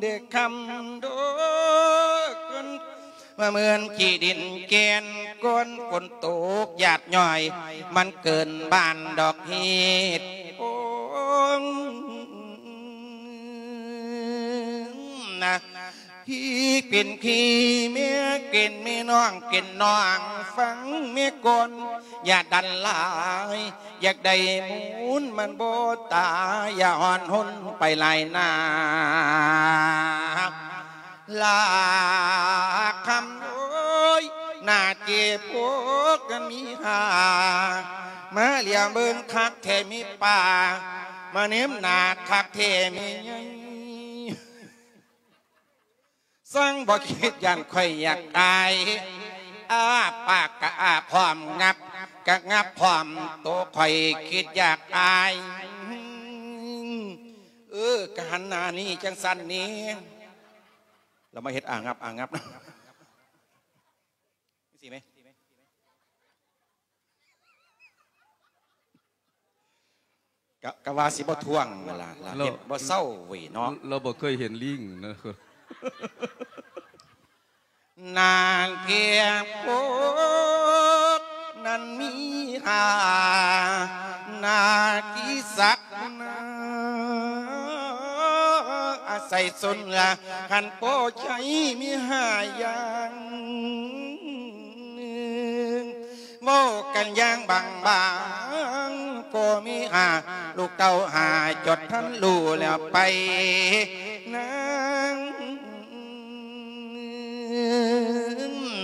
ເດຄຳໂດຍ ມາເໝືອນຂີ້ດິນແກ່ນກ້ອນ ຝົນຕົກຢາດຍ້ອຍ ມັນເກີນບ້ານດອກເຫັດໂອນນະ. ພີ່ເປັນພີ່ ແມ່ເປັນແມ່ ນ້ອງເປັນນ້ອງ ຟັງແມ່ກ່ອນ ຢ່າດັນຫຼາຍ ຢາກໄດ້ມູນມັນບໍ່ຕາຍ ຢ່າຮ້ອນຮົນໄປຫຼາຍໜ້າ ລາຄຳໂອ້ຍ ໜ້າເຈັບອົກມີຫາ ມາຫຼຽວເບິ່ງຄັກແທ້ມີປາ ມາແນມໜ້າຄັກແທ້ມີໃຫຍ່ ຊ່າງບໍ່ຄິດຢ້ານຂ້ອຍຢາກອາຍ ອ້າປາກກະອ້າພ້ອມ ງັບກະງັບພ້ອມ ໂຕຂ້ອຍຄິດຢາກອາຍ ເອີ ກະຫັນໜ້ານີ້ຈັ່ງຊັ້ນນີ້ ລະມາເຮັດອ້າງັບ ອ້າງັບ ຈັ່ງຊີ້ແມ ກະ ກະວ່າຊິບໍ່ທວງຫັ້ນລະ ລະເຮັດບໍ່ເຊົາເວີຍເນາະ ລາວບໍ່ເຄີຍເຫັນລີງນະ ນາງເທບໂພກນັ້ນມີຫາ ນາທີ່ສັກນາ ອາໄສຊົນລະ ຄັນໂປໃຊ້ມີຫາຢ່າງ ເວົ້າກັນຢ່າງບາງໆ ກໍມີຫາ ລູກເຕົ້າຫາຈົດທັນຮູ້ແລ້ວໄປນາງ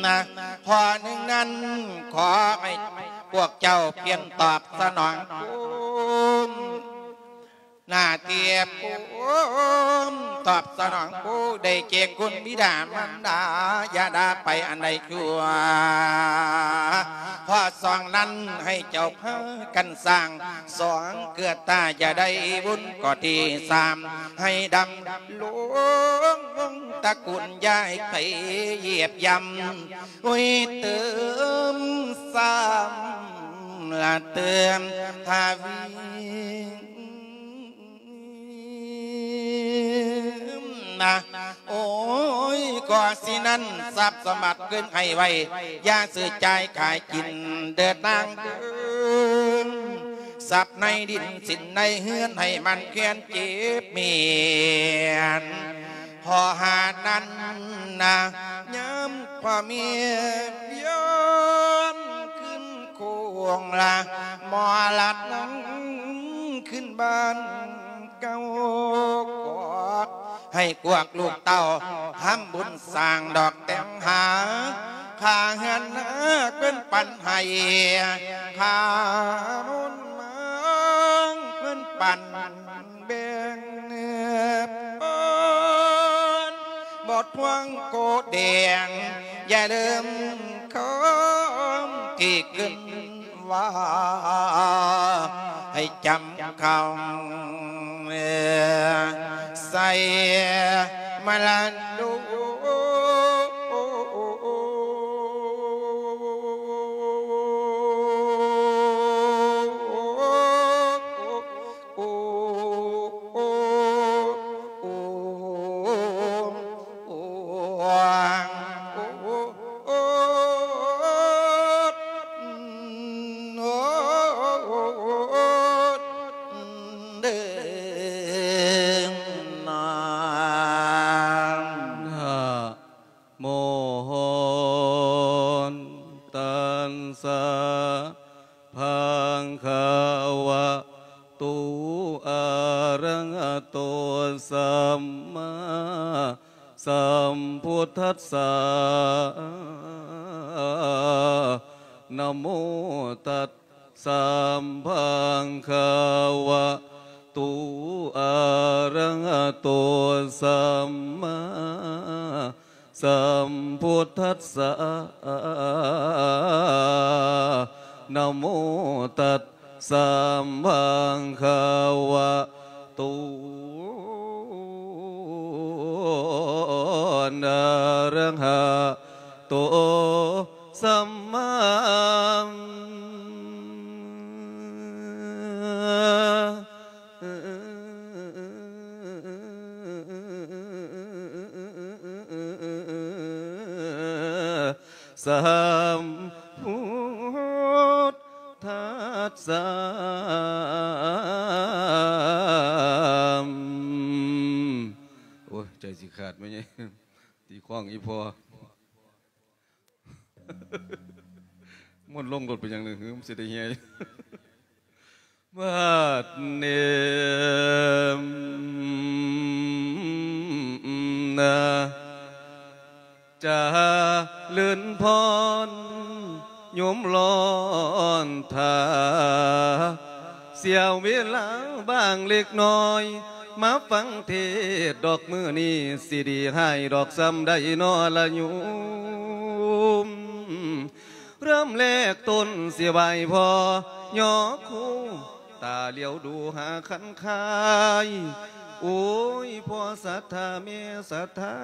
ນະ ຂໍ້ໜຶ່ງນັ້ນ ຂໍໃຫ້ພວກເຈົ້າປ່ຽນຕອບສະໜອງຄຸນ ໜ້າທີ່ພູມຕອບສະໜອງຜູ້ໄດ້ແກ່ຄຸນບິດາມານດາ ຢ່າດ່າໄປອັນໃດຊົ່ວ ຂໍ້ສອງນັ້ນໃຫ້ເຈົ້າພາກັນສ້າງ ສອງເກືອຕາຢ່າໄດ້ວຸ້ນ ຂໍ້ທີສາມໃຫ້ດຳລົງວົງຕະກຸນ ຢ່າໃຫ້ໃຜຢຽບຢຳ ໂອ້ຍ ເຕີມຊ້ຳລະເຕີມທະວີ ນະ ໂອ້ຍ ກໍຊິນັ້ນ ຊັບສະບັດຂຶ້ນໃຫ້ໄວ ຢ່າຊື້ຈ່າຍຂາຍກິນເດີນາງເດີນ ຊັບໃນດິນສິນໃນເຮືອນ ໃຫ້ມັນແຄ້ນເຈັບແມ່ນ ຂໍຫານັ້ນນະ ຍາມພໍ່ແມ່ວຽນຄືນໂຄງລະ ໝໍລັດນຳຄືນບ້ານ ເກົ່າກອກໃຫ້ກວກລູກເຕົ້າ ທຳບຸນສ້າງດອກແຕ່ງຫາ ຄ່າເຮືອນນາເພິ່ນປັນໃຫ້ ຄ່າມູນມາງເພິ່ນປັນແບ່ງເພິ່ນ ບໍ່ທວງໂກແດງ ຢ່າລືມຄຳທີ່ຂຶ້ນ ວ່າໃຫ້ຈຳເຂົ້າໃສ່ມະລະດົກ ໂມ ຕັດສະ ພະຄະວະໂຕ ອະຣະຫະໂຕ ສຳມາສຳພຸດທັດສະ ນະໂມຕັດສະ ພະຄະວະໂຕ ອະຣະຫະໂຕ ສຳມາ ສຳພຸດທັດສະ ນະໂມຕັດສະ ພະຄະວະໂຕ ອະຣະຫະໂຕ ສຳມາ ສຳພຸດທັດສະ ໂອ້ຍ ໃຈຊິຂາດແມ່ໃຫຍ່ ຕີຄ້ອງອີ່ພໍ່ ມ່ວນລົງລົດໄປຫຍັງໜຶ່ງ ຫື ມັນຊິໄດ້ເຮຍ ບາດນີ້ນະ ຈະເລີນພອນ ໂຍມລອນຖ້າ ເສຍເວລາບາງເລັກນ້ອຍ ມາຟັງເທດດອກ ມື້ນີ້ຊິດີຮ້າຍດອກ ສ່ຳໃດນໍລະໂຍມ. ເລີ່ມແລກຕົ້ນຊິໄຫວ້ພໍ່ຍໍຄູ ຕາຫຼຽວດູຫາຄັນຄາຍ ໂອ້ຍ ພໍ່ສັດທາແມ່ສັດທາ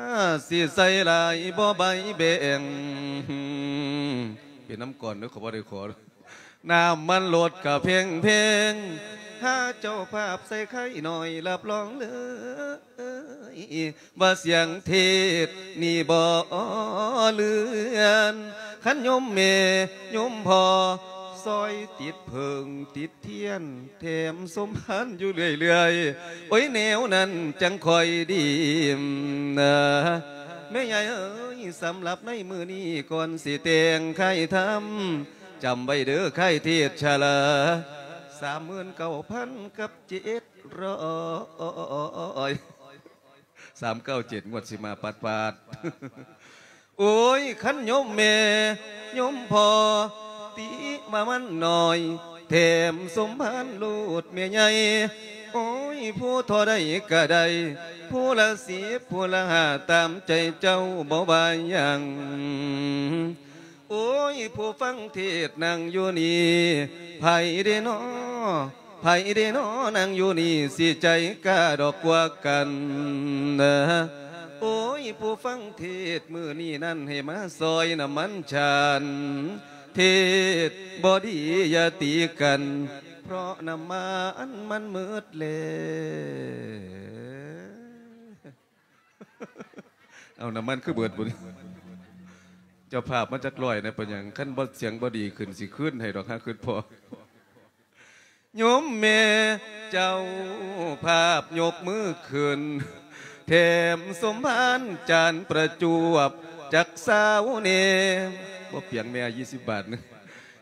ຊິໃສ່ຫຼາຍບໍ່ໃບແບ່ງ ເປັນນຳກ່ອນເດີ້ ເຂົາບໍ່ໄດ້ຂໍ ນ້ຳມັນລົດກະແພງໆ ຫາເຈົ້າພາບໃສ່ໄຂ່ໜ້ອຍ ຮັບຮອງເລີຍ ວ່າສຽງເທດນີ້ບໍ່ເລື່ອນ ຄັນໂຍມແມ່ໂຍມພໍ່ ຊ່ອຍຕິດເຜິ້ງຕິດທຽນ ແຖມສົມພານຢູ່ເລື້ອຍໆ ໂອ້ຍ ແນວນັ້ນຈັ່ງຄ່ອຍດີນະ ແມ່ໃຫຍ່ເອີຍ ສຳລັບໃນມື້ນີ້ ກ່ອນຊິແຕ່ງຄ້າຍທຳ ຈຳໄວ້ເດີ້ ຄ້າຍເທດຊະລາ ສາມໝື່ນເກົ້າພັນກັບເຈັດຮ້ອຍ ສາມເກົ້າເຈັດ ງວດຊິມາປາດໆ ໂອ້ຍ ຄັນໂຍມແມ່ໂຍມພໍ່ ຕິວ່າມັນໜ້ອຍ ແຖມສົມພານໂລດແມ່ໃຫຍ່ ໂອ້ຍ ຜູ້ທໍ່ໃດກະໄດ້ ຜູ້ລະສິບ ຜູ້ລະຫ້າ ຕາມໃຈເຈົ້າ ບໍ່ວ່າຫຍັງ. ໂອ້ຍ ຜູ້ຟັງເທດນັ່ງຢູ່ນີ້ ໃຜເດນໍ ໃຜເດນໍ ນັ່ງຢູ່ນີ້ ຊິໃຈກ້າດອກກວ່າກັນນະ ໂອ້ຍ ຜູ້ຟັງເທດມື້ນີ້ນັ້ນ ໃຫ້ມາຊ່ອຍນ້ຳມັນຊານ ເທດບໍ່ດີຢ່າຕີກັນ ເພາະນ້ຳມັນມັນໝົດແລ້ວ. ເອົາ ນ້ຳມັນຄືເບິດບຸ້ນ ເຈົ້າພາບມາຈັກຮ້ອຍນະ ເປັນຫຍັງ? ຄັນບໍ່ ສຽງບໍ່ດີຂຶ້ນ ຊິຄືນໃຫ້ດອກ ຫາຄຶດພໍ. ໂຍມແມ່ເຈົ້າພາບຍົກມືຂຶ້ນ ແຖມສົມພານຈານປະຈວບຈັກຊາວແດ່ ບໍ່ປຽງແມ່ ຊາວບາດໜຶ່ງ.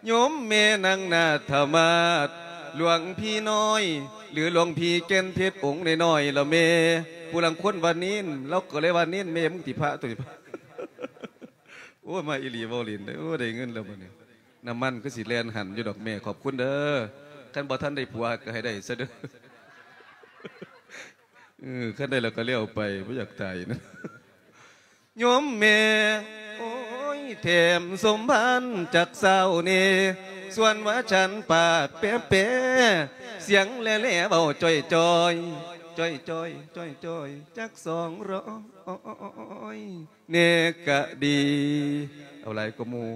ໂຍມແມ່ນາງນາດທະມາດ ຫຼວງພີ່ນ້ອຍ ຫຼື ຫຼວງພີ່ແກ່ນເພັດອົງນ້ອຍໆລະແມ່ ຜູ້ລາງຄົນວ່າເນນ ລາວກໍເລີຍວ່າເນນ ແມ່ ມຶງຕິພະຕົວນີ້ ໂອ້ຍ ມາອີ່ຫຼີ ເວົ້າຫຼິ້ນເດີ ໂອ້ຍ ໄດ້ເງິນແລ້ວບັດນີ້ ນ້ຳມັນຄືຊິແລ່ນຫັນຢູ່ດອກແມ່ ຂອບຄຸນເດີ ຄັນບໍ່ທັນໄດ້ຜົວກໍໃຫ້ໄດ້ຊະເດີ ເອີ ຄັນໄດ້ແລ້ວກໍແລ້ວໄປ ບໍ່ຢາກຕາຍນະ. ໂຍມແມ່ ໂອ້ຍ ແຖມສົມພານຈັກຊາວແດ່ ສ່ວນວ່າສັນປາກແປໆ ສຽງແຫຼໆ ເວົ້າຈ່ອຍໆ ຈ່ອຍໆ ຈ່ອຍໆ ຈັກສອງຮ້ອຍແດ່ກະດີ ເອົາຫຼາຍກວ່າໝູ່.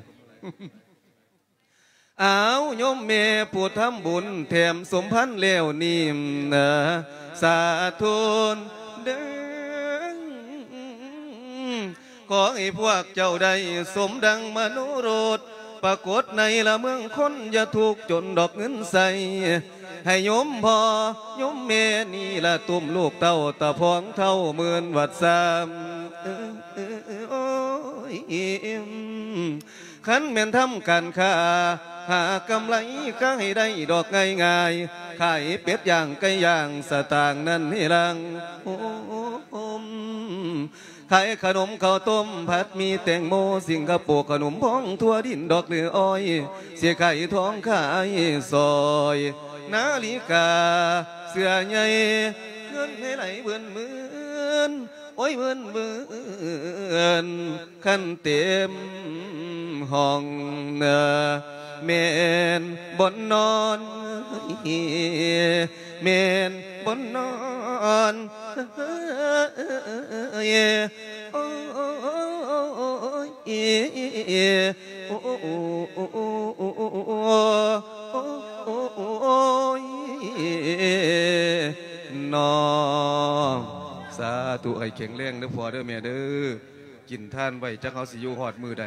ອ້າວ ໂຍມແມ່ຜູ້ທຳບຸນ ແຖມສົມພານແລ້ວນີ້ນະ ສາທຸເດີ ຂໍໃຫ້ພວກເຈົ້າໄດ້ສົມດັ່ງມະໂນລົດ ປາກົດໃນລະເມືອງຄົນ ຢ່າທຸກຈົນດອກເງິນໃຊ້ ໃຫ້ໂຍມພໍ່ໂຍມແມ່ນີ້ລະ ຕຸ້ມລູກເຕົ້າ ຕາພອງເຖົ້າໝື່ນວັດຊາມ ໂອ້ຍ ຄັນແມ່ນທຳການຄ້າ ຫາກຳໄລກໍໃຫ້ໄດ້ດອກງ່າຍໆ ຂາຍເປັດຍ່າງໄກ່ຍ່າງ ສະຕາງນັ້ນໃຫ້ຫຼັ່ງໂຮມ ຂາຍຂະໜົມເຂົ້າຕົ້ມ ຜັດໝີ່ແຕງໂມ ສິງກະໂປ ຂະໜົມພອງທົ່ວດິນ ດອກເຫຼືອອ້ອຍ ຊິຂາຍທອງຂາຍສ້ອຍ ນາລິກາ ເສື້ອໃຫຍ່ ເງິນໃຫ້ໄຫຼເວີນໆ ໂອ້ຍ ເວີນໆ ຄັນເຕັມຫ້ອງນະ ແມ່ນບ່ອນນອນ ແມ່ນບ່ອນນອນ ໂອ້ຍ ໂອ້ ຍ ນ້ອງ ສາທຸ ໃຫ້ແຂງແຮງເດີພໍ່ເດີແມ່ເດີ ກິນທານໄວ້ ຈັກເຮົາຊິຢູ່ຮອດມື້ໃດ.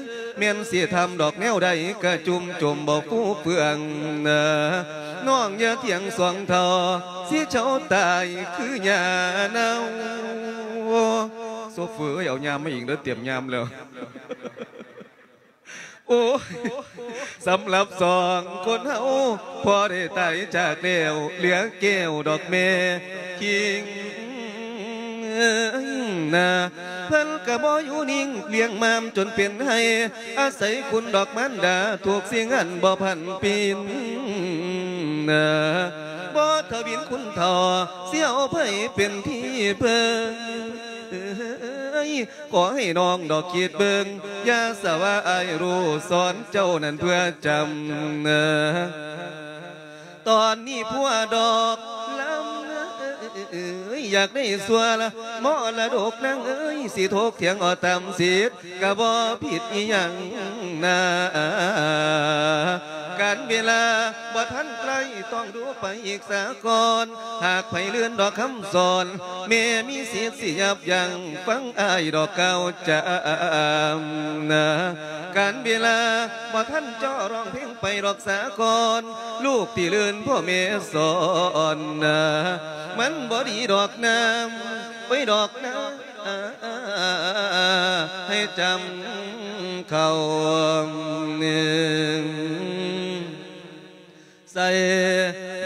ຍ ແມ່ນຊິທຳດອກແນວໃດ ກະຈຸ່ມຈົມບໍ່ຟູເຟືອງນະ. ນ້ອງຢ່າຖຽງສອງເຖົ້າ ຊິເຊົາຕາຍຄືຫຍ້າເນົ່າ. ໂຊເຟີເອີຍ ເອົາຍາມມາອີກເດີ້ ຕຽມຍາມແລ້ວ. ໂອ້ຍ ສຳລັບສອງຄົນເຮົາ ພໍ່ໄດ້ຕາຍຈາກແລ້ວ ເຫຼືອແກ້ວດອກແມ່ຄິງນາ. ເພິ່ນກະບໍ່ຢູ່ນິ່ງ ລ້ຽງມ້າມຈົນເປັນໄຮ່ ອາໄສຄຸນດອກມານດາ ທຸກສິ່ງອັນບໍ່ຜັນປິ່ນນາ. ບໍ່ທະວິນຄຸນເຖົ້າ ຊິເອົາໃຜເປັນທີ່ເພິ່ງ ຂໍໃຫ້ນ້ອງດອກຄິດເບິ່ງ ຢ່າສະວ່າອ້າຍຮູ້ສອນເຈົ້ານັ້ນເພື່ອຈຳນາ. ຕອນນີ້ຜົວດອກລຳເອີຍ ຢາກໄດ້ສ່ວນມໍລະດົກນາງເອີຍ ຊິຖົກຖຽງເອົາຕາມສິດ ກະບໍ່ຜິດອີ່ຫຍັງນາ. ການເວລາບໍ່ທັນໃກ້ ຕ້ອງດູໄປອີກສາກ່ອນ ຫາກໃຜລື່ນດອກຄຳສອນ ແມ່ມີສິດຊິຢັບຢັ້ງ ຟັງອ້າຍດອກກ່າວຈຳນາ. ການເວລາບໍ່ທັນເຈາະ ຮ້ອງເພງໄປດອກສາກ່ອນ ລູກທີ່ລື່ນພໍ່ແມ່ສອນນາ. ມັນບໍ່ດີດອກນາ ໄປດອກນາ ໃຫ້ຈຳ ເຂົ້າໃສ່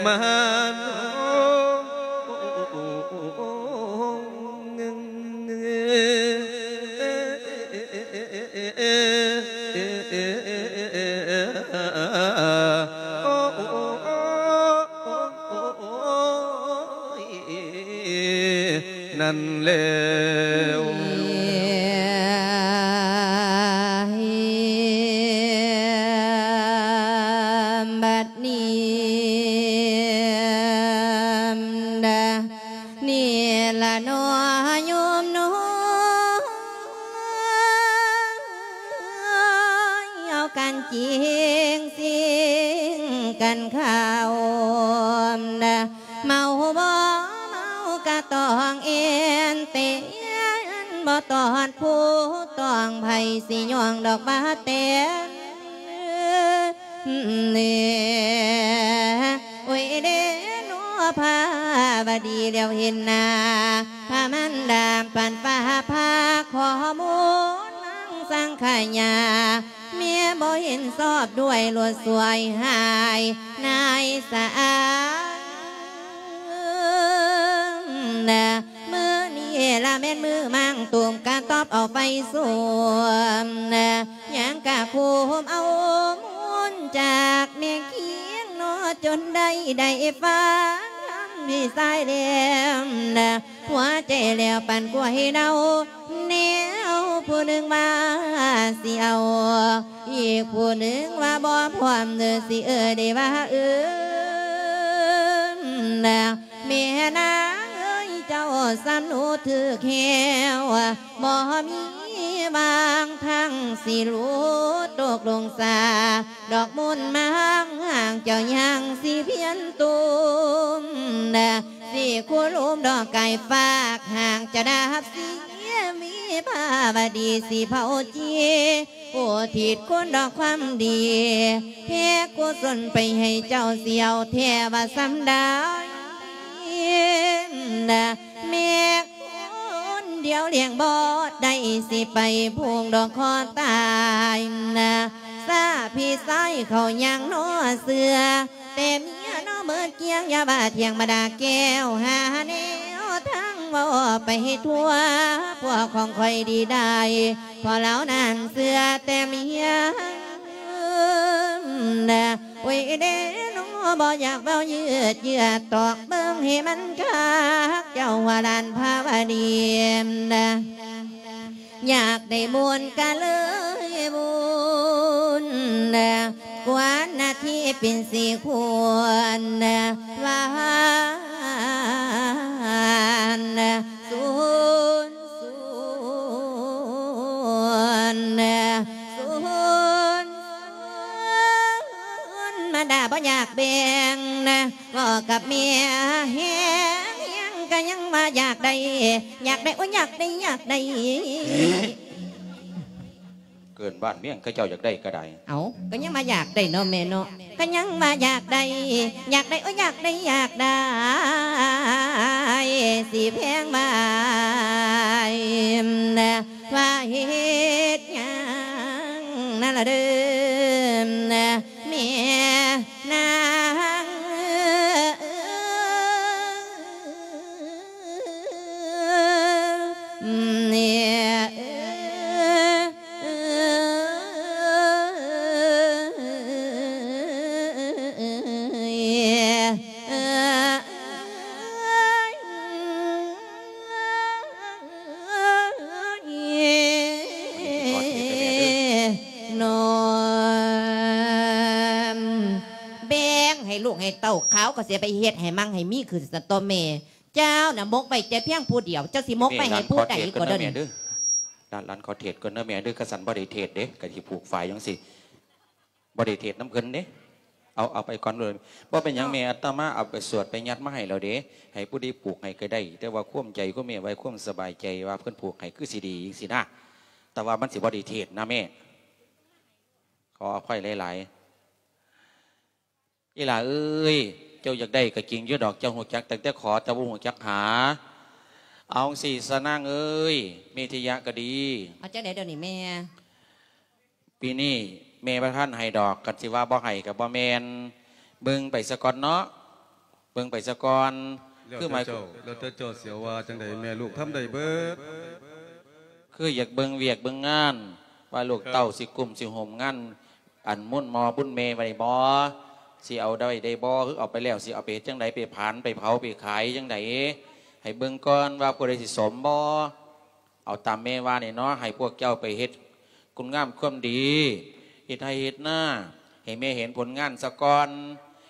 ມາໂຕ ນັ້ນແລ້ວ ບັດນີ້ ນີ້ລະເນາະໂຍມນ້ອຍ ເອົາກັນຈິງຊິງກັນເຂົ້າ ເມົາບໍ່ເມົາກະຕ້ອງເອັນເຕີນ ບໍ່ຕ້ອນຜູ້ຕ້ອງໃຜຊິຍ້ອງດອກວ່າແຕ່ ໂອ້ຍເດເນາະພາວະດີ ແລ້ວເຫັນໜ້າພະມານດາ ປັນຟ້າພາ ຂໍມູນນາງສັງຂະຍາ ແມ່ບໍ່ເຫັນຊອບດ້ວຍ ໂລດສວຍຫາຍນາຍສາງ ມື້ນີ້ລະແມ່ນມື້ມັງຕູມກະຕອບເອົາໄຟສຸມ ຍັງກະຄຸມເອົາມູນຈາກແມ່ຄຽງເນາະ ຈົນໄດ້ ໄດ້ຟັງຄຳພີ່ຊາຍແລ້ວ ຫົວໃຈແລ້ວປັນກວາຍເນົ່າ ແນວຜູ້ໜຶ່ງວ່າຊິເອົາ ອີກຜູ້ໜຶ່ງວ່າບໍ່ພ້ອມເດີ ຊິເອີ້ນໄດ້ວ່າເອີ້ນ ແມ່ນາງເອີຍ ເຈົ້າສຳຮູ້ຖືກແລ້ວ ບໍ່ມີຫວ່າງທາງຊິຫຼຸດຕົກລົງສາ ດອກມູນມັງ ເຈົ້າຍັງຊິພຽນຕຸ່ມ ຊິຄູລຸມດອກກາຍຟາກ ຫາກຈະດັບເສຍ ວິພາວະດີຊິເຜົາຈີ ອຸທິດຄຸນດອກຄວາມດີ ແຜ່ກຸສົນໄປໃຫ້ເຈົ້າ ຊິເອົາແທ້ວ່າສ່ຳໃດ ແມ່ຄົນດຽວລ້ຽງບໍ່ໄດ້ ຊິໄປຜູກດອກຄໍຕາຍ ສາພີ່ຊາຍເຂົາຍັງໜໍ່ເຊື່ອ ແຕ່ເມຍເນາະເມີດກຽງ ຢ່າວ່າທ່ຽງມາດ່າແກ້ວ ຫາແນວທາງເວົ້າໄປທົ່ວ ພວກຂອງຂ້ອຍດີໄດ້ ເພາະລາວນັ້ນເຊື່ອແຕ່ເມຍ ໂອ້ຍເດເນາະ ບໍ່ຢາກເວົ້າຍືດເຢືອດ ຕອກເບິ່ງໃຫ້ມັນຄັກ ເຈົ້າວ່າຫຼານພາວະດີ ຢາກໄດ້ບຸນກະເລີຍບຸນ ກວນນາທີເປັນສີ່ຄວນ ຫວານສູນ ສູນ ສູນ ມາດາບໍ່ຢາກແບ່ງ ເວົ້າກັບເມຍແຮງ ແຮງກະຍັງວ່າຢາກໄດ້ ຢາກໄດ້ ໂອ້ຍ ຢາກໄດ້ ຢາກໄດ້ ເກີນບ້ານເມືອງ ເຂົາເຈົ້າຢາກໄດ້ກະໄດ້ ເອົ້າ ກະຍັງວ່າຢາກໄດ້ເນາະແມ່ເນາະ ກະຍັງວ່າຢາກໄດ້ ຢາກໄດ້ ໂອ້ຍ ຢາກໄດ້ ຢາກໄດ້ ຊິແພງວ່າ ວ່າເຮັດຫຍັງນັ້ນລະເດີ ແມ່ນາງເອີຍ ເອີຍ ນ້ອມ ແບ່ງໃຫ້ລູກໃຫ້ເຕົ້າ ຂາວກໍເສຍໄປເຮັດໃຫ້ມັ່ງໃຫ້ມີຂຶ້ນຊັ້ນຕົວແມ່ ເຈົ້ານະໝົກໄວ້ແຕ່ພຽງຜູ້ດຽວ ເຈົ້າຊິໝົກໄວ້ໃຫ້ຜູ້ໃດກໍເດີ. ຫຼານ ຫຼານຂໍເທດກ່ອນເດີແມ່ເດີ ຄັນຊັ້ນບໍ່ໄດ້ເທດເດ້ ກະຊິຜູກຝ້າຍຈັ່ງຊີ້ ບໍ່ໄດ້ເທດນຳເພິ່ນເດ້ ເອົາ ເອົາໄປກ່ອນໂລດ. ບໍ່ເປັນຫຍັງແມ່ ອາດຕະມາເອົາໄປສວດໄປຍັດມາໃຫ້ແລ້ວເດ້ ໃຫ້ຜູ້ໃດຜູກໃຫ້ກະໄດ້ ແຕ່ວ່າຄວາມໃຈຂອງແມ່ໄວ້ຄວາມສະບາຍໃຈວ່າເພິ່ນຜູກໃຫ້ຄືຊິດີຈັ່ງຊີ້ນະ ແຕ່ວ່າມັນຊິບໍ່ໄດ້ເທດນະແມ່ ຂໍອະໄພຫຼາຍໆ. ອີ່ຫຼ້າເອີຍ ເຈົ້າຢາກໄດ້ກະຈິງຢູ່ດອກ ເຈົ້າຮູ້ຈັກຕັ້ງແຕ່ຂໍ ແຕ່ບໍ່ຮູ້ຈັກຫາ. ເອົາຈັ່ງຊີ້ຊະນາງເອີຍ ເມທິຍະກະດີ ເອົາຈັ່ງໃດດຽວນີ້ແມ່? ປີນີ້ແມ່ບໍ່ທັນໃຫ້ດອກ ຄັນຊິວ່າບໍ່ໃຫ້ກໍບໍ່ແມ່ນ ເບິ່ງໄປສາກ່ອນເນາະ ເບິ່ງໄປສາກ່ອນ ແລ້ວແຕ່ເຈົ້າ ຄືໝາຍ ແລ້ວແຕ່ເຈົ້າຊິເອົາວ່າຈັ່ງໃດ ແມ່ລູກທຳໄດ້ເບິດ ຄືຢາກເບິ່ງວຽກເບິ່ງງານ ວ່າລູກເຕົ້າ ເຈົ້າ ຊິກຸ້ມຊິໂຮມງານ ອັນບຸນໝໍບຸນແມ່ໄວ້ບໍ່ ຊິເອົາໄດ້ ໄດ້ບໍ່ ຄືເອົາໄປແລ້ວ ຊິເອົາໄປເຮັດຈັ່ງໃດ ໄປຜານ ໄປເຜົາ ໄປຂາຍຈັ່ງໃດ ໃຫ້ເບິ່ງກ່ອນວ່າຜູ້ໃດຊິສົມບໍ່ ເອົາຕາມແມ່ວ່ານີ້ເນາະ ໃຫ້ພວກເຈົ້າໄປເຮັດຄຸນງາມຄວາມດີ ເຮັດໄຮ່ເຮັດນາ ໃຫ້ແມ່ເຫັນຜົນງານສາກ່ອນ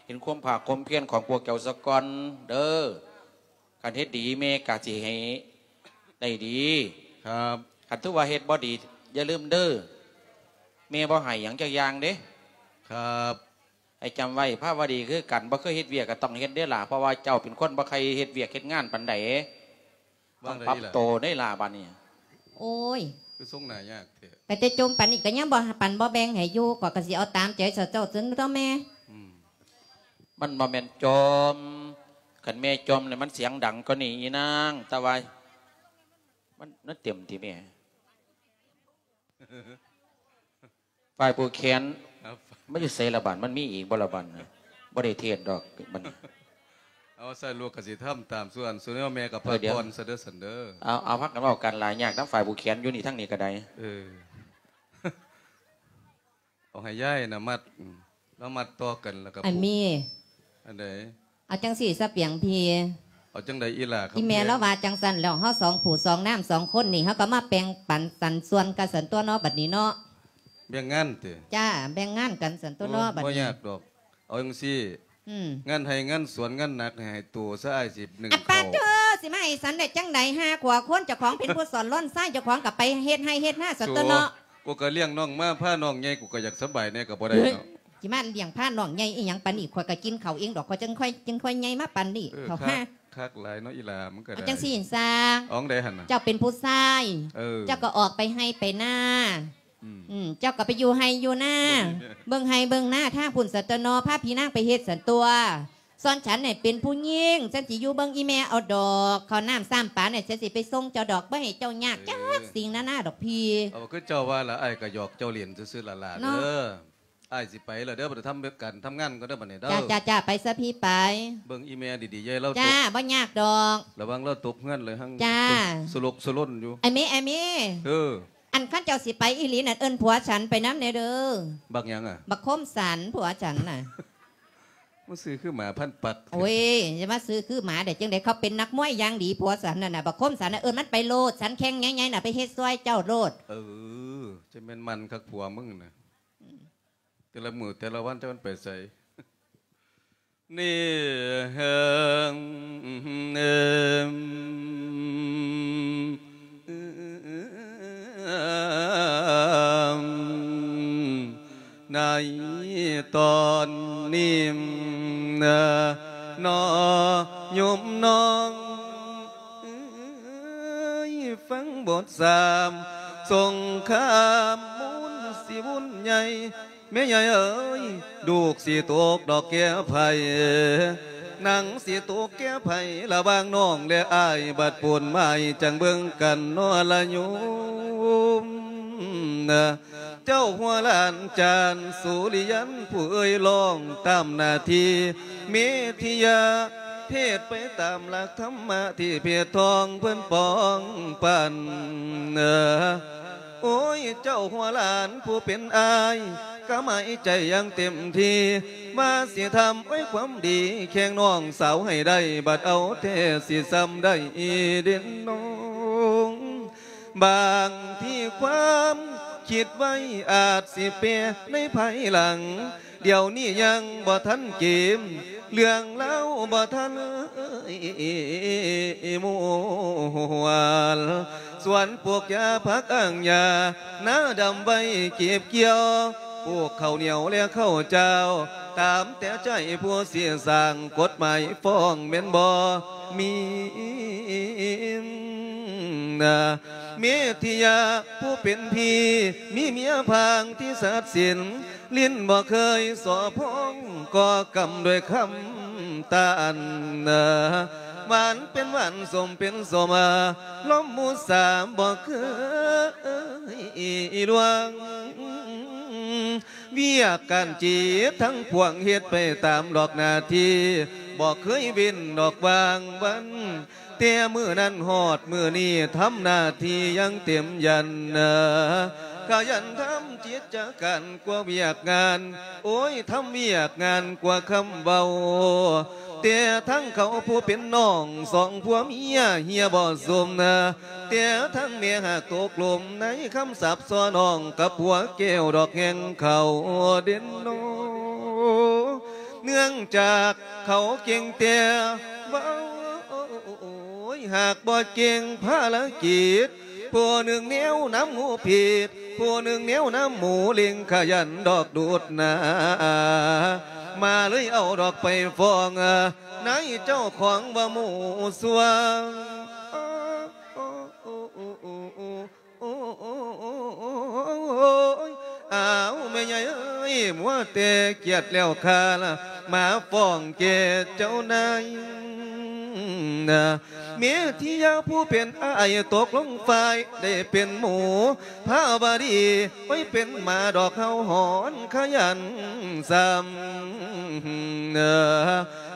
ເຫັນຄວາມພາກຄວາມພຽນຂອງພວກເຈົ້າສາກ່ອນເດີ ຄັນເຮັດດີແມ່ກໍຊິໃຫ້ໄດ້ດີ ຄັນຖືວ່າເຮັດບໍ່ດີ ຢ່າລືມເດີ ແມ່ບໍ່ໃຫ້ຫຍັງຈັກຢ່າງເດ້ ຄັນ ໃຫ້ຈຳໄວ້ ພາວະດີຄືກັນ ບໍ່ເຄີຍເຮັດວຽກກໍຕ້ອງເຮັດເດ້ລະ ເພາະວ່າເຈົ້າເປັນຄົນບໍ່ໃຄ່ເຮັດວຽກເຮັດງານປານໃດ ຕ້ອງປັບໂຕເດ້ລະບາດນີ້ ໂອ້ຍ ຄືຊົງໜ້າຍາກແທ້ ໄປແຕ່ຈົ່ມປານນີ້ກໍຍັງບໍ່ປັນບໍ່ແບ່ງໃຫ້ຢູ່ ຂ້ອຍກໍຊິເອົາຕາມໃຈເຈົ້າເຈົ້າເຖິງຕົວະແມ່ ອືມ ມັນບໍ່ແມ່ນຈົ່ມ ຄັນແມ່ຈົ່ມນີ້ມັນສຽງດັງກວ່ານີ້ອີນາງ ແຕ່ວ່າມັນ ມັນເຕັມຕິແມ່ ຝ່າຍຜູ້ແຂນ ມັນຢູ່ໃສລະບາດ ມັນມີອີກບໍ່ລະບາດ ບໍ່ໄດ້ເທດດອກບັດນີ້ ເອົາ ໃສ່ລູກກໍຊິທຳຕາມສ່ວນ ສ່ວນແມ່ກໍພັກຜ່ອນຊະເດີ ເອີ ເດີ ເອົາ ເອົາ ພັກກັນເວົ້າກັນຫຼາຍຍາກນຳຝ່າຍຜູ້ແຂນຢູ່ນີ້ ທາງນີ້ກໍໄດ້ ເອີ ເອົາໃຫ້ຍາຍນະມັດ ອືມ ລະມັດຕໍ່ກັນ ແລ້ວກໍ ອັນມີ ອັນໃດ ເອົາຈັ່ງຊີ້ສະປຽງພີ່ ເອົາຈັ່ງໃດອີ່ຫຼ້າ ອີ່ແມ່ລາວວ່າຈັ່ງຊັ້ນແລ້ວ ເຮົາສອງຜູ້ສອງນາງສອງຄົນນີ້ ເຮົາກໍມາແບ່ງປັນສັນສ່ວນກັນຊັ້ນຕົວະເນາະ ບັດນີ້ເນາະ ແບ່ງງານຕິ ຈ້າ ແບ່ງງານກັນຊັ້ນຕົວະເນາະ ໂອ້ຍ ບັດນີ້ ບໍ່ຍາກດອກ ເອົາຈັ່ງຊີ້ ອືມ ງານໄຮ່ງານສວນ ງານໜັກໃຫ້ໂຕຊະ ອ້າຍຊິໜຶ້ງເຂົ້າ ປາດໂທ ຊິມາໃຫ້ສັນໄດ້ຈັ່ງໃດ ຫາຂົວຄົນ ເຈົ້າຂອງເປັນຜູ້ສອນລ້ອນຊາຍ ເຈົ້າຂອງກໍໄປເຮັດໄຮ່ເຮັດນາຊັ້ນຕົວະເນາະ ໂອ້ ກໍລ້ຽງນ້ອງມາ ພານ້ອງໃຫຍ່ ກູກໍຢາກສະບາຍແດ່ ກໍບໍ່ໄດ້ເນາະ ຊິມາລ້ຽງພານ້ອງໃຫຍ່ອີ່ຫຍັງປານນີ້ ຂ້ອຍກໍກິນເຂົ້າເອງດອກ ຂ້ອຍຈັ່ງຄ່ອຍ ຈຶ່ງຄ່ອຍໃຫຍ່ມາປານນີ້ ເອີ ເຂົ້າ ຄັກ ຄັກຫຼາຍເນາະ ອີ່ຫຼ້າ ມັນກໍໄດ້ ເອົາຈັ່ງຊີ້ຊາ ອໍງໃດຫັ້ນນະ ເຈົ້າເປັນຜູ້ຊາຍ ເອີ ເຈົ້າກໍອອກໄປໄຮ່ໄປນາ ອືມ ອືມ ເຈົ້າກໍໄປຢູ່ໄຮ່ຢູ່ນາ ເບິ່ງໄຮ່ເບິ່ງນາທາງພຸ້ນຊັ້ນຕົວະເນາະ ພາພີ່ນາງໄປເຮັດຊັ້ນຕົວະ ສ່ວນສັນນີ້ເປັນຜູ້ຍິງ ສັນຊິຢູ່ເບິ່ງອີ່ແມ່ເອົາດອກ ເຂົ້ານ້ຳຊ້ຳປານີ້ ສັນຊິໄປສົ່ງເຈົ້າດອກ ບໍ່ໃຫ້ເຈົ້າຍາກ ເອີ ຈັກສິ່ງນານາດອກພີ່ ເອົາ ຄືເຈົ້າວ່າລະ ອ້າຍກໍຫຍອກເຈົ້າຫຼິ້ນຊື່ໆຫຼ້າໆ ເນາະ ເດີ ອ້າຍຊິໄປແລ້ວເດີ ໄປທຳການທຳງານກ່ອນເດີບັດນີ້ເດີ ຈ້າໆໆ ໄປຊະພີ່ໄປ ເບິ່ງອີ່ແມ່ດີໆ ຢ່າໃຫ້ລາວ ຈ້າ ຕົກ ບໍ່ຍາກດອກ ລະວັງລາວຕົກເຮືອນເລີຍຫັ້ນ ຈ້າ ສະຫຼົກສະຫຼົນຢູ່ ອ້າຍເມ ອ້າຍເມ ເອີ ອັນຄັນເຈົ້າຊິໄປອີ່ຫຼີນັ້ນ ເອີ້ນຜົວສັນໄປນຳແດ່ເດີ ບັກຫຍັງອະ ບັກຄົມສັນ ຜົວສັນນະ ມາຊື່ຄືໝາພັນປັກ ໂອ້ຍ ຢ່າມາຊື່ຄືໝາໄດ້ຈັ່ງໃດ ເຂົາເປັນນັກມວຍຢ່າງດີ ຜົວສັນນັ້ນນະ ບັກຄົມສັນນະ ເອີ້ນມັນໄປໂລດ ສັນແຂ້ງໃຫຍ່ໆນະ ໄປເຮັດຊ່ວຍເຈົ້າໂລດ ເອີ ຈະແມ່ນມັນຄັກຜົວມຶງນະ ອືມ ແຕ່ລະມື້ແຕ່ລະວັນຈັກມັນໄປໃສ ນີ້ ເອີ ໃນຕອນນີ້ນະ ນ້ອງໂຍມນ້ອງເອີຍ ຟັງບົດສາມສົງຄາມ ບຸນຊິບຸນໃຫຍ່ ແມ່ໃຫຍ່ເອີຍ ລູກຊິຕົກດອກແກ່ໃຜ ໜັງຊິຕົກແກ່ໃຜ ລະຫວ່າງນ້ອງແລະອ້າຍ ບັດປູນໝາຍຈັ່ງເບິ່ງກັນເນາະລະໂຍມນະ ເຈົ້າຫົວຫຼານຈານສຸລິຍັນ ຜູ້ເອີ່ຍຮ້ອງຕາມໜ້າທີ່ ເມທິຍາເທດໄປຕາມຫຼັກທຳມະ ທີ່ເພດທອງເພິ່ນປອງປັນ ໂອ້ຍ ເຈົ້າຫົວຫຼານຜູ້ເປັນອ້າຍ ກະໝາຍໃຈຢ່າງເຕັມທີ່ ວ່າຊິທຳ ໂອ້ຍ ຄວາມດີແຂ່ງນ້ອງສາວໃຫ້ໄດ້ ບັດເອົາແທ້ຊິຊ່ຳໄດ້ເດນ້ອງ ບາງທີຄວາມຄິດໄວ້ອາດຊິແປໃນພາຍຫຼັງ ດຽວນີ້ຍັງບໍ່ທັນເກມ ເລື່ອງລາວບໍ່ທັນເອີຍມ່ວນ ສວນປູກຢາຜັກອ່າງຫຍ້າ ນາດຳໄວ້ເກັບກ່ຽວ ປູກເຂົ້າໜຽວແລະເຂົ້າເຈົ້າ ຕາມແຕ່ໃຈຜູ້ຊິສ້າງ ກົດໝາຍຟ້ອງແມ່ນບໍ່ມີ ເມທິຍາຜູ້ເປັນພີ່ ມີເມຍພາງທີ່ສັດສິນ ຫຼິ້ນບໍ່ເຄີຍສໍ້ພອງ ກໍ່ກຳດ້ວຍຄຳຕານ ຫວານເປັນຫວານ ສົ້ມເປັນສົ້ມ ລົມມຸສາບໍ່ເຄີຍລວງ ວຽກການຈິດທັງປວງເຮັດໄປຕາມດອກໜ້າທີ່ ບໍ່ເຄີຍເວັ້ນດອກວ່າງວັນ ແຕ່ມື້ນັ້ນຮອດມື້ນີ້ທຳໜ້າທີ່ຢ່າງເຕັມຢັນ ຂະຫຍັນທຳກິດຈະການກວ່າວຽກງານ ໂອ້ຍ ທຳວຽກງານກວ່າຄຳເວົ້າ ແຕ່ທັງເຂົາຜູ້ເປັນນ້ອງສອງຜົວເມຍເຮຍບໍ່ສົມນະ ແຕ່ທັງແມ່ຫາກຕົກຫຼົມໃນຄຳສັບສໍ້ນ້ອງກັບຜົວແກ້ວດອກແຫ່ງເຂົາເດັ່ນໂນ ເນື່ອງຈາກເຂົາເກັ່ງແຕ່ເວົ້າ ໂອ້ຍ ຫາກບໍ່ເກັ່ງພາລະກິດ ຜູ້ໜຶ່ງແນວນຳໝູຜິດ ຜູ້ໜຶ່ງແນວນຳໝູເລັ່ງ ຂະຫຍັນດອກດູດໜ້າ ມາເລີຍເອົາດອກໄປຟ້ອງ ນາຍເຈົ້າຂອງວ່າໝູ່ຊົ່ວ ໂອ້ຍ ອ້າວ ແມ່ໃຫຍ່ເອີຍ ມົວແຕ່ກຽດແລ້ວຂ້າລະ ມາຟ້ອງແກ່ເຈົ້ານາຍ ແມ່ທີ່ຢາຜູ້ເປັນອ້າຍຕົກລົງຝ່າຍ ໄດ້ເປັນໝູພາວະດີ ໄວ້ເປັນໝາດອກເຫົ່າຫອນຂະຫຍັນຊ້ຳ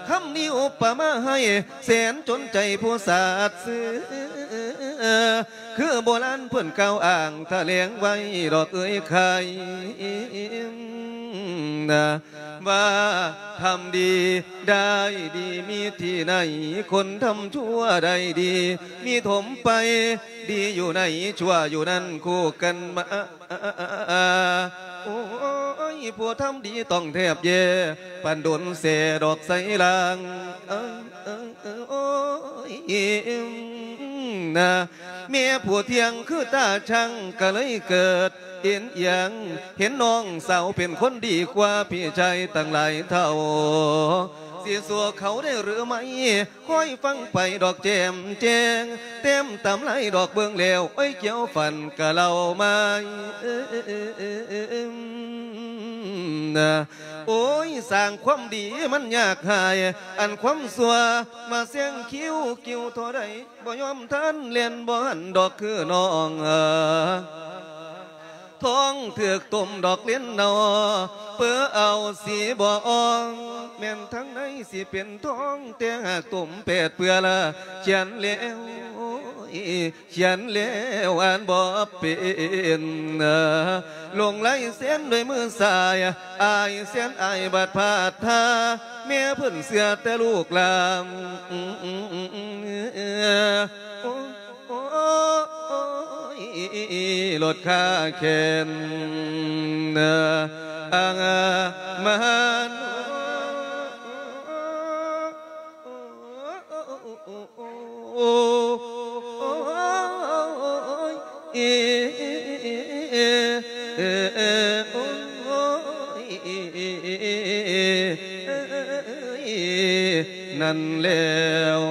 ຄຳນີ້ອຸປະມາໃຫ້ແສນຈົນໃຈຜູ້ສາດຊື່ ຄືໂບລານເພິ່ນກ່າວອ້າງຖະແຫຼງໄວ້ດອກເອີຍໄຂ່ ວ່າທຳດີໄດ້ດີມີທີ່ໃນ ຄົນທຳຊົ່ວໄດ້ດີມີຖົມໄປ ດີຢູ່ໃນຊົ່ວຢູ່ນັ້ນຄູ່ກັນມາ ໂອ້ຍ ຜູ້ທຳດີຕ້ອງແທບແຍ່ ປານດົນແຊ່ດອກໄຊລາງ ໂອ້ຍ ນະ ແມ່ຜູ້ທ່ຽງຄືຕາຊ່າງ ກະເລີຍເກີດເອັນອຽງ ເຫັນນ້ອງສາວເປັນຄົນດີກວ່າພີ່ຊາຍຕັ້ງຫຼາຍເທົ່າ ຊິຊົ່ວເຂົາໄດ້ຫຼືໄໝ? ຄອຍຟັງໄປດອກແຈ່ມແຈ້ງ ແຕ້ມຕຳລາຍດອກເບິ່ງແລ້ວ ໂອ້ຍ ກ່ຽວຝັນກະເລົ່າມາ ໂອ້ຍ ສ້າງຄວາມດີມັນຍາກຫາຍ ອັນຄວາມຊົ່ວມາແຊງຄິວ ກິວທໍ່ໃດ ບໍ່ຍອມທັນ ແລ່ນບໍ່ທັນດອກຄືນ້ອງ ທ້ອງຖືກຕົ້ມດອກເຫຼັ້ນເນົ່າ ເປີເອົາສີບໍ່ອ່ອງ ແມ່ນທາງໃນຊິເປັນທອງ ແຕ່ຫາກຕົ້ມແປດເປືອລະ ຂຽນແລ້ວ ຂຽນແລ້ວອ່ານບໍ່ເປັນ ລົງລາຍເຊັນດ້ວຍມືຊ້າຍ ອ້າຍແສນອາຍບາດພາດທ່າ ແມ່ເພິ່ນເຊື່ອແຕ່ລູກຫຼານ ໂອ້ຍ ລົດຄ່າແຂນ ອາງມານ ໂອ້ຍ ນັ້ນແລ້ວ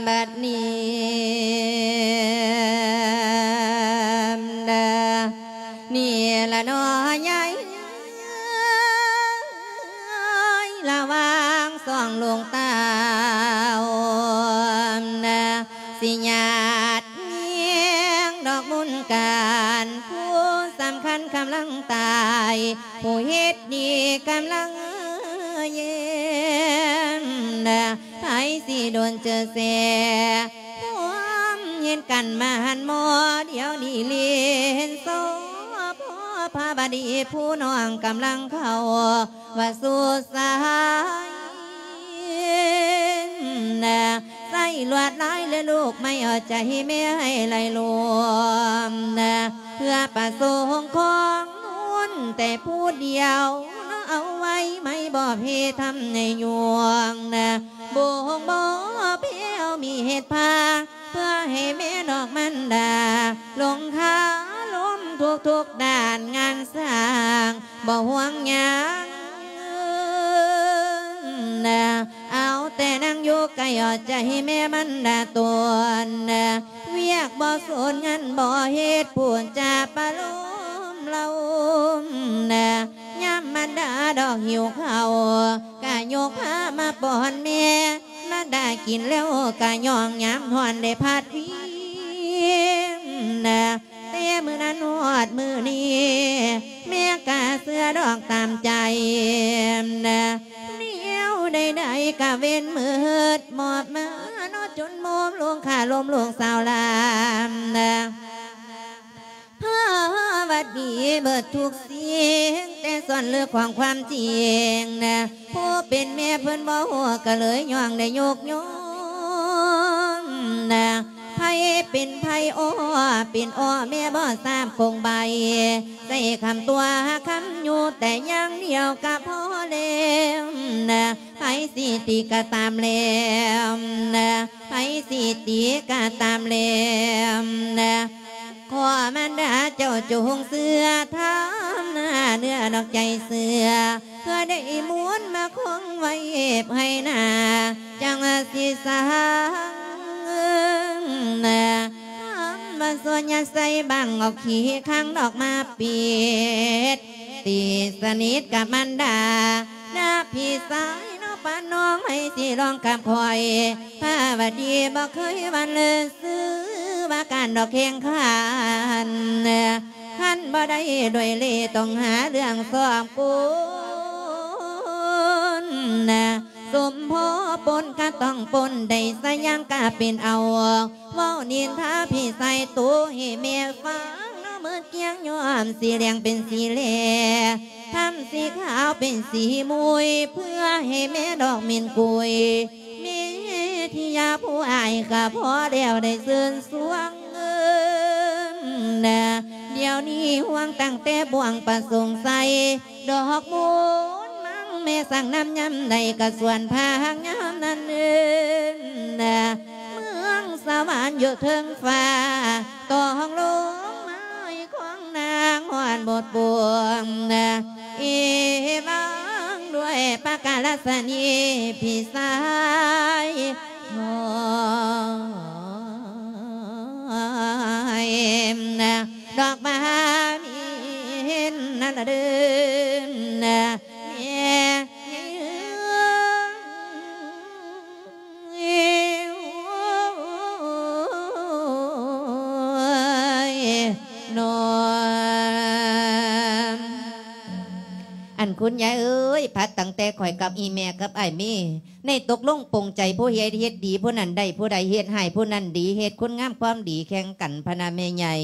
ບັດນີ້ ນີ້ລະເນາະຍາຍ ລະຫວ່າງສອງລູກເຕົ້າ ນະ ຊິຍາດແຍງດອກບຸນການ ຜູ້ສຳຄັນກຳລັງຕາຍ ຜູ້ເຮັດດີກຳລັງແຍ່ມ ນະ ໃຜຊິດົນເຈີແຊ ຄວາມເຫັນກັນມາຫັນໝໍ ດຽວນີ້ເລນຊໍ ພໍ່ພາບະດີຜູ້ນ້ອງກຳລັງເຂົ້າ ວ່າສູ່ສາຍ ນະ ໃສ່ລວດລາຍ ແລະລູກໄມ້ເອົາໃຈແມ່ໃຫ້ໄຫຼລວມ ນະ ເພື່ອປະສົງຂອງບຸນແຕ່ຜູ້ດຽວ ເອົາໄວ້ໄມ້ບອບເຮັດທຳໃນຍວງ ນະ ບົ່ງບໍ່ແພ້ວມີເຮັດພາ ເພື່ອໃຫ້ແມ່ນອກມັນດາ ລົງຄາລົມທຸກໆດ້ານງານສ້າງ ບໍ່ຫ່ວງຫຍັງ ນະ ເອົາແຕ່ນັ່ງຢູ່ໃກ້ເອົາໃຈແມ່ມັນດາຕົນ ນະ ວຽກບໍ່ສົນງານບໍ່ເຮັດ ພູດຈາປະໂລມເລົ່າ ນະ ຍາມມັນດາດອກຫິວເຂົ້າ ກະຍົກພາມາປ້ອນແມ່ ມັນດາກິນແລ້ວກະຍ້ອງ ຍາມຮ້ອນໄດ້ພັດວີ ມື້ນັ້ນຮອດມື້ນີ້ ແມ່ກະເຊື່ອດອກຕາມໃຈ ແນວໃດໆກະເວັນມືດ ມອບມາເນາະ ຈົນໂມມລົງຄ່າລົມລູກສາວຫຼານ ພາວັດດີເບິດທຸກສິ່ງ ແຕ່ສ່ວນເລິກຂອງຄວາມຈິງ ຜູ້ເປັນແມ່ເພິ່ນບໍ່ຮູ້ ກະເລີຍຍ້ອງໄດ້ຍົກຍ້ອງ ໃຜເປັນໃຜ ອໍ ເປັນອໍ ແມ່ບໍ່ຊາບກົງໃບ ໃຊ້ຄຳຕົວະຄຳຢູ່ແຕ່ຢ່າງດຽວກະພໍແລ້ວ ໃຜຊິຕິກະຕາມແລ້ວ ໃຜຊິຕິກະຕາມແລ້ວ ຂໍມານດາເຈົ້າຈົ່ງເຊື່ອທຳນາເນື້ອນອກໃຈເຊື່ອ ເພື່ອໄດ້ໝູນມາຄົງໄວ້ໃຫ້ໜ້າ ຈັ່ງວ່າຊິສ້າງທຳມາສ່ວນຍາໃສ່ບັງອອກຂີ້ຄັງດອກມາປິດ ຕີສະໜິດກັບມານດາ ນາພີ່ຊາຍເນາະ ປານນ້ອງໃຫ້ຊິລອງກັບຂ້ອຍ ພາວະດີບໍ່ເຄີຍຫວັ່ນເລີຍ ຊື່ວ່າການດອກແຂ່ງຂັນ ຄັນບໍ່ໄດ້ດ້ວຍເລ່ ຕ້ອງຫາເລື່ອງຊອກກົນ ສົມພໍປົນກະຕ້ອງປົນ ໄດ້ສະຫຍັງກະເປັນເອົາ ເວົ້ານິນທາພີ່ຊາຍໂຕໃຫ້ແມ່ຟັງເນາະ ໝົດກຽງຍ້ອມສີແດງເປັນສີແລ ທຳສີຂາວເປັນສີມຸຍ ເພື່ອໃຫ້ແມ່ດອກເມັນກຸຍ ເມທິຍາຜູ້ອ້າຍກະພໍແລ້ວໄດ້ຊື່ນຊວງ ດຽວນີ້ຫ່ວງຕັ້ງແຕ່ບ່ວງປະສົງໄຊ ດອກມູນມັງແມ່ສັງນຳຍາມໃດກະສວນພາກຍາມນັ້ນເອີ ເມືອງສະຫວັນຢູ່ເທິງຟ້າ ຕ້ອງລົງມາໃຫ້ຂອງນາງຮອດບົດບວງ ເອວັງດ້ວຍປະກາລະສະນີ ພີ່ຊາຍນ້ອຍ ດອກບານເຫັນນັ້ນລະເດີ ແມ່ ນ້ອງ ອັນຄຸນຍາຍເອີຍ ພັດຕັ້ງແຕ່ຂ້ອຍກັບອີ່ແມ່ກັບອ້າຍເມ ໄດ້ຕົກລົງປົງໃຈ ຜູ້ເຮັດເຮັດດີ ຜູ້ນັ້ນໄດ້ ຜູ້ໃດເຮັດຮ້າຍ ຜູ້ນັ້ນດີ ເຮັດຄຸນງາມຄວາມດີແຂ່ງກັນ ພະນະແມ່ໃຫຍ່.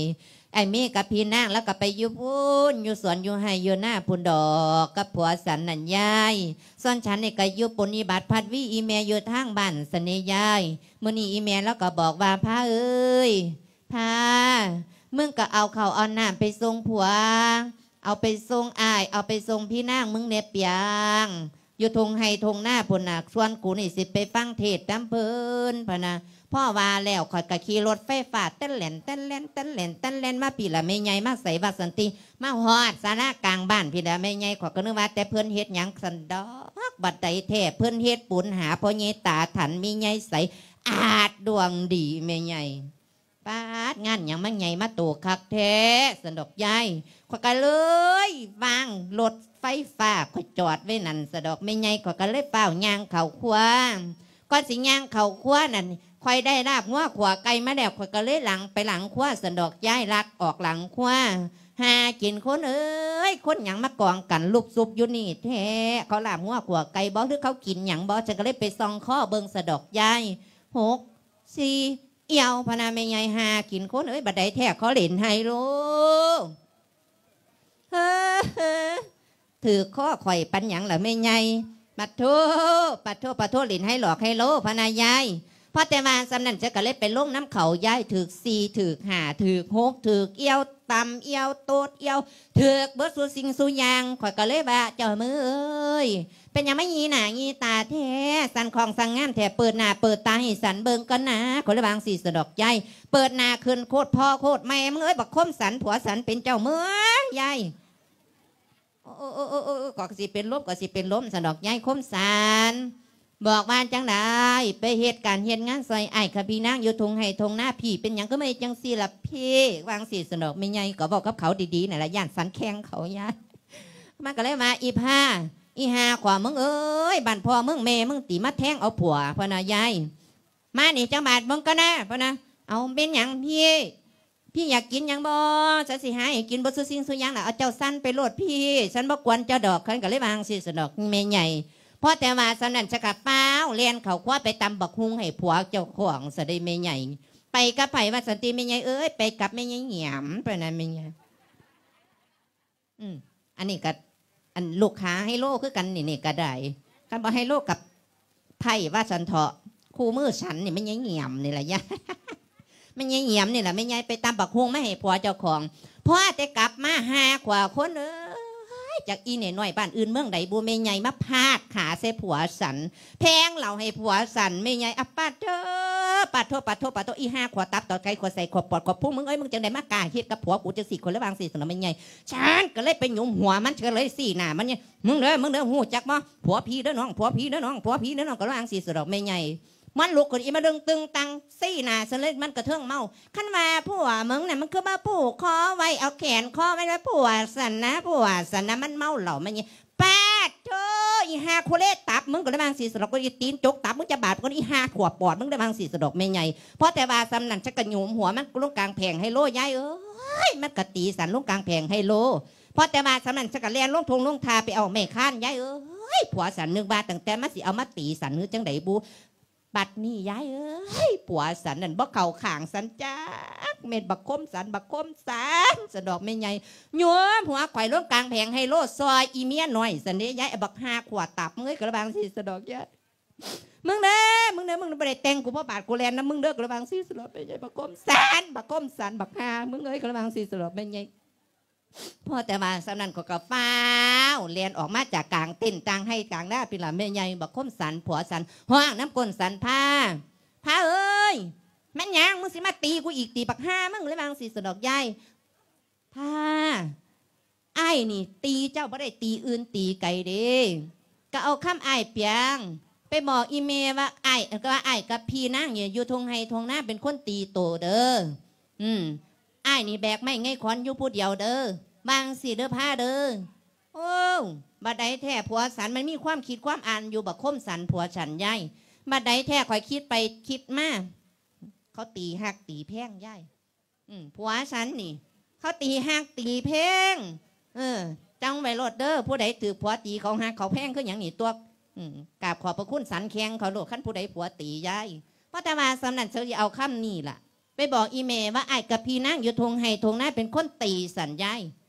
ອ້າຍເມກັບພີ່ນາງລາວກໍໄປຢູ່ພຸ້ນ ຢູ່ສວນຢູ່ໄຮ່ຢູ່ນາພຸ້ນດອກ ກັບຜົວສັນນັ້ນຍາຍ. ສ່ວນສັນນີ້ກໍຢູ່ປົນນິບັດພັດວີອີ່ແມ່ຢູ່ທາງບ້ານຊັ້ນເດຍາຍ. ມື້ນີ້ອີ່ແມ່ລາວກໍບອກວ່າ ພາເອີຍ ພາ ມຶງກໍເອົາເຂົ້າເອົານ້ຳໄປສົ່ງຜົວ ເອົາໄປສົ່ງອ້າຍ ເອົາໄປສົ່ງພີ່ນາງມຶງແດ່ປຽງ ຢູ່ທົ່ງໄຮ່ທົ່ງນາພຸ້ນນະ ສ່ວນກູນີ້ຊິໄປຟັງເທດນຳເພິ່ນ ພະນະ. ພໍວ່າແລ້ວ ຂ້ອຍກໍຂີ່ລົດໄຟຟ້າແຕ່ນແລ່ນ ແຕ່ນແລ່ນ ແຕ່ນແລ່ນ ແຕ່ນແລ່ນມາພີ້ລະແມ່ໃຫຍ່ ມາໃສວ່າຊັ້ນຕິ ມາຮອດສາລາກາງບ້ານພີ້ລະແມ່ໃຫຍ່. ຂ້ອຍກໍນຶກວ່າແຕ່ເພິ່ນເຮັດຫຍັງຊັ້ນດອກ ບັດໃດແທ້ເພິ່ນເຮັດບຸນຫາພໍ່ໃຫຍ່ຕາຖັນ ແມ່ໃຫຍ່ໃສ ອາດດວງດີແມ່ໃຫຍ່. ປາດ ງານຫຍັງມັນໃຫຍ່ມາໂຕຄັກແທ້ ຊັ້ນດອກຍາຍ. ຂ້ອຍກໍເລີຍວາງລົດໄຟຟ້າຂ້ອຍຈອດໄວ້ນັ້ນ ຊັ້ນດອກແມ່ໃຫຍ່. ຂ້ອຍກໍເລີຍຟ້າວຍ່າງເຂົ້າຄົວ. ກ່ອນຊິຍ່າງເຂົ້າຄົວນັ້ນ ຂ້ອຍໄດ້ລາບງົວຂົ້ວໄກ່ມາແລ້ວ ຂ້ອຍກໍເລີຍຫຼັ່ງໄປຫຼັງຄົວ ຊັ້ນດອກຍາຍ. ລັກອອກຫຼັງຄົວ ຫາກິນຄົນເອີຍ ຄົນຫຍັງມາກອງກັນລຸບຊຸບຢູ່ນີ້ແທ້ ເຂົາລາບງົວຂົ້ວໄກ່ບໍ ຫຼືເຂົາກິນຫຍັງບໍ? ຊັ້ນກໍເລີຍໄປສ່ອງຄໍເບິ່ງ ຊັ້ນດອກຍາຍ. ຫົກ ສີ່ ອຽວ ພະນະແມ່ໃຫຍ່ ຫາກິນຄົນເອີຍ. ບັດໃດແທ້ ເຂົາຫຼິ້ນໄຮໂລ ເຮີ ຖືກຄໍຂ້ອຍປານຫຍັງລະແມ່ໃຫຍ່? ປະໂທ ປະໂທ ປະໂທ ຫຼິ້ນໄຮຫຼອກໄຮໂລ ພະນະຍາຍ. ພໍແຕ່ວ່າສ່ຳນັ້ນ ຂ້ອຍກໍເລີຍໄປລົງນຳເຂົາຍາຍ. ຖືກສີ່ ຖືກຫ້າ ຖືກຫົກ ຖືກອຽວ ຕຳອຽວ ໂຕດອຽວ ຖືກເບິດສູ່ສິ່ງສູ່ຢ່າງ. ຂ້ອຍກໍເລີຍວ່າ ເຈົ້າເອີຍ ເປັນຫຍັງມາຫຢີໜ້າຫຢີຕາແທ້ ສັນຂອງສັນງາມແທ້ ເປີດໜ້າເປີດຕາໃຫ້ສັນເບິ່ງກ່ອນນາ. ຂ້ອຍເລີຍວ່າຈັ່ງຊີ້ ຊັ້ນດອກຍາຍ. ເປີດໜ້າຂຶ້ນໂຄດພໍ່ໂຄດແມ່ມຶງເອີຍ ບັກຄົມສັນ ຜົວສັນເປັນເຈົ້າເມີຍຍາຍ. ໂອ້ ໂອ້ ໂອ້ ໂອ້ ໂອ້ ກໍຊິເປັນລົມ ກໍຊິເປັນລົມ ຊັ້ນດອກຍາຍ. ຄົມສັນບອກວ່າຈັ່ງໃດ ໄປເຮັດການເຮັດງານຊ່ອຍອ້າຍກັບພີ່ນາງຢູ່ທົ່ງໄຮ່ທົ່ງນາ. ພີ່ເປັນຫຍັງຄືມາເຮັດຈັ່ງຊີ້ລະພີ່? ວ່າຈັ່ງຊີ້ ຊັ້ນດອກແມ່ໃຫຍ່. ກໍເວົ້າກັບເຂົາດີໆນັ້ນລະ ຢ້ານສັນແຂ່ງເຂົາຍາຍ. ມັນກໍເລີຍວ່າ ອີພາ ອີຫາຂວາມຶງເອີຍ ບ້ານພໍ່ມຶງແມ່ມຶງຕິມາແທງເອົາຜົວ ພະນະຍາຍ. ມານີ້ຈັກບາດເບິ່ງກ່ອນນາ ພະນະ. ເອົາ ແມ່ນຫຍັງພີ່? ພີ່ຢາກກິນຫຍັງບໍ່? ສັນຊິຫາໃຫ້ກິນເບິດສູ່ສິ່ງສູ່ຢ່າງລະ. ເອົາ ເຈົ້າສັນໄປໂລດພີ່ ສັນບໍ່ກວນເຈົ້າດອກ. ສັນກໍເລີຍວ່າຈັ່ງຊີ້ສະດອກແມ່ໃຫຍ່. ພໍແຕ່ວ່າສ່ຳນັ້ນ ສັນກໍຟ້າວແລ່ນເຂົ້າຄົວໄປຕຳບັກຫຸ່ງໃຫ້ຜົວເຈົ້າຂອງຊະເດ້ແມ່ໃຫຍ່. ໄປກັບໃຜວ່າຊັ້ນຕິແມ່ໃຫຍ່ເອີຍ? ໄປກັບແມ່ໃຫຍ່ຫຍາມ ປານນັ້ນແມ່ໃຫຍ່. ອືມ ອັນນີ້ກໍ ອັນລູກຄ້າໄຮໂລຄືກັນນີ້ ນີ້ກໍໄດ້. ຄັນບໍ່ໄຮໂລກັບໄພ້ວ່າຊັ້ນເຖາະ. ຄູ່ມືສັນນີ້ແມ່ໃຫຍ່ຫຍາມນີ້ລະຍາຍ ແມ່ໃຫຍ່ຫຍາມນີ້ລະແມ່ໃຫຍ່ ໄປຕຳບັກຫຸ່ງມາໃຫ້ຜົວເຈົ້າຂອງ. ພໍແຕ່ກັບມາ ຫ້າຂວບຄົນເອີຍ ຈັກອີ່ແມ່ນ້ອຍບ້ານອື່ນເມືອງໃດບຸແມ່ໃຫຍ່ ມາພາດຂາໃສ່ຜົວສັນ ແພງເຫຼົ້າໃຫ້ຜົວສັນແມ່ໃຫຍ່. ອະ ປາດເທີ ປາດໂທ ປາດໂທ ປາດໂທ ອີ່ຫ້າຂວບຕັບ ຕອດໄກ່ ຂວດໄສ້ ຂວດປອດ ຂວດພຸງ ມຶງເອີຍ ມຶງຈັ່ງໄດ້ມາກ້າເຮັດກັບຜົວກູຈັ່ງຊີ້ ຂ້ອຍເລີຍວ່າຈັ່ງຊີ້ ສະນຳແມ່ໃຫຍ່. ສັນກໍເລີຍໄປຫຍຸມຫົວມັນ ເທື່ອເລີຍຊີ້ໜ້າມັນ ມຶງເດີ ມຶງເດີ ຮູ້ຈັກບໍ່? ຜົວພີ່ເດີນ້ອງ ຜົວພີ່ເດີນ້ອງ ຜົວພີ່ເດີນ້ອງ ກໍວ່າຈັ່ງຊີ້ສະດອກແມ່ໃຫຍ່. ມັນລຸກຂຶ້ນອີ່ມາດຶງຕຶງຕັງ ຊີ້ໜ້າຊັ້ນເລີຍ ມັນກະເທິງເມົາ. ຄັນວ່າຜົວມຶງນະ ມັນຄືມາຜູກຄໍໄວ້ ເອົາແຂນຄໍໄວ້ ວ່າຜົວສັນນະ ຜົວສັນນະ. ມັນເມົາເຫຼົ້າ ມັນ ປາດໂທ ອີ່ຫ້າຄູເລຕັບ ມຶງກໍເລີຍວ່າຈັ່ງຊີ້ສະດອກ ອີ່ຕີນຈົກຕັບ ມຶງຈະບາດ ອີ່ຫ້າຂວບປອດ ມຶງເລີຍວ່າຈັ່ງຊີ້ສະດອກແມ່ໃຫຍ່. ພໍແຕ່ວ່າສ່ຳນັ້ນ ສັນກໍຫຍຸມຫົວມັນລົງກາງແຜງໄຮໂລ ຍາຍເອີຍ ມັນກໍຕີສັນລົງກາງແຜງໄຮໂລ. ພໍແຕ່ວ່າສ່ຳນັ້ນ ສັນກໍແລ່ນລົງທົ່ງລົງທ່າໄປເອົາໄມ້ຄ້ານ ຍາຍເອີຍ. ຜົວສັນນຶກວ່າຕັ້ງແຕ່ມັນຊິເອົາມາຕີສັນ ຫຼືຈັ່ງໃດບຸ. ບັດນີ້ຍາຍເອີຍ ຜົວສັນນັ້ນບໍ່ເຂົ້າຂ້າງສັນຈັກເມັດ ບັກຄົມສັນ ບັກຄົມສັນ ສະດອກແມ່ໃຫຍ່. ໂຍມ ຫົວຂ້ອຍລົງກາງແຜງໄຮໂລ ຊ່ອຍອີເມຍນ້ອຍຊັ້ນເດ້ຍາຍ. ບັກຫ້າຂວບຕັບ ເອີຍ ກໍລະບາງຊີ້ສະດອກຍາຍ. ມຶງເດີ ມຶງເດີ ມຶງບໍ່ໄດ້ແຕ່ງ ກູບໍ່ບາດ ກູແລ່ນນຳມຶງເດີ ກໍລະບາງຊີ້ສະດອກແມ່ໃຫຍ່. ບັກຄົມສັນ ບັກຄົມສັນ ບັກຫ້າ ມຶງເອີຍ ກໍລະບາງຊີ້ສະດອກແມ່ໃຫຍ່. ພໍແຕ່ວ່າສ່ຳນັ້ນ ຂ້ອຍກໍຟ້າວແລ່ນອອກມາຈາກກາງເຕັນ ກາງໄຮ່ກາງນາ ພີ້ລະແມ່ໃຫຍ່. ບັກຄົມສັນ ຜົວສັນ ຮ້ອງນຳກົ້ນສັນ ພາ ພາເອີຍ ແມ່ນຫຍັງ? ມຶງຊິມາຕີກູອີກຕິ ບັກຫ່າມຶງ ເລີຍວ່າຈັ່ງຊີ້ສະດອກຍາຍ. ພາ ອ້າຍນີ້ຕີເຈົ້າບໍ່ໄດ້ຕີອື່ນຕີໄກເດ້ ກໍເອົາຄຳອ້າຍປຽງໄປບອກອີ່ແມ່ວ່າ ອ້າຍ ກໍວ່າອ້າຍກັບພີ່ນາງນີ້ຢູ່ທົ່ງໄຮ່ທົ່ງນາເປັນຄົນຕີໂຕເດີ. ອືມ ອ້າຍນີ້ແບກໄມ້ໄງຂອນຢູ່ຜູ້ດຽວເດີ ວ່າຈັ່ງຊີ້ເດີພາເດີ. ໂອ້ ບັດໃດແທ້ຜົວສັນມັນມີຄວາມຄິດຄວາມອ່ານຢູ່ ບັກຄົມສັນຜົວສັນຍາຍ. ບັດໃດແທ້ຂ້ອຍຄິດໄປຄິດມາ ເຂົາຕີຮັກຕີແພງຍາຍ. ອືມ ຜົວສັນນີ້ ເຂົາຕີຮັກຕີແພງ. ເອີ ຈຳໄວ້ໂລດເດີ ຜູ້ໃດຖືກຜົວຕີ ເຂົາຮັກເຂົາແພງຄືຫຍັງນີ້ຕົວະ. ອືມ ກາບຂອບພະຄຸນສັນແຂ່ງເຂົາໂລດ ຄັນຜູ້ໃດຜົວຕີຍາຍ. ພໍແຕ່ວ່າສ່ຳນັ້ນ ເຂົາຊິເອົາຄຳນີ້ລະໄປບອກອີ່ແມ່ວ່າ ອ້າຍກັບພີ່ນາງຢູ່ທົ່ງໄຮ່ທົ່ງນາເປັນຄົນຕີສັນຍາຍ.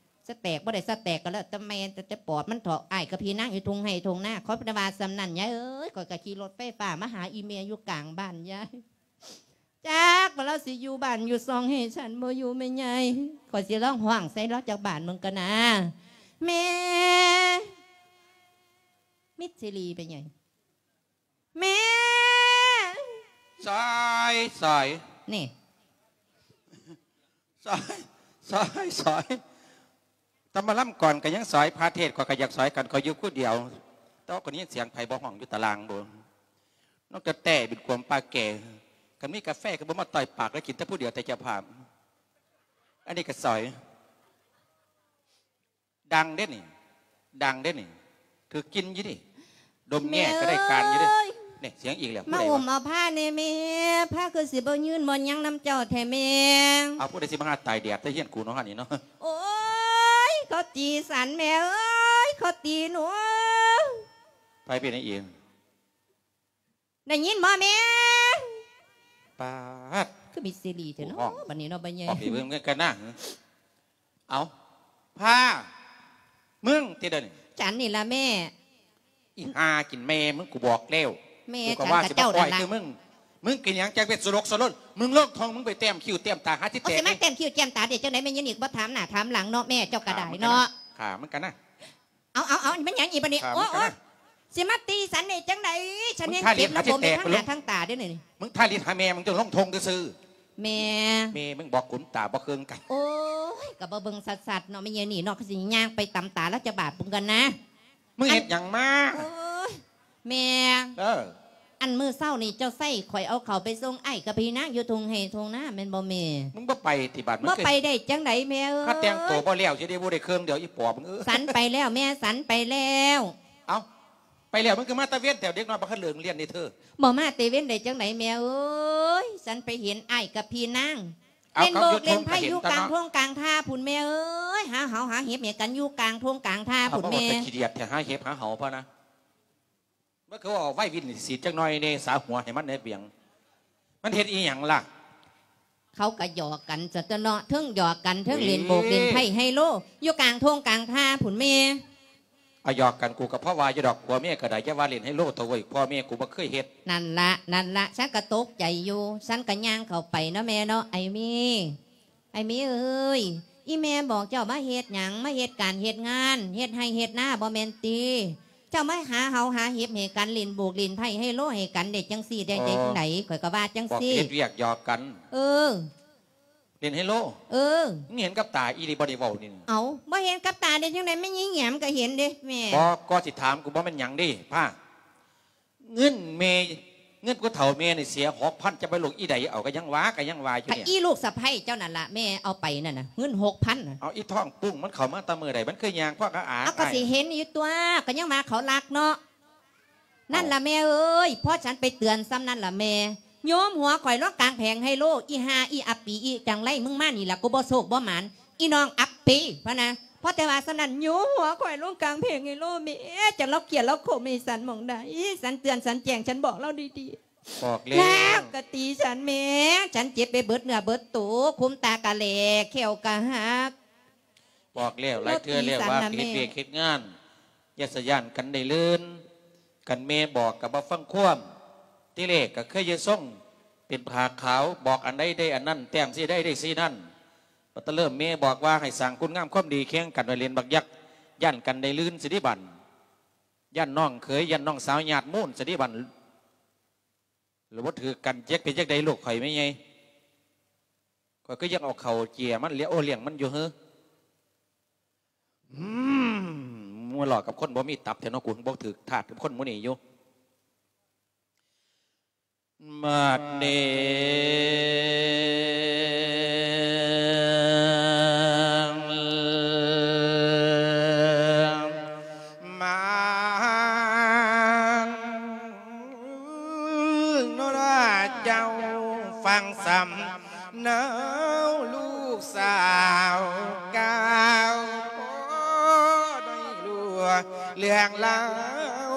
ສະແຕກບໍ່ໄດ້ສະແຕກກໍແລ້ວແຕ່ແມ່ນ ແຕ່ ແຕ່ປອດມັນເຖາະ ອ້າຍກັບພີ່ນາງຢູ່ທົ່ງໄຮ່ທົ່ງນາ. ຂໍແຕ່ວ່າສ່ຳນັ້ນຍາຍເອີຍ ຂ້ອຍກໍຂີ່ລົດໄຟຟ້າມາຫາອີ່ແມ່ຢູ່ກາງບ້ານຍາຍ. ຈັກວ່າລາວຊິຢູ່ບ້ານຢູ່ຊ່ອງໃຫ້ສັນບໍ່ຢູ່ແມ່ໃຫຍ່. ຂ້ອຍຊິລອງຮ້ອງໃສ່ລາວຈັກບາດເບິ່ງກ່ອນນາ. ແມ່ ມິດຊີຣີໄປໃຫຍ່ ແມ່ ສາຍ ສາຍ ນີ້ ສາຍ ສາຍ ສາຍ. ຕຳມາລຳກ່ອນກໍຍັງສອຍ ພາເທດຂ້ອຍກໍຢາກສອຍກັນ ຂ້ອຍຢູ່ຜູ້ດຽວ. ແຕ່ວ່າກໍໄດ້ຍິນສຽງໃຜບໍ່ຮ້ອງຢູ່ຕາລ່າງບໍ? ນ້ອງກະແຕເປັນກວມປາແກ່. ຄັນມີກາແຟກໍບໍ່ມາຕ່ອຍປາກ ແລ້ວກິນແຕ່ຜູ້ດຽວແຕ່ເຈົ້າພາບ. ອັນນີ້ກໍສອຍ. ດັງເດ້ນີ້ ດັງເດ້ນີ້ ຖືກກິ່ນຢູ່ເດ້. ດົມແງ່ກໍໄດ້ການຢູ່ເດ້. ແມ່ເອີຍ ນີ້ສຽງອີກແລ້ວ. ມາອຸ້ມເອົາພາແດ່ແມ່. ພາຄືຊິບໍ່ຍືນບໍ່ຫຍັງນຳເຈົ້າແທ້ແມ່. ເອົາ ຜູ້ໃດຊິມາຫາຕາຍແດດແຕ່ເຮືອນກູເນາະ ຫັ້ນນີ້ເນາະ. ໂອ້ຍ ເຂົາຕີສັນແມ່ເອີຍ ເຂົາຕີໜູ. ໃຜເປັນຫຍັງອີກ? ໄດ້ຍິນບໍ່ແມ່? ປາດ ຄືມີຊີຣີແທ້ເນາະ ບັດນີ້ເນາະ ບັດໃຫຍ່. ອອກໄປເບິ່ງກັນນະ. ເອົາ ພາ ມຶງຕິດດຽວນີ້. ສັນນີ້ລະແມ່. ອີ່ຫ່າກິນແມ່ມຶງ ກູບອກແລ້ວ. ແມ່ ກູກໍວ່າຊິມາປ່ອຍຄືມຶງ. ມຶງກິນຫຍັງຈັກເມັດ ສະຫຼົກສະຫຼົນ. ມຶງລົງທ້ອງ ມຶງໄປແຕ້ມຄິ້ວແຕ້ມຕາ ຫາຊິແຕກ. ໂອ້ ຊິມາແຕ້ມຄິ້ວແຕ້ມຕາໄດ້ຈັ່ງໃດ ແມ່ຍານິກບໍ່ຖາມໜ້າຖາມຫຼັງເນາະແມ່. ເຈົ້າກໍໄດ້ເນາະ. ຂ້າມັນກັນນະ. ເອົາ ເອົາ ເອົາ ແມ່ນຫຍັງອີກບັດນີ້? ໂອ້ ໂອ້ຍ ຊິມາຕີສັນໄດ້ຈັ່ງໃດ? ສັນແຮງເຈັບລະບົມໄປທາງໜ້າທາງຕາເດ້ນີ້. ມຶງທາລິດຫາແມ່ມຶງ ຈັ່ງລົງທົ່ງຊື່ໆ. ແມ່ ແມ່ມຶງບອກຂຸນຕາບໍ່ເຄີງກັນ. ໂອ້ຍ ກໍບໍ່ເບິ່ງຊັດໆເນາະ ແມ່ຍານີ້ເນາະ. ກໍຊິຍ່າງໄປຕຳຕາລາວຈັກບາດພຸ້ນກ່ອນນະ. ມຶງເຮັດຫຍັງມາ? ໂອ້ຍ ແມ່ ເອີ ອັນມື້ເຊົ້ານີ້ເຈົ້າໃຊ້ຂ້ອຍເອົາເຂົ້າໄປສົ່ງອ້າຍກັບພີ່ນາງຢູ່ທົ່ງໄຮ່ທົ່ງນາແມ່ນບໍ່ແມ່? ມຶງບໍ່ໄປຕິບາດ? ບໍ່ໄປໄດ້ຈັ່ງໃດແມ່ເອີຍ? ຫາແຕ່ງໂຕບໍ່ແລ້ວຊິໄດ້ ບໍ່ໄດ້ເຄື່ອງດຽວ ອີ່ປອບເອີຍ. ສັນໄປແລ້ວແມ່ ສັນໄປແລ້ວ. ເອົ້າ ໄປແລ້ວ ມັນຄືມາຕາເວັນແທ້ ເດັກນ້ອຍບໍ່ທັນເລີກຮຽນເດ້ເທີ. ບໍ່ມາແຕ່ເວັນໄດ້ຈັ່ງໃດແມ່ເອີຍ? ສັນໄປເຫັນອ້າຍກັບພີ່ນາງ ເອົາ ເຫຼັ້ນໂບກເຫຼັ້ນໄພ້ຢູ່ກາງທົ່ງກາງທ່າພຸ້ນແມ່ເອີຍ ຫາເຫົາຫາເຫັບໃຫ້ກັນຢູ່ກາງທົ່ງກາງທ່າພຸ້ນແມ່. ເອົາ ເວົ້າແຕ່ຂີ້ດຽດແທ້ ຫາເຫັບຫາເຫົາພໍນະ. ມັນຄືວ່າໄວວິນສີດຈັກໜ່ອຍແດ່ ສາຫົວໃຫ້ມັນແດ່ເບຍງ. ມັນເຮັດອີ່ຫຍັງລະ? ເຂົາກະຫຍອກກັນຊັ້ນຕົວະເນາະ ເທິງຫຍອກກັນເທິງເຫຼັ້ນໂບກເຫຼັ້ນໄພ້ໄຮໂລ ຢູ່ກາງທົ່ງກາງທ່າພຸ້ນແມ່. ອາ ຫຍອກກັນ ກູກະພໍວ່າຢູ່ດອກ ຜົວເມຍກະໄດ້ ຢ່າວ່າເຫຼັ້ນໄຮໂລເຖາະເວີຍ ພໍ່ແມ່ກູບໍ່ເຄີຍເຮັດ. ນັ້ນລະ ນັ້ນລະ ສັນກະຕົກໃຈຢູ່ ສັນກະຍ່າງເຂົ້າໄປເນາະແມ່ເນາະ ໄອ້ເມ ໄອ້ເມເອີຍ ອີ່ແມ່ບອກເຈົ້າມາເຮັດຫຍັງ ມາເຮັດການເຮັດງານ ເຮັດໄຮ່ເຮັດນາບໍ່ແມ່ນຕິ? ເຈົ້າມາຫາເຫົາຫາເຫັບໃຫ້ກັນ ຫຼິ້ນໂບກຫຼິ້ນໄພ້ໄຮໂລໃຫ້ກັນໄດ້ຈັ່ງຊີ້ ໄດ້ ໄດ້ຈັ່ງໃດ? ຂ້ອຍກະວ່າຈັ່ງຊີ້ ບອກເຮັດວຽກຫຍອກກັນ. ເອີ ຫຼິ້ນໄຮໂລ. ເອີ ມຶງເຫັນກັບຕາອີ່ຫຼີບໍ່ໄດ້ເວົ້ານີ້. ເອົ້າ ບໍ່ເຫັນກັບຕາໄດ້ຈັ່ງໃດ ແມ່ນຍາຍແຫງມກະເຫັນເດ້ແມ່. ບໍ່ ກໍຊິຖາມກູບໍ່ແມ່ນຫຍັງເດ້ ພາ ເງິນແມ່ ເງິນຜູ້ເຖົ້າແມ່ນີ້ເສຍຫົກພັນ ຈະໄປລູກອີໃດເອົາ ກະຍັງວ່າ ກະຍັງວ່າຢູ່ ກະ ນີ້ ອີລູກສະໃພ້ເຈົ້ານັ້ນລະແມ່ເອົາໄປນັ້ນນະ ເງິນຫົກພັນນະ. ເອົາ ອີທ້ອງປຸ້ງມັນເຂົ້າມາແຕ່ມື້ໃດ ມັນຄືຍ່າງຄວັກອາອາຍ. ເອົາ ກະຊິເຫັນຢູ່ຕົວະ ກະຍັງວ່າເຂົາລັກເນາະ. ນັ້ນລະແມ່ເອີຍ ພໍສັນໄປເຕືອນຊ່ຳນັ້ນລະແມ່ ໂຍມຫົວຂ້ອຍລົງກາງແຜງໄຮໂລ ອີ່ຫ່າ ອີ່ອັບປີ ອີ່ຈັ່ງໃດ ມຶງມານີ້ລະ ກູບໍ່ໂຊກບໍ່ໝານ ອີ່ນ້ອງອັບປີ ພະນະ. ພໍແຕ່ວ່າຊ່ຳນັ້ນ ໂຍມຫົວຂ້ອຍລົງກາງແຜງໄຮໂລ ແມ່ ຈັກລາວກຽດລາວໂຄມໃຫ້ສັນໝ່ອງໃດ ສັນເຕືອນສັນແຈ້ງ ສັນບອກລາວດີໆ ບອກແລ້ວ ລາວກະຕີສັນແມ່ ສັນເຈັບໄປເບິດເນື້ອເບິດໂຕ ຂົມຕາກະແຫຼກ ແຂ້ວກະຫັກ. ບອກແລ້ວຫຼາຍເທື່ອແລ້ວວ່າ ເຮັດວຽກເຮັດງານ ຢ່າສະຢ້ານກັນໄດ້ລື່ນ ຄັນແມ່ບອກກະບໍ່ຟັງຄວາມ. ທີແລກກະເຄີຍຢູ່ຊົງເປັນຜ້າຂາວ ບອກອັນໃດໄດ້ອັນນັ້ນ ແຕ້ມຊີ້ໃດໄດ້ຊີ້ນັ້ນ. ບັດຕະເລີ່ມແມ່ບອກວ່າໃຫ້ສ້າງຄຸນງາມຄວາມດີ ແຂ່ງກັນໄວ້ຫຼິ້ນບັກຍັກ ຢ້ານກັນໄດ້ລື່ນຊິເດບັດ ຢ້ານນ້ອງເຂີຍ ຢ້ານນ້ອງສາວຍາດມູນຊິເດບັດ. ລະບໍ່ຖືກກັນ ຈັກເປັນຈັ່ງໃດລູກຂ້ອຍແມ່ໃຫຍ່ ຂ້ອຍຄືຍັງເອົາເຂົ້າເຈຍມັນ ໂອ້ ລ້ຽງມັນຢູ່ເຮີ. ອືມ ຫົວເລາະກັບຄົນບໍ່ມີຕັບແທ້ເນາະ ກູບໍ່ຖືກທາດກັບຄົນໝູ່ນີ້ຢູ່. ບາດນີ້ ມານໂນລາເຈົ້າຟັງສຳເນົາລູກສາວກ່າວ ໄດ້ຮູ້ເລື່ອງລາວ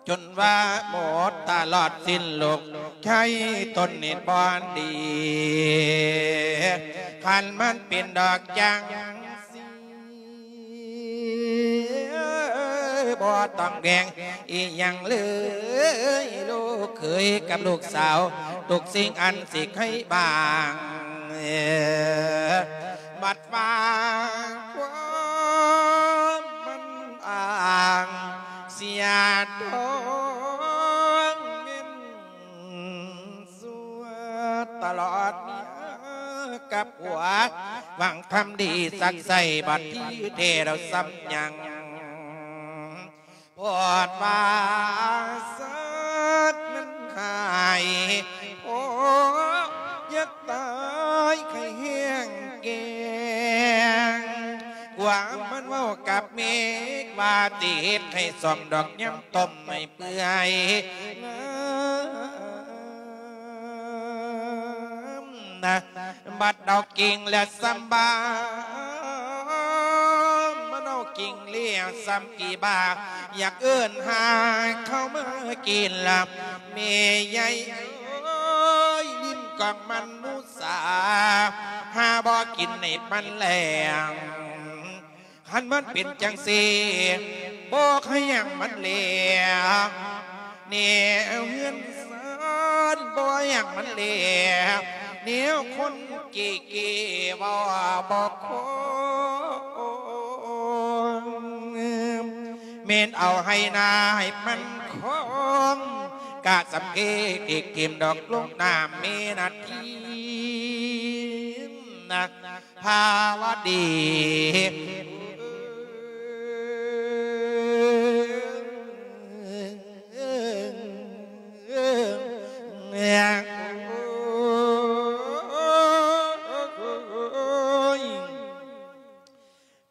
ຈົນວ່າໝົດຕະຫຼອດສິ້ນໂລກ ໃຊ້ຕົນນີ້ບໍ່ດີ ຄັນມັນເປັນດອກຈັ່ງ ບໍ່ຕ້ອງແບ່ງອີ່ຫຍັງເລີຍ ລູກເຂີຍກັບລູກສາວ ທຸກສິ່ງອັນຊິໃຫ້ບາງ ບັດວ່າຄວາມມັນອ້າງ ເສຍທອງເງິນ ສວດຕະຫຼອດເມຍກັບຜົວ ຫວັງທຳດີສັກໃສ່ ບັດທີ່ແທ້ແລ້ວຊ່ຳຍັງ ໂພດວ່າສັດມັນຫາຍ ໂພດຢາກຕາຍໄຂ້ແຮງແກງ ກວ່າມັນເວົ້າກັບເມກວ່າ ຊິເຮັດໃຫ້ສ້ອມດອກຍຳຕົ້ມໃຫ້ ເປື່ອຍງາມນະ ບັດເອົາກິ່ງແລະສຳບາ ມັນເອົາກິ່ງແລະສຳກີບາ ຢາກເອີ້ນຫາເຂົ້າມາກິນລະ ແມ່ໃຫຍ່ເອີຍ ຫຼິ້ນກອງມັນມຸສາ ຫາບໍ່ກິນໃຫ້ມັນແລ້ງ ຄັນມັນເປັນຈັ່ງຊີ້ ບໍ່ໃຫ້ຫຍັງມັນແລ ແນວເຮືອນຊານ ບໍ່ຫຍັງມັນແລ ແນວຄົນເກເກເວົ້າບໍ່ຄງ ແມ່ນເອົາໄຮ່ນາໃຫ້ມັນຄອງ ກະສຳເພກເດັກຖິ້ມດອກລົງນ້ຳແມ່ນາທີ ພາວະດີ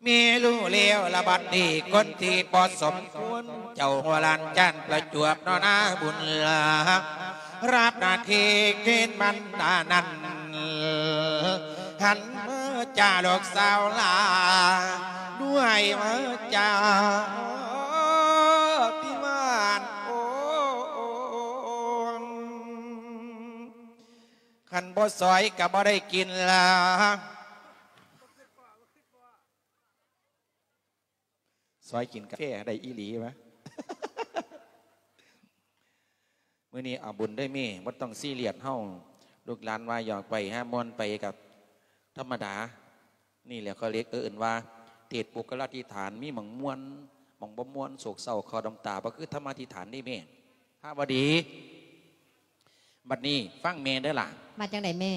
ແມ່ຮູ້ແລ້ວລະບັດນີ້ ຄົນທີ່ບໍ່ສົມຄວນ ເຈົ້າຫົວລ້ານຈານປະຈວບເນາະນາບຸນລາ ຮັບໜ້າທີ່ເກນມັນດານັ້ນ ຫັນມາຈາລູກສາວຫຼ້າ ດ້ວຍວາຈາທີ່ຫວານໂອນ ຄັນບໍ່ຊອຍກໍບໍ່ໄດ້ກິນລະ. ຊອຍກິນກາແຟໄດ້ອີ່ຫຼີວະ. ມື້ນີ້ເອົາບຸນເດີແມ່ ບໍ່ຕ້ອງຊີຣຽສເຮົາ ລູກຫຼານວ່າຢອກໄປຫາມ່ວນໄປກໍທຳມະດາ. ນີ້ແຫຼະເຂົາເອີ້ນວ່າເທດປຸກຄະລາທິຖານ ມີໝ່ອງມ່ວນ ໝ່ອງບໍ່ມ່ວນ ໂສກເສົ້າເຂົ້ານ້ຳຕາ ບໍ່ຄືທຳມະທິຖານເດ້ແມ່. ພາວະດີ ບັດນີ້ຟັງແມ່ເດີຫຼ້າ. ວ່າຈັ່ງໃດແມ່?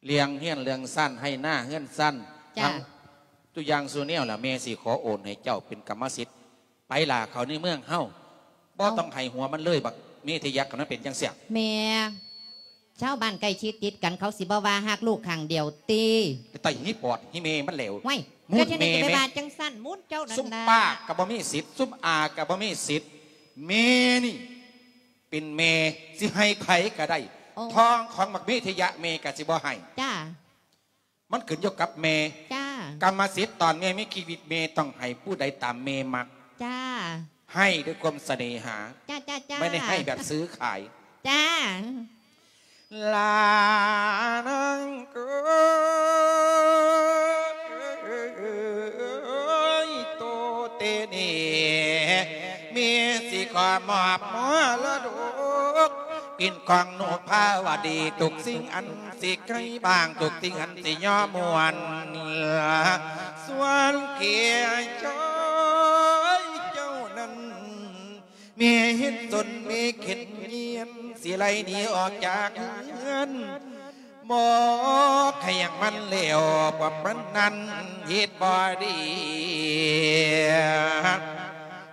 ເລື່ອງເຮືອນເລື່ອງຊານ ໄຮ່ນາເຮືອນຊານ ຈ້າ ທັງທຸກຢ່າງສູ່ແນວລະ ແມ່ຊິຂໍໂອນໃຫ້ເຈົ້າເປັນກຳມະສິດ. ໄປຫຼ້າ ເຂົ້າໃນເມືອງເຮົາ ບໍ່ ເອົ້າ ຕ້ອງໃຫ້ຫົວມັນເລີຍ ບັກເມທິຍະ ຄັນມັນເປັນຈັ່ງຊີ້. ແມ່ ຊາວບ້ານໃກ້ຊິດຕິດກັນ ເຂົາຊິບໍ່ວ່າຮັກລູກຂ້າງດຽວຕິ? ໄປໄຕຫີປອດຫີແມ່ມັນແລ້ວ. ຫວ້າຍ ມຸນແມ່ ເຈົ້າຈະໄປວ່າຈັ່ງຊັ້ນ ມຸນເຈົ້ານັ້ນນະ. ຊຸມປ້າກໍບໍ່ມີສິດ ຊຸມອາກໍບໍ່ມີສິດ ແມ່ນີ້ ເປັນແມ່ ຊິໃຫ້ໃຜກໍໄດ້. ໂອ້ ທອງຂອງບັກເມທິຍະແມ່ກໍຊິບໍ່ໃຫ້. ຈ້າ ມັນຂຶ້ນຢູ່ກັບແມ່. ຈ້າ ກຳມະສິດຕອນແມ່ມີຊີວິດ ແມ່ຕ້ອງໃຫ້ຜູ້ໃດຕາມແມ່ມັກ. ຈ້າ ໃຫ້ດ້ວຍຄວາມສະເໜຫາ. ຈ້າ ຈ້າ ຈ້າ ບໍ່ໄດ້ໃຫ້ແບບຊື້ຂາຍ. ຈ້າ ຫຼ້ານາງເອີຍ ໂຕເຕເນ ແມ່ຊິຂໍມອບມໍລະດົກ ເປັນຂອງໜູພາວະດີ ທຸກສິ່ງອັນຊິໃກ້ບາງ ທຸກສິ່ງອັນຊິຍໍມ່ວນ ສ່ວນແກ່ຊາຍເຈົ້ານັ້ນ ແມ່ເຫັນສົນແມ່ເຂັນຍຽນ ຊິໄລ່ໜີອອກຈາກເຮືອນ ບອກໃຫ້ຫຍັງມັນແລ້ວ ພວກມັນນັ້ນເຮັດບໍ່ດີ.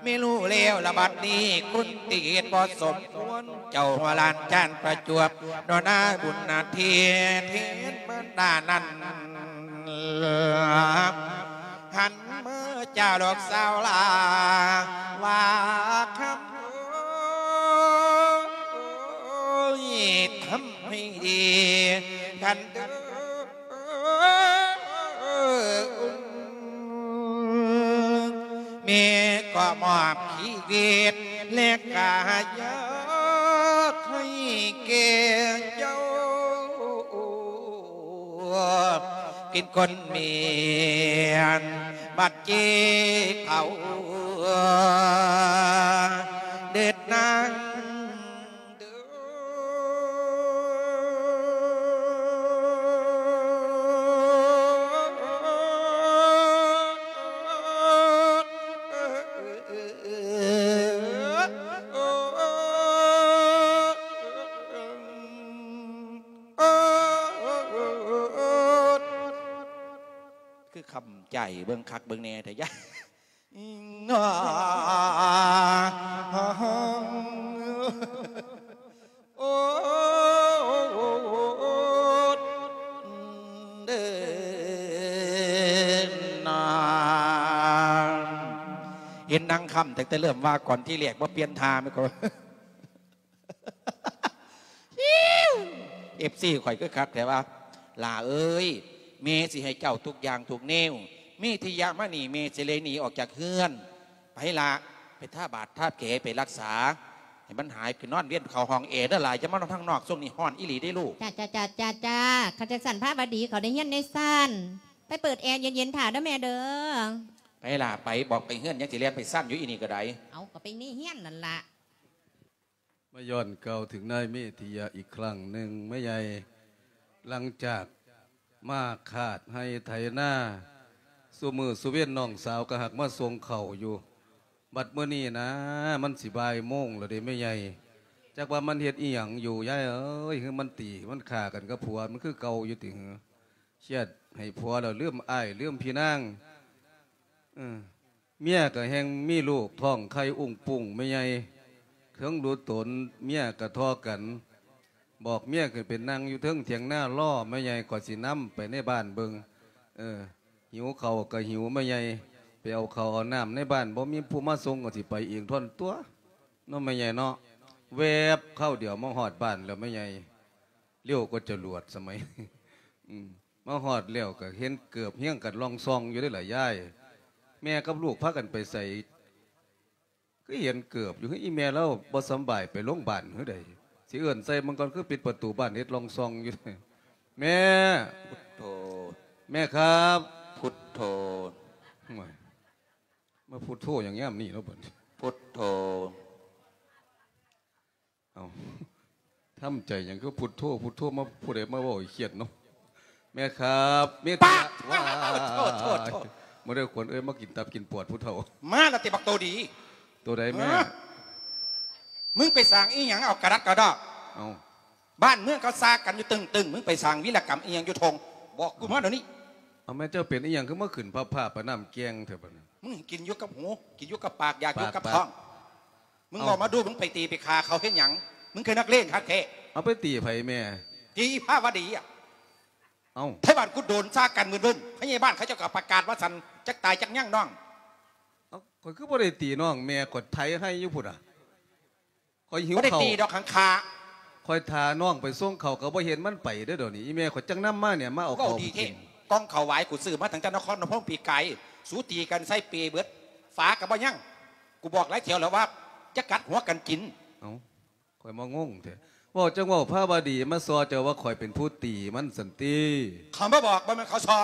ແມ່ຮູ້ແລ້ວລະບັດນີ້ ຄົນທີ່ເຮັດບໍ່ສົມຄວນ ເຈົ້າຫົວຫຼານຈານປະຈວບ ຕໍ່ໜ້າບຸນນາເທດ ເທດມານດານັ້ນ ຫັນມາຈາລູກສາວຫຼ້າ ວ່າຄຳ ໂອ້ຍ ທຳໃຫ້ດີ ທ່ານເດີ ແມ່ກໍມອບຊີວິດ ແລະກະຢາກໃຫ້ແກ່ເຈົ້າ ເປັນຄົນແມ່ນ ບັດເຈັບເຂົ້າເດີນາງເດີ. ຄືຄຳໃຈ ເບິ່ງຄັກເບິ່ງແນ່ແທ້ຍາ. ໂອ້ ເຫັນນາງຄຳ ຕັ້ງແຕ່ເລີ່ມວ່າກ່ອນທີແລກ ບໍ່ປ່ຽນທ່າແມ່ນກໍ ເອັຟຊີ ຂ້ອຍຄືຄັກແທ້ວ່າ ຫຼ້າເອີຍ ແມ່ຊິໃຫ້ເຈົ້າທຸກຢ່າງທຸກແນວ ມີທີ່ຢາກມານີ້ ແມ່ຊິເລີຍໜີອອກຈາກເຮືອນ. ໄປລະ ໄປທາບາດທາແຜ ໄປລັກສາໃຫ້ມັນຫາຍ ໄປນອນວຽນເຂົ້າຫ້ອງແອເດີຫຼ້າ ຢ່າມານອນທາງນອກ ຊ່ວງນີ້ຮ້ອນອີ່ຫຼີເດ້ລູກ. ຈ້າ ຈ້າ ຈ້າ ຈ້າ ຄັນຈັ່ງຊັ້ນພາວະດີເຂົ້າໃນເຮືອນໃນຊານ ໄປເປີດແອເຢັນໆຖ້າເດີແມ່ເດີ. ໄປລະ ໄປ ບອກໄປເຮືອນ ຍັງຊິແລ່ນໄປຊານຢູ່ ອີ່ນີ້ກໍໄດ້. ເອົາ ກໍໄປໃນເຮືອນນັ້ນລະ. ມາຍ້ອນກ່າວເຖິງນາຍເມທິຍະອີກຄັ້ງໜຶ່ງ ແມ່ໃຫຍ່ ຫຼັງຈາກມາຄາດໄຮ່ໄຖນາ ຊຸມື້ຊຸເວັນນ້ອງສາວກໍຫາກມາສົ່ງເຂົ້າຢູ່ ບັດມື້ນີ້ນະ ມັນຊິບ່າຍໂມງແລ້ວເດ້ແມ່ໃຫຍ່ ຈັກວ່າມັນເຮັດອີ່ຫຍັງຢູ່ ຍາຍເອີຍ ຄືມັນຕີມັນຂ້າກັນກັບຜົວມັນຄືເກົ່າຢູ່ຕິຫື? ຄຽດໃຫ້ຜົວແລ້ວລືມອ້າຍລືມພີ່ນາງ ເອີ ເມຍກໍແຮ່ງມີລູກທ້ອງໄຂ່ອຸ້ງປຸ້ງແມ່ໃຫຍ່ ເຖິງຮູ້ຕົນເມຍກໍທໍ່ກັນ ບອກເມຍຂຶ້ນໄປນັ່ງຢູ່ເທິງຖຽງນາລໍແມ່ໃຫຍ່ ຂ້ອຍຊິນຳໄປໃນບ້ານເບິ່ງ ເອີ ຫິວເຂົ້າກໍຫິວແມ່ໃຫຍ່ ໄປເອົາເຂົ້າເອົານ້ຳໃນບ້ານ ບໍ່ມີຜູ້ມາສົ່ງກໍຊິໄປເອງທ່ອນຕົວະ ເນາະແມ່ໃຫຍ່ເນາະ. ແວບຄາວດຽວມາຮອດບ້ານແລ້ວແມ່ໃຫຍ່ ເລັວກວ່າຈະຫຼວດສະໄໝ ອືມ ມາຮອດແລ້ວກໍເຫັນເກີບຮຽງກັນລ່ອງຊ່ອງຢູ່ເດ້ລະຍາຍ. ແມ່ກັບລູກພາກັນໄປໃສ? ຄືເຫັນເກີບຢູ່. ອີ່ແມ່ລາວບໍ່ສຳບາຍໄປໂລງບານຄືໃດ? ຊິເອີ້ນໃສ່ມັນກ່ອນ ຄືປິດປະຕູບ້ານເຮັດລ່ອງຊ່ອງຢູ່. ແມ່! ພຸດໂທ. ແມ່ຄັບ! ພຸດໂທ. ໂອ້ຍ ມາພຸດໂທຫຍັງຍາມນີ້ເນາະບັດນີ້? ພຸດໂທ. ເອົ້າ ທຳໃຈຫຍັງຄືພຸດໂທ ພຸດໂທ ມາ ຜູ້ໃດມາເວົ້າໃຫ້ຄຽດເນາະ? ແມ່ຄັບ ເມດຕາ ປາດ ວ້າຍ ໂທດ ໂທດ ໂທດ ມາເດີຂວັນເອີຍ ມາກິນຕັບກິນປອດຜູ້ເຖົ້າ. ມາລະຕິບັກໂຕດີ. ໂຕໃດແມ່? ຮະ? ມຶງໄປສ້າງອີ່ຫຍັງເອົາກະດັກກະດໍ້? ເອົ້າ ບ້ານເມືອງເຂົາຊາກກັນຢູ່ຕຶງໆ ມຶງໄປສ້າງວີລະກຳອີ່ຫຍັງຢູ່ທົ່ງ? ບອກກູມາດຽວນີ້. ເອົາ ແມ່ເຈົ້າເປັນອີ່ຫຍັງຄືມາຂຶ້ນພາບພາບປານນ້ຳແກງແທ້ບັດນີ້? ມຶງກິນຢູ່ກັບຫູ ກິນຢູ່ກັບປາກ ຢາກຢູ່ກັບທ້ອງ. ມຶງເວົ້າມາດູ ມຶງໄປຕີໄປຂ້າເຂົາເຮັດຫຍັງ? ມຶງຄືນັກເລງຄັກແທ້. ເອົາ ໄປຕີໃຜແມ່? ຕີພາວະດີອະ. ເອົ້າ ໄທບ້ານກຸດໂດນຊາກກັນມຶນໆ ພະຍາບານເຂົາເຈົ້າກໍປະກາດວ່າຊັ້ນ ຈັກຕາຍຈັກຍັງນ້ອງ. ເອົ້າ ຂ້ອຍຄືບໍ່ໄດ້ຕີນ້ອງແມ່ ຂ້ອຍໄຖໄຮ່ຢູ່ພຸ້ນນະ. ຂ້ອຍຫິວເຂົ້າ. ບໍ່ໄດ້ຕີດອກ ຫັ້ນຂ້າ. ຂ້ອຍຖ້ານ້ອງໄປສົ່ງເຂົ້າກໍບໍ່ເຫັນມັນໄປເດີ້ ດຽວນີ້ອີ່ແມ່ຂ້ອຍຈັ່ງນຳມານີ້ ມາເອົາເຂົ້າ ເວົ້າດີແທ້. ກ່ອງເຂົ້າຫວາຍກູຊື້ມາຕັ້ງແຕ່ນະຄອນພະນົມປີກາຍ ສູຕີກັນໃສ່ເປເບິດ ຝາກໍບໍ່ຍັງ. ກູບອກຫຼາຍແຖວແລ້ວວ່າ ຢ່າກັດຫົວກັນກິນ. ເອົ້າ ຂ້ອຍມາງົງແທ້ ເວົ້າຈັ່ງເວົ້າພາວະດີມາສໍ້ເຈົ້າວ່າຂ້ອຍເປັນຜູ້ຕີມັນຊັ້ນຕິ. ເຂົາມາບອກ ບໍ່ແມ່ນເຂົາສໍ້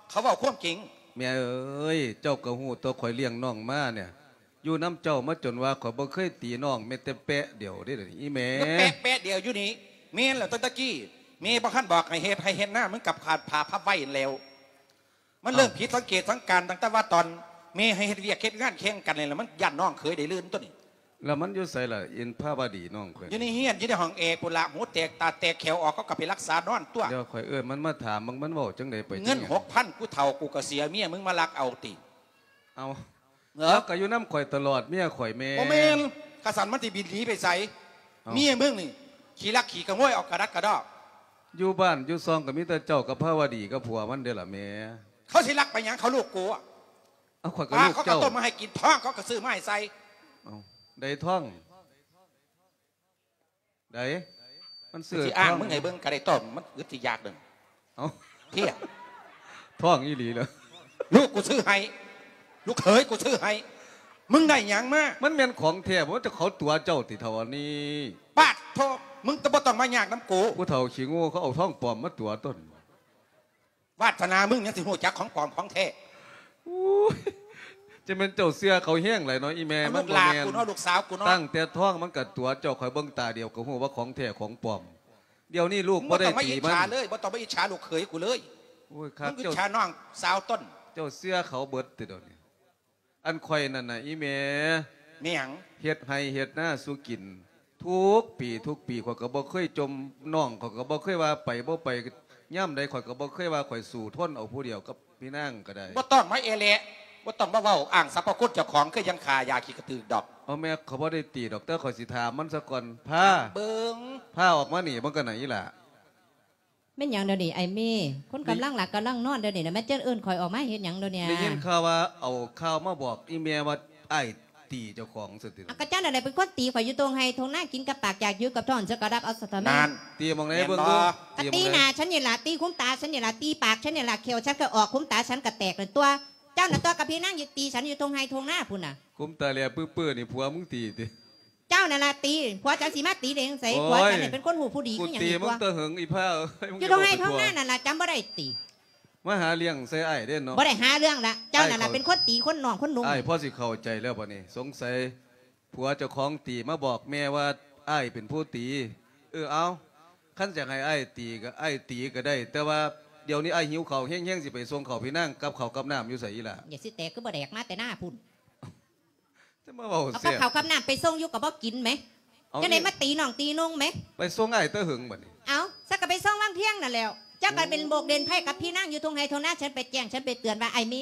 ເຂົາເວົ້າຄວາມຈິງ. ແມ່ເອີຍ ເຈົ້າກໍຮູ້ຕົວະ ຂ້ອຍລ້ຽງນ້ອງມານີ້ ຢູ່ນຳເຈົ້າມາຈົນວ່າ ຂ້ອຍບໍ່ເຄີຍຕີນ້ອງແມ້ແຕ່ແປະດຽວເດ້ອີ່ແມ່. ແປະ ແປະດຽວຢູ່ນີ້. ແມ່ນແລ້ວ ຕັ້ງແຕ່ກີ້ແມ່ບໍ່ທັນບອກໃຫ້ເຮັດໄຮ່ເຮັດນາ ມຶງກັບຂາດຜ້າພັບໄວ້ຫັ້ນແລ້ວ. ມັນເລີ່ມ ເອົ້າ ຜິດສັງເກດສັງການຕັ້ງແຕ່ວ່າຕອນແມ່ໃຫ້ເຮັດວຽກເຮັດງານແຂ່ງກັນນີ້ລະ ມັນຢ້ານນ້ອງເຂີຍໄດ້ລື່ນຕົວະນີ້. ແລ້ວມັນຢູ່ໃສລະ ອິນພາວະດີນ້ອງຂ້ອຍ? ຢູ່ໃນເຮືອນ ຢູ່ໃນຫ້ອງແອ ພຸ້ນລະ ຫູແຕກຕາແຕກແຂວອອກ ເຂົາກໍໄປລັກສານອນຕົວະ. ດຽວຂ້ອຍເອີ້ນມັນມາຖາມເບິ່ງ ມັນເວົ້າຈັ່ງໃດໄປ. ເງິນຫົກພັນ ຜູ້ເຖົ້າ ກູກໍເສຍ ເມຍມຶງມາລັກເອົາຕິ? ເອົ້າ ເອີ ລາວກໍຢູ່ນຳຂ້ອຍຕະຫຼອດ ເມຍຂ້ອຍແມ່. ບໍ່ແມ່ນ ຄັນຊັ້ນມັນຊິບິນໜີໄປໃສ? ເອົ້າ ເມຍມຶງນີ້ຂີ້ລັກຂີ້ຂະໂມຍ ເອົາກະດັກກະດໍ້. ຢູ່ບ້ານຢູ່ຊ່ອງກໍມີແຕ່ເຈົ້າກັບພາວະດີກັບຜົວມັນເດ້ລະແມ່. ເຂົາຊິລັກໄປຫຍັງ ເຂົາລູກກູ? ເອົາ ຂ້ອຍກໍລູກເຈົ້າ. ເຂົາກໍຕົ້ມມາໃຫ້ກິນ ທອງເຂົາກໍຊື້ມາໃຫ້ໃສ່. ເອົ້າ ໃດທອງ? ໃດ ມັນຊື້ ຊິອ້າງ ທອງ ມຶງໃຫ້ເບິ່ງກໍໄດ້ ຕ້ອງ ມັນອຶດຊິຢາກເດີ. ເອົ້າ ເພຍ ທອງອີ່ຫຼີເລີຍ. ລູກກູຊື້ໃຫ້ ລູກເຂີຍກູຊື້ໃຫ້ ມຶງໄດ້ຫຍັງມາ? ມັນແມ່ນຂອງແທ້ບໍ່? ເຈົ້າ ເຂົາຕົວະເຈົ້າຕິເຖົ້າອັນນີ້? ປາດໂທ ມຶງກໍບໍ່ຕ້ອງມາຍາກນຳກູ. ຜູ້ເຖົ້າຂີ້ໂງ່ ເຂົາເອົາທອງປອມມາຕົວະຕົນ. ວາດສະໜາມຶງຍັງຊິຮູ້ຈັກຂອງປອມຂອງແທ້. ໂອ້ຍ ຈັ່ງແມ່ນເຈົ້າເຊື່ອເຂົາແຮງຫຼາຍເນາະ ອີ່ແມ່. ມັນບໍ່ແມ່ນ ລູກຫຼານກູເນາະ ລູກສາວກູເນາະ. ຕັ້ງແຕ່ທ້ອງມັນກໍຕົວະເຈົ້າ ຂ້ອຍເບິ່ງຕາດຽວກໍຮູ້ວ່າຂອງແທ້ຂອງປອມ. ດຽວນີ້ລູກບໍ່ໄດ້ຕີມັນ. ບໍ່ຕ້ອງມາອິດສາເລີຍ ບໍ່ຕ້ອງມາອິດສາລູກເຂີຍກູເລີຍ. ໂອ້ຍ ຄັກ ມຶງອິດສານ້ອງສາວຕົນ. ເຈົ້າເຊື່ອເຂົາເບິດຕິດຽວນີ້. ອັນຂ້ອຍນັ້ນນະ ອີ່ແມ່ ແມ່ຫຍັງ? ເຮັດໄຮ່ເຮັດນາສູ່ກິນທຸກປີທຸກປີ ຂ້ອຍກໍບໍ່ເຄີຍຈົ່ມນ້ອງ ຂ້ອຍກໍບໍ່ເຄີຍວ່າໄປບໍ່ໄປ ຍາມໃດຂ້ອຍກໍບໍ່ເຄີຍວ່າຂ້ອຍສູ້ທົນເອົາຜູ້ດຽວກັບພີ່ນາງກໍໄດ້. ບໍ່ຕ້ອງມາແອແລະ ບໍ່ຕ້ອງມາເວົ້າອ້າງສັບພະຄຸນເຈົ້າຂອງ ຄືຍັງຂ້າຢາຂີ້ກະຕືກດອກ. ເອົາແມ່ ຂ້ອຍບໍ່ໄດ້ຕີດອກ ແຕ່ຂ້ອຍຊິຖາມມັນສາກ່ອນ. ພາ ເບິ່ງ ພາອອກມານີ້ເບິ່ງກັນນະ ອີ່ຫຼ້າ. ແມ່ນຫຍັງດຽວນີ້ອ້າຍເມ? ຄົນກຳລັງຫຼັບກຳລັງນອນດຽວນີ້ນະ ແມ່ນເຈົ້າເອີ້ນຂ້ອຍອອກມາເຮັດຫຍັງດຽວນີ້? ໄດ້ຍິນຂ່າວວ່າເອົາຂ່າວມາບອກອີ່ແມ່ວ່າອ້າຍຕີເຈົ້າຂອງຊັ້ນຕິ. ອາ ກໍເຈົ້ານັ້ນແຫຼະເປັນຄົນຕີຂ້ອຍຢູ່ທົ່ງໄຮ່ທົ່ງນາ ກິນກັບປາກຢາກຢູ່ກັບທ້ອງ ເຈົ້າກໍຮັບເອົາຊະເຖາະແມ່. ຕີໝ່ອງໃດເບິ່ງດູ? ກໍຕີໜ້າ ຕີໝ່ອງໃດ? ສັນນີ້ລະ ຕີຂຸມຕາສັນນີ້ລະ ຕີປາກສັນນີ້ລະ ແຂ້ວສັນກໍອອກ ຂຸມຕາສັນກໍແຕກນັ້ນຕົວະ. ເຈົ້ານັ້ນຕົວະກັບພີ່ນາງຢູ່ຕີສັນຢູ່ທົ່ງໄຮ່ທົ່ງນາພຸ້ນນະ. ຂຸມຕາແຫຼປຶ້ໆ ນີ້ຜົວມຶງຕີຕິ? ເຈົ້ານັ້ນລະຕີ ຜົວເຈົ້າຊິມາຕີໄດ້ຈັ່ງໃດ? ໂອ້ຍ ຜົວເຈົ້ານີ້ເປັນຄົນຮູ້ຜູ້ດີຄືຫຍັງ ກູຕີມຶງແຕ່ເຫິງອີ່ພ້າເອີຍ. ຢູ່ທົ່ງໄຮ່ທົ່ງນານັ້ນລະ ຈຳບໍ່ໄດ້ຕິ? ມາຫາເລື່ອງໃສ່ອ້າຍເດ້ເນາະ. ບໍ່ໄດ້ຫາເລື່ອງລະ ເຈົ້ານັ້ນລະເປັນຄົນຕີຄົນນ້ອງຄົນນຸ່ງ. ອ້າຍພໍຊິເຂົ້າໃຈແລ້ວບັດນີ້ ສົງໄສຜົວເຈົ້າຂອງຕີມາບອກແມ່ວ່າອ້າຍເປັນຜູ້ຕີ. ເອີ ເອົາ ຄັນຢາກໃຫ້ອ້າຍຕີກໍອ້າຍຕີກໍໄດ້ ແຕ່ວ່າດຽວນີ້ອ້າຍຫິວເຂົ້າແຮງໆ ຊິໄປສົ່ງເຂົ້າພີ່ນາງ ກັບເຂົ້າກັບນ້ຳຢູ່ໃສອີ່ຫຼ້າ? ຢ່າຊິແຕກ ຄືບໍ່ແດກມາແຕ່ນາພຸ້ນ. ຈະມາເວົ້າ ເອົາກັບເຂົ້າກັບນ້ຳໄປສົ່ງຢູ່ກໍບໍ່ກິນແໝ. ເອົາ ຈັ່ງໃດມາຕີນ້ອງຕີນຸ່ງແໝ. ໄປສົ່ງອ້າຍແຕ່ເຫິງບັດນີ້. ເອົາ ສັກກໍໄປສົ່ງວັງພຽງນັ້ນແຫຼ້ວ. ຈັກກໍເປັນໂບກເດັ່ນໄພ້ກັບພີ່ນາງຢູ່ທົ່ງໄຮ່ທົ່ງນາ ສັນໄປແຈ້ງ ສັນໄປເຕືອນວ່າ ອ້າຍເມ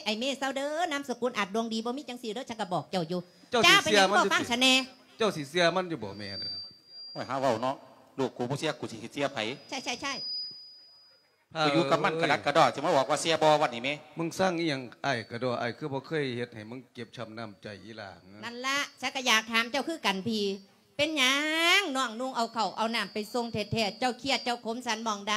ອ້າຍເມເຊົາເດີ ນາມສະກຸນອາດດວງດີ ບໍ່ມີຈັ່ງຊີ້ເດີ ສັນກໍບອກເຈົ້າຢູ່. ເຈົ້າຊິເຊື່ອມັນຢູ່ຕິ? ເຈົ້າເປັນຫຍັງບໍ່ຟັງຊັ້ນແດ່? ເຈົ້າຊິເຊື່ອມັນຢູ່ບໍ່ແມ່? ໂອ້ຍ ຫາເວົ້າເນາະ ລູກກູບໍ່ເຊື່ອ ກູຊິເຊື່ອໃຜ? ໃຊ່ໆໆ. ພາ ໄປຢູ່ກັບມັນກະດັກກະດໍ້ ຊິມາບອກວ່າເຊື່ອບໍ່ວັດນີ້ແມ. ມຶງຊັງອີ່ຫຍັງອ້າຍກະດໍ້? ອ້າຍຄືບໍ່ເຄີຍເຮັດໃຫ້ມຶງເຈັບຊ້ຳນ້ຳໃຈອີ່ຫຼ້າ? ນັ້ນລະ ສັກກະຢາກຖາມເຈົ້າຄືກັນພີ້ ເປັນຫຍັງນ້ອງນຸ່ງເອົາເຂົ້າເອົານ້ຳໄປສົ່ງແທ້ໆ ເຈົ້າຄຽດເຈົ້າຂົມສັນໝ່ອງໃດ?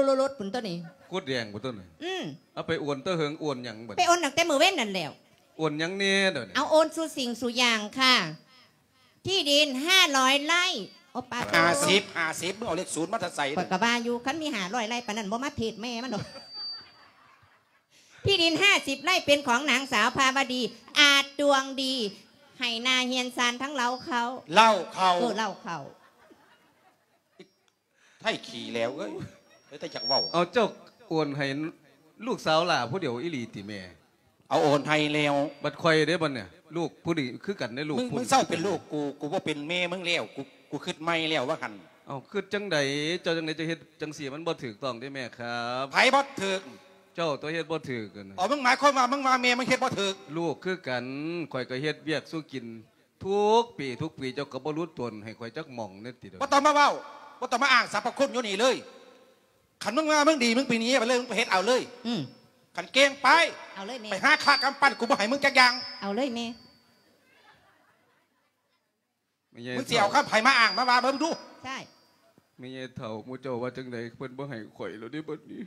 ລົດໆໆພຸ້ນຕົວນີ້ ກົດແດງພຸ້ນຕົວນີ້. ອືມ ເອົາໄປໂອນແຕ່ເຫິງ ໂອນຫຍັງບັດ ໄປໂອນຕັ້ງແຕ່ມື້ເວັນນັ້ນແລ້ວ. ໂອນຫຍັງແດ່ດຽວນີ້? ເອົາໂອນສູ່ສິ່ງສູ່ຢ່າງຄ່ະ. ທີ່ດິນຫ້າຮ້ອຍໄຮ່. ໂອປາໂທ ຫ້າສິບ ຫ້າສິບ ມຶງເອົາເລກສູນມາແຕ່ໃສ? ຂ້ອຍກໍວ່າຢູ່ ຄັນມີຫ້າຮ້ອຍໄຮ່ປານນັ້ນ ບໍ່ມາເທດແມ່ມັນດອກ. ທີ່ດິນຫ້າສິບໄຮ່ເປັນຂອງນາງສາວພາວະດີ ອາດດວງດີ ໃຫ້ໜ້າເຮືອນຊານທັງເລົ້າເຂົ້າ ເລົ້າເຂົ້າ ເອີ ເລົ້າເຂົ້າ. ໄທຂີ້ແຫຼວເອີຍ ເອີ ແຕ່ຢາກເວົ້າ. ເອົາ ເຈົ້າໂອນໃຫ້ລູກສາວຫຼ້າຜູ້ດຽວອີ່ຫຼີຕິແມ່? ເອົາໂອນໃຫ້ແລ້ວ. ບັດຂ້ອຍເດ້ບັດນີ້ ລູກຜູ້ນີ້ຄືກັນເດ້ ລູກ ມຶງ ຜູ້ນີ້ ມຶງເຊົາເປັນລູກກູ ກູບໍ່ເປັນແມ່ມຶງແລ້ວ ກູ ກູຄິດໃໝ່ແລ້ວວ່າຫັ້ນ. ເອົ້າ ຄິດຈັ່ງໃດ? ເຈົ້າຈັ່ງໃດ ເຈົ້າເຮັດຈັ່ງຊີ້ ມັນບໍ່ຖືກຕ້ອງເດ້ແມ່ຄັບ. ໃຜບໍ່ຖືກ? ເຈົ້າຕົວະເຮັດບໍ່ຖືກຫັ້ນນະ. ອໍ ມຶງໝາຍຄວາມວ່າ ມຶງວ່າແມ່ມຶງເຮັດບໍ່ຖືກ? ລູກຄືກັນ ຂ້ອຍກໍເຮັດວຽກສູ່ກິນ ທຸກປີ ທຸກປີ ເຈົ້າກໍບໍ່ຫຼຸດຕົນໃຫ້ຂ້ອຍຈັກໝ່ອງແດ່ຕິ. ບໍ່ຕ້ອງມາເວົ້າ ບໍ່ຕ້ອງມາອ້າງສັບພະຄຸນຢູ່ນີ້ເລີຍ. ຄັນມຶງວ່າມຶງດີ ມຶງໄປໜີໄປເລີຍ ມຶງໄປເຮັດເອົາເລີຍ. ອືມ ຄັນເກັ່ງໄປ ເອົາເລີຍແມ່ ໄປຫາຄ່າກຳປັ່ນ ກູບໍ່ໃຫ້ມຶງຈັກຢ່າງ. ເອົາເລີຍແມ່. ແມ່ໃຫຍ່ ມຶງຊິເອົາຄຳໃຜມາອ້າງມາວ່າເບິ່ງດູ. ໃຊ່ ແມ່ໃຫຍ່ເຖົ້າ ໝູ່ເຈົ້າວ່າຈັ່ງໃດ? ເພິ່ນບໍ່ໃຫ້ຂ້ອຍແລ້ວເດ້ບັດນີ້.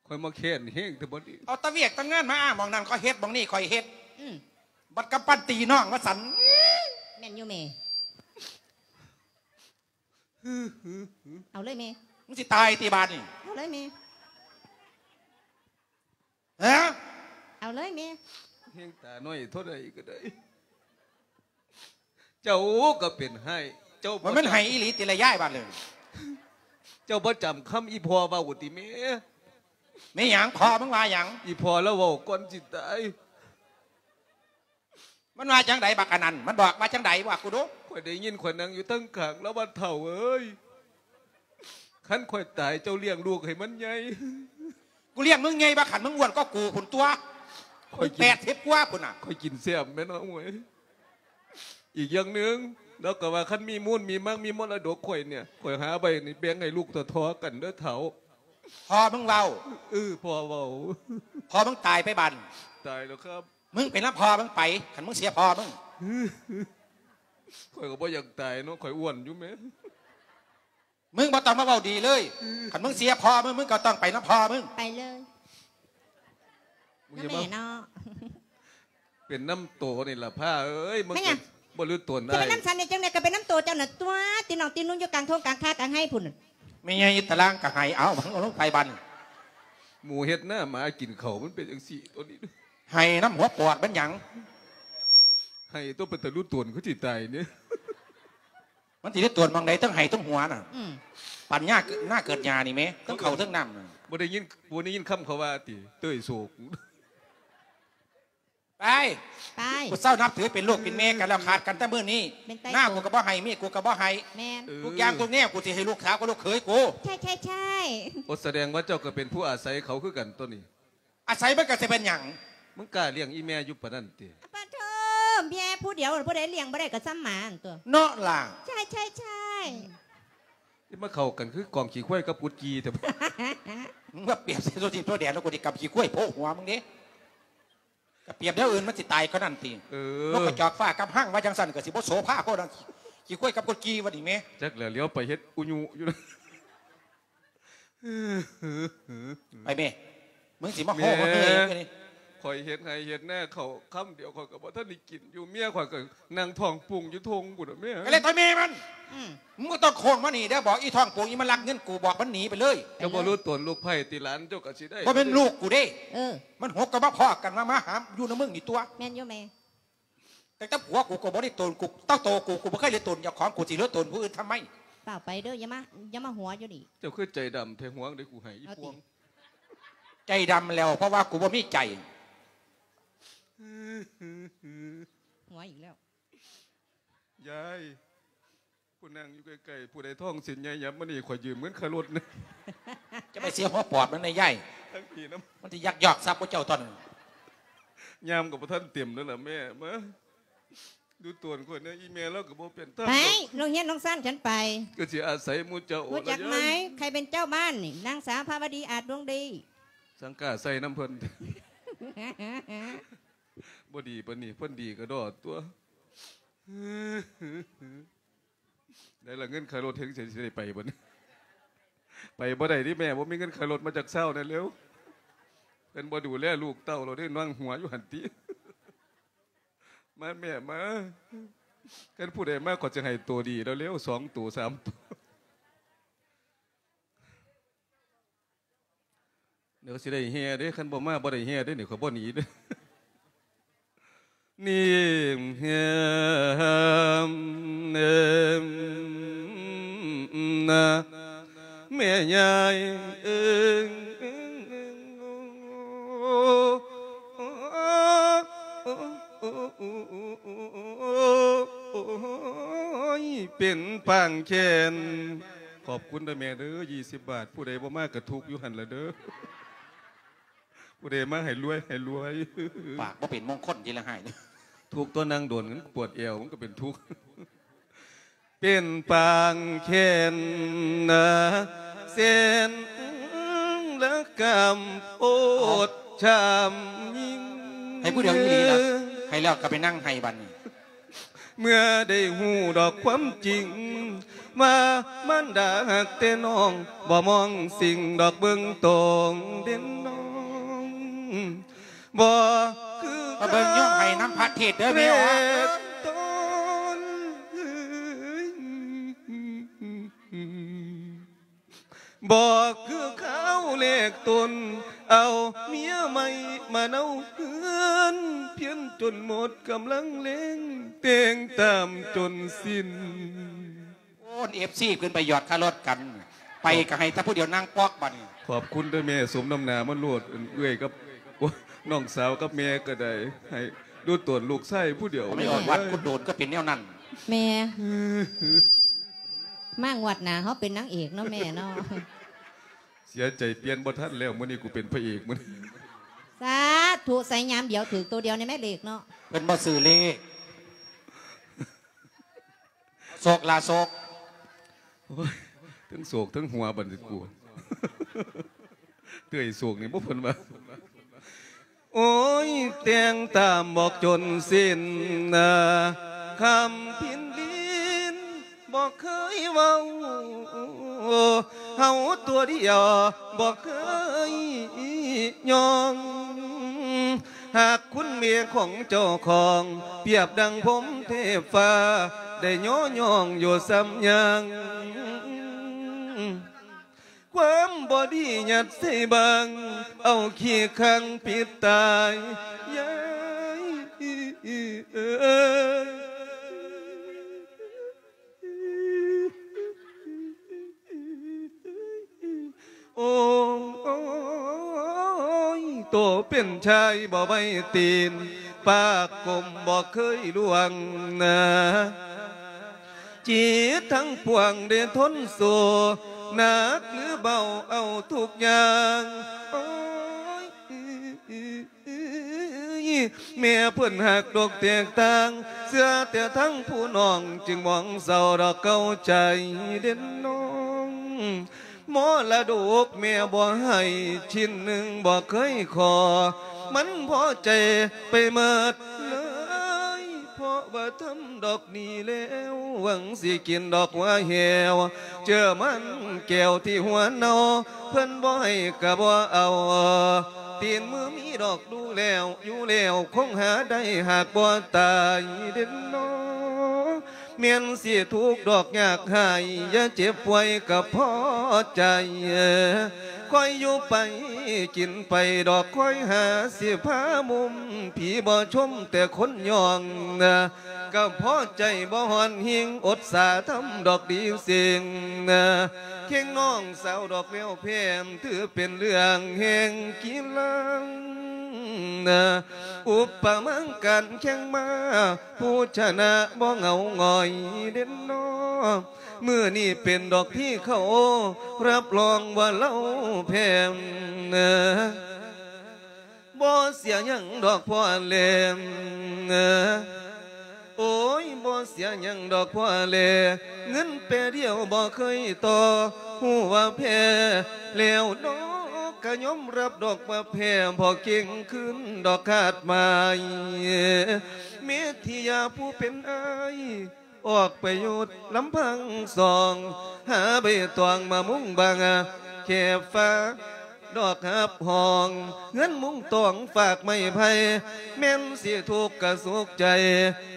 ຂ້ອຍມາແຄ້ນແຮງແຕ່ບັດນີ້. ເອົາແຕ່ວຽກແຕ່ງານມາອ້າງ ໝ່ອງນັ້ນຂ້ອຍເຮັດ ໝ່ອງນີ້ຂ້ອຍເຮັດ. ອືມ ບັດກຳປັ່ນຕີນ້ອງວ່າຊັ້ນ. ແມ່ນຢູ່ແມ່. ເອົາເລີຍແມ່. ມຶງຊິຕາຍຕິບາດນີ້? ເອົາເລີຍແມ່. ຮະ? ເອົາເລີຍແມ່. ແຮງຕາໜ້ອຍເທົ່າໃດກໍໄດ້. ເຈົ້າກໍເປັນໄຫ້ ເຈົ້າບໍ່ ວ່າມັນໄຫ້ອີ່ຫຼີຕິລະຍາຍບາດນີ້. ເຈົ້າບໍ່ຈຳຄຳອີ່ພໍ່ເວົ້າຕິແມ່? ແມ່ຫຍັງ? ພໍ່ມຶງວ່າຫຍັງ? ອີ່ພໍ່ລາວເວົ້າກ່ອນຊິຕາຍ. ມັນວ່າຈັ່ງໃດບັກອັນນັ້ນ? ມັນບອກວ່າຈັ່ງໃດ? ບອກກູດູ. ຂ້ອຍໄດ້ຍິນ ຂ້ອຍນັ່ງຢູ່ທາງຂ້າງລາວວ່າ ເຖົ້າເອີຍ ຄັນຂ້ອຍຕາຍ ເຈົ້າລ້ຽງລູກໃຫ້ມັນໃຫຍ່. ກູລ້ຽງມຶງໃຫຍ່ບໍ່ ຄັນມຶງອ້ວນກວ່າກູພຸ້ນຕົວະ. ຂ້ອຍກິນ ແປດສິບກວ່າພຸ້ນນະ. ຂ້ອຍກິນແຊບແມ່ນເນາະ ໂອ້ຍ. ອີກຢ່າງໜຶ່ງ ລາວກໍວ່າ ຄັນມີມູນມີມັງ ມີມໍລະດົກຂ້ອຍນີ້ ຂ້ອຍຫາໄວ້ນີ້ ແບ່ງໃຫ້ລູກທໍ່ໆກັນເດີເຖົ້າ. ພໍ່ມຶງເວົ້າ? ເອີ ພໍ່ເວົ້າ. ພໍ່ມຶງຕາຍໄປບາດ? ຕາຍແລ້ວຄັບ. ມຶງໄປນຳພໍ່ມຶງໄປ ຄັນມຶງເສຍພໍ່ມຶງ. ຂ້ອຍກໍບໍ່ຢາກຕາຍເນາະ ຂ້ອຍອ້ວນຢູ່ແມ. ມຶງບໍ່ຕ້ອງມາເວົ້າດີເລີຍ. ຄັນມຶງເສຍພໍ່ມຶງ ມຶງກໍຕ້ອງໄປນຳພໍ່ມຶງ. ໄປເລີຍ. ນຳແມ່ເນາະ. ເປັນນຳໂຕນີ້ລະພາເອີຍ ມຶງ ແມ່ນຫຍັງ? ບໍ່ຮູ້ຕົນ. ຈະໄປນຳສັນໄດ້ຈັ່ງໃດ ກໍໄປນຳໂຕເຈົ້ານັ້ນຕົວະ ຕີນ້ອງຕີນຸ່ງຢູ່ກາງທົ່ງກາງຄາກາງໄຮ່ພຸ້ນ. ແມ່ໃຫຍ່ຕະລາງກໍໄຫ້ ເອົາ ເອົາລົງໄປບັດ. ໝູເຮັດນາ ໝາກິນເຂົ້າ ມັນເປັນຈັ່ງຊີ້ຕົວນີ້. ໄຫ້ນຳຫົວປອດມັນຫຍັງ? ໄຫ້ຕົວ ເປັນຕາຮູ້ຕົນ ຄືຊິຕາຍນີ້. ມັນຊິໄດ້ຕົວະໝ່ອງໃດ ທັງໄຫ້ທັງຫົວນະ. ອືມ ປັນຍາ ນາເກີດຫຍ້ານີ້ແມ ທັງເຂົ້າທັງນ້ຳນະ. ບໍ່ໄດ້ຍິນ ບໍ່ໄດ້ຍິນຄຳເຂົາວ່າຕິ ເຕີຍໂສກ. ໄປ ໄປ. ກູເຊົານັບຖືເປັນລູກເປັນແມ່ກັນແລ້ວ ຂາດກັນແຕ່ມື້ນີ້. ໜ້າກູກໍບໍ່ໃຫ້ ເມຍກູກໍບໍ່ໃຫ້. ແມ່ນ. ເອີ ທຸກຢ່າງທຸກແນວ ກູຊິໃຫ້ລູກສາວກັບລູກເຂີຍກູ. ໃຊ່ ໃຊ່ ໃຊ່. ໂອ ສະແດງວ່າເຈົ້າກໍເປັນຜູ້ອາໄສເຂົາຄືກັນຕົວນີ້. ອາໄສມັນກໍຊິເປັນຫຍັງ? ມຶງກ້າລ້ຽງອີ່ແມ່ຢູ່ປານນັ້ນຕິ? ປາໂທ ເມຍຜູ້ດຽວ ຜູ້ໃດລ້ຽງບໍ່ໄດ້ກໍສ່ຳໝາຫັ້ນຕົວະ ເນາະຫຼ້າ. ໃຊ່ ໃຊ່ ໃຊ່. ຊິມາເຂົ້າກັນຄືກອງຂີ້ຄວາຍກັບກຸດກີ່ແທ້. ມຶງມາປຽບໃສ່ໂຕຈິງໂຕແດນ ແລ້ວກູຊິກຳຂີ້ຄວາຍໂພະຫົວມຶງເດ້. ກະປຽບແນວອື່ນມັນຊິຕາຍກວ່ານັ້ນຕິ? ເອີ ນົກກະຈອກຟ້າກັບຮັງວ່າຈັ່ງຊັ້ນ ກະຊິບໍ່ໂສພາໂພດ. ຂີ້ຄວາຍກັບກົດກີ່ວ່ານີ້ແມ. ຈັກແຫຼະ ຫຼຽວໄປເຮັດອຸຍຸຢູ່. ໄປແມ. ມຶງຊິມາໂຫ ມາເຮີ້ຍຢູ່ນີ້. ຂ້ອຍເຮັດໄຮ່ເຮັດນາເຂົ້າຄຳດຽວ ຂ້ອຍກໍບໍ່ທັນໄດ້ກິນຢູ່ ເມຍຂ້ອຍກໍນັ່ງທ້ອງປຸງຢູ່ທົ່ງພຸ້ນນະແມ່. ກໍແລ້ວແຕ່ແມ່ມັນ. ອືມ ມຶງບໍ່ຕ້ອງໂຄ້ງມານີ້ເດີ້ ບອກອີທ້ອງປຸງ ອີມັນລັກເງິນກູບອກມັນໜີໄປເລີຍ. ເຈົ້າບໍ່ຮູ້ຕົນລູກໃຜຕິ ຫຼານເຈົ້າກໍຊິໄດ້. ບໍ່ແມ່ນລູກກູເດ້. ເອີ ມັນຫົກກໍມາພໍ້ກັນ ມາ ມາຫາຢູ່ນຳມຶງນີ້ຕົວະ. ແມ່ນຢູ່ແມ່. ແຕ່ກັບຜົວກູກໍບໍ່ໄດ້ຕົນ ກູເຕົ້າໂຕກູ ກູບໍ່ເຄີຍໄດ້ຕົນເຈົ້າຂອງ ກູຊິເລີຕົນຜູ້ອື່ນທຳໄມ? ຟ້າວໄປເດີ້ ຢ່າມາ ຢ່າມາຫົວຢູ່ນີ້. ເຈົ້າຄືໃຈດຳແທ້ ຫວງໄດ້ກູໃຫ້ອີພວງ. ໃຈດຳແລ້ວ ເພາະວ່າກູບໍ່ມີໃຈ. ຫົວອີກແລ້ວ. ຍາຍ ຜູ້ນັ່ງຢູ່ໃກ້ໆ ຜູ້ໃດທ້ອງເສັ້ນໃຫຍ່ ຫຍັບມານີ້ ຂ້ອຍຢືມເງິນຄ່າລົດນະ. ຈະໄປເສຍຫົວປອດມັນໃນຍາຍ ທັງປີນຳ ມັນຊິຍັກຍອກຊັບພວກເຈົ້າຕອນນັ້ນ. ຍາມກໍບໍ່ທັນເຕັມເດີ້ລະແມ່. ມາ ດູຕົວຂ້ອຍແດ່ ອີແມ່ລາວກໍບໍ່ເປັນທຳ. ໄປ ໂຮງຮຽນໂຮງຊານ ສັນໄປ. ກໍຊິອາໄສໝູ່ເຈົ້າ. ຮູ້ຈັກໄໝ ໃຜເປັນເຈົ້າບ້ານນີ້? ນາງສາວພາວະດີ ອາດດວງດີ. ສັງກາໃສ່ນຳເພິ່ນ. ບໍ່ດີປານນີ້ ເພິ່ນດີກະດໍຕົວະ. ໄດ້ລະເງິນຄ່າລົດ ເຖິງຊິໄດ້ໄປບໍ່ນີ້? ໄປບໍ່ໄດ້ຕິແມ່ ບໍ່ມີເງິນຄ່າລົດ ມາຈັກຊາວແດ່ເລັວ. ເພິ່ນບໍ່ດູແລລູກເຕົ້າ ລາວໄດ້ນັ່ງຫົວຢູ່ຫັ້ນຕິ. ມາແມ່ມາ ຄັນຜູ້ໃດມາ ຂ້ອຍຈະໃຫ້ໂຕດີແລ້ວ ສອງໂຕ ສາມໂຕ. ດຽວຊິໄດ້ແຫ່ເດ້ ຄັນບໍ່ມາບໍ່ໄດ້ແຫ່ເດ້ນີ້ ຂ້ອຍບໍ່ໜີເດ້. ນີ້ແຮມເອີມນາ ແມ່ຍາຍເອີຍ ໂອ້ຍ ເປັນປາງແຂນ. ຂອບຄຸນເດີ້ແມ່ເດີ້ ຊາວບາດ ຜູ້ໃດບໍ່ມາກະທຸກຢູ່ຫັ້ນລະເດີ້. ຜູ້ໃດມາໃຫ້ລວຍ ໃຫ້ລວຍ. ປາກບໍ່ເປັນມົງຄົນ ຊິລະຫາຍ. ທຸກຕົວະ ນັ່ງໂດນ ມັນປວດແອວ ມັນກໍເປັນທຸກ. ເປັນປາງແຂນນາ ແສນລະກຳໂອດຊຳຍິ່ງ. ໃຫ້ຜູ້ດຽວອີ່ຫຼີລະ ໃຫ້ແລ້ວກໍໄປນັ່ງໄຫ້ບັດນີ້. ເມື່ອໄດ້ຮູ້ດອກຄວາມຈິງ ວ່າມານດາຮັກແຕ່ນ້ອງ ບໍ່ມອງສິ່ງດອກເບິ່ງຕອງເດັ່ນນ້ອງ ບໍ່ຄື ມາເບິ່ງຍ້ອນໄຫ້ນຳພະເທດເດີ້ແມ່. ເອີຍ ບໍ່ຄືຄາວແລກຕົນ ເອົາເມຍໃໝ່ມາເນົາເຮືອນ ພຽນຈົນໝົດກຳລັງແຮງ ແຕ່ງຕາມຈົນສິ້ນ. ໂອ້ ເອັຟຊີ ຂຶ້ນໄປຢອດຄ່າລົດກັນ ໄປກໍໃຫ້ແຕ່ຜູ້ດຽວນັ່ງປອກບັດນີ້. ຂອບຄຸນເດີ້ແມ່ ສົມນຳໜ້າມັນໂລດ ເອື້ອຍກັບ ໂອ້ ນ້ອງສາວກັບແມ່ກໍໄດ້ ໃຫ້ດູຕົນລູກຊາຍຜູ້ດຽວ. ໄປອອກວັດກຸດໂດນກໍເປັນແນວນັ້ນ. ແມ່ ມາງວດໜ້າເຮົາເປັນນາງເອກເນາະແມ່ເນາະ. ເສຍໃຈປ່ຽນບໍ່ທັນແລ້ວ ມື້ນີ້ກູເປັນພະເອກມື້ນີ້. ສາທຸ ໃສ່ຍາມດຽວຖືກໂຕດຽວນີ້ແມ່ເລກເນາະ. ເພິ່ນບໍ່ຊື້ເລກ ໂຊກລາໂຊກ. ໂອ້ຍ ທັງໂສກທັງຫົວບັດນີ້ກູ ເຕື່ອຍໂສກນີ້ບໍ່ເພິ່ນວ່າ. ໂອ້ຍ ແຕ່ງຕາມບອກຈົນສິ້ນນາ ຄຳພິນດິນບໍ່ເຄີຍເວົ້າ ເຮົາຕົວດຽວບໍ່ເຄີຍຍອງ ຫາກຄຸນແມ່ຂອງເຈົ້າຂອງ ປຽບດັ່ງພົມເທບຟ້າ ໄດ້ຍໍຍ້ອງຢູ່ສ່ຳຍັງ ຄວາມບໍ່ດີຍັດໃສ່ບັງ ເອົາຂີ້ຂັງປິດຕາຍ ຍາຍເອີຍ. ໂອ້ຍ ໂຕເປັນຊາຍບໍ່ໄວ້ຕີນ ປາກກົມບໍ່ເຄີຍລ່ວງນາ ຈິດທັງປວງໄດ້ທົນສູ້ ໜັກຫຼືເບົາເອົາທຸກຢ່າງ ໂອ້ຍ ແມ່ເພິ່ນຮັກດອກແຕກຕ່າງ ເຊື່ອແຕ່ທັງຜູ້ນ້ອງ ຈຶ່ງມອງເສົ້າດອກເກົ່າໃຈເດັ່ນນ້ອງ ມໍລະດົກແມ່ບໍ່ໃຫ້ ຊິ້ນໜຶ່ງບໍ່ເຄີຍຂໍ ມັນພໍໃຈໄປໝົດເລີຍ ເພາະວ່າທຳດອກນີ້ແລ້ວ ຫວັງຊິກິນດອກຫົວແຫ້ວ ເຈີມັນແກ້ວທີ່ຫົວເນົ່າ ເພິ່ນບໍ່ໃຫ້ກະບໍ່ເອົາ ຕີນມືມີດອກດູແລ້ວ ຢູ່ແລ້ວຄົງຫາໄດ້ ຫາກບໍ່ຕາຍເດ້ນອ. ແມ່ນຊິທຸກດອກຍາກຮ້າຍ ຢ່າເຈັບປ່ວຍກໍພໍໃຈ. ຄ່ອຍຢູ່ໄປກິນໄປດອກ ຄ່ອຍຫາຊິພາມຸມ ຜີບໍ່ຊົມແຕ່ຄົນຍ້ອງ. ກໍພໍໃຈບໍ່ຮ້ອນຫິງ ອົດສາທຳດອກດີເສັງ. ເຄັ່ງນ້ອງສາວດອກແລ້ວແພ້ມ ຖືເປັນເລື່ອງແຫ່ງກິລາ. ອຸປະມາງການແຂ່ງມ້າ ຜູ້ຊະນະບໍ່ເຫງົາຫງອຍເດ້ນອ. ມື້ນີ້ເປັນດອກທີ່ເຂົາ ຮັບຮອງວ່າລາວແພ້ມ. ບໍ່ເສຍຫຍັງດອກພໍ່ແລມ ໂອ້ຍ ບໍ່ເສຍຫຍັງດອກພໍ່ແລ ເງິນແປດຽວບໍ່ເຄີຍຕໍ່ ຮູ້ວ່າແພ້ແລ້ວເນາະ ກະຍອມຮັບດອກວ່າແພ້ ບໍ່ເກັ່ງຄືນດອກຄາດໝາຍ. ເມທິຍາຜູ້ເປັນອ້າຍ ອອກໄປຢູ່ລຳພັງສອງ ຫາໃບຕອງມາມຸງບັງ ແຄບຟ້າດອກຮັບຮອງ ເຮືອນມຸງຕອງຝາກໄມ້ໄຜ່ ແມ່ນຊິທຸກກະສຸກໃຈ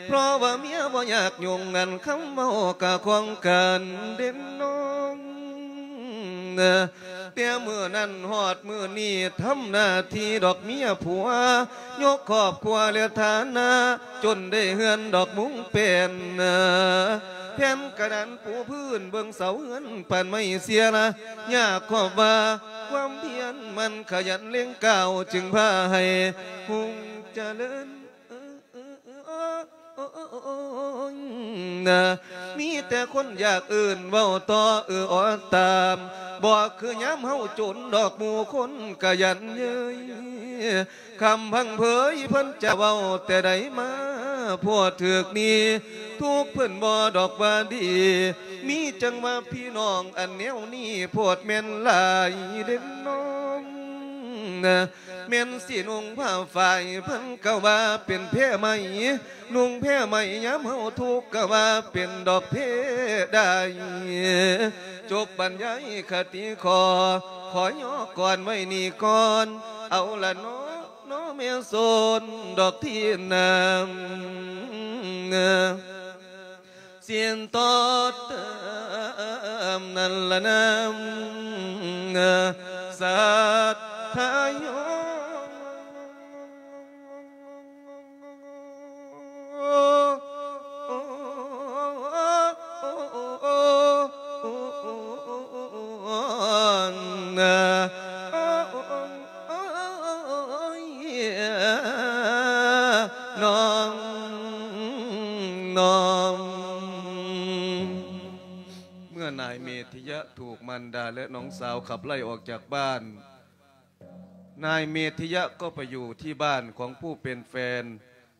ເພາະວ່າເມຍບໍ່ຢາກຫຍຸ້ງ ອັນຄຳເວົ້າກະຂອງກັນເດ້ນອ. ແຕ່ມື້ນັ້ນຮອດມື້ນີ້ ທຳໜ້າທີ່ດອກເມຍຜົວ ຍົກຄອບຄົວ ແລະ ຖານະ ຈົນໄດ້ເຮືອນດອກມຸງແປ້ນ ແຜ່ນກະດານປູພື້ນ ເບິ່ງເສົາເຮືອນປານໄມ້ເສຍລະ ຍາກຄອບວ່າ ຄວາມພຽນໝັ່ນຂະຫຍັນເລັ່ງກ້າວ ຈຶ່ງພາໃຫ້ຮຸ່ງຈະເລີນ. ມີແຕ່ຄົນຢາກເອີ້ນເວົ້າຕໍ່ ເອີອອດຕາມ ບໍ່ຄືຍາມເຮົາຈົນດອກ ໝູ່ຄົນກະຢັນເຍີ້ຍ ຄຳພັງເຜີຍເພິ່ນຈະເວົ້າແຕ່ໃດມາ ໂພດຖືກນີ້ ທຸກເພິ່ນບໍ່ດອກວ່າດີ ມີຈັ່ງວ່າພີ່ນ້ອງອັນແນວນີ້ ໂພດແມ່ນຫຼາຍເດ້ນອ. ແມ່ນຊິນຸ່ງຜ້າຝ້າຍ ເພິ່ນກໍວ່າເປັນແພໄມ້ ນຸ່ງແພໄມ້ ຍາມເຮົາທຸກກໍວ່າເປັນດອກເພໄດ້. ຈົບບັນຍາຍຄະຕິຂໍ ຂໍຍໍກ່ອນໄວ້ນີ້ກ່ອນ ເອົາລະເນາະ ເນາະແມ່ໂສນດອກທີ່ນາ ສຽນຕໍ່ເຕີມນັ້ນລະນາ ສັດທະຍອງ ນ້ອງ ນ້ອງ. ເມື່ອນາຍເມທິຍະຖືກມານດາ ແລະ ນ້ອງສາວຂັບໄລ່ອອກຈາກບ້ານ, ນາຍເມທິຍະກໍໄປຢູ່ທີ່ບ້ານຂອງຜູ້ເປັນແຟນ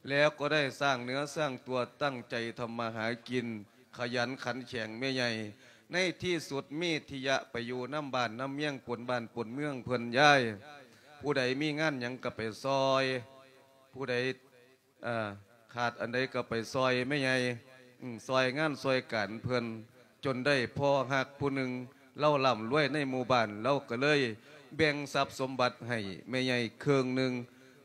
ແລ້ວກໍໄດ້ສ້າງເນື້ອສ້າງຕົວ ຕັ້ງໃຈທຳມາຫາກິນ ຂະຫຍັນຂັນແຂງແມ່ໃຫຍ່. ໃນທີ່ສຸດເມທິຍະໄປຢູ່ນຳບ້ານນຳເມືອງ ປົນບ້ານປົນເມືອງເພິ່ນ. ຍາຍ ຜູ້ໃດມີງານຫຍັງກໍໄປຊ່ອຍ, ຜູ້ໃດ ເອີ ຂາດອັນໃດກໍໄປຊ່ອຍແມ່ໃຫຍ່ ອືມ ຊ່ອຍງານຊ່ອຍການເພິ່ນ ຈົນໄດ້ພໍ່ຮັກຜູ້ໜຶ່ງ ລາວລ່ຳລວຍໃນໝູ່ບ້ານ ລາວກໍເລີຍແບ່ງຊັບສົມບັດໃຫ້ແມ່ໃຫຍ່ເຄິ່ງໜຶ່ງ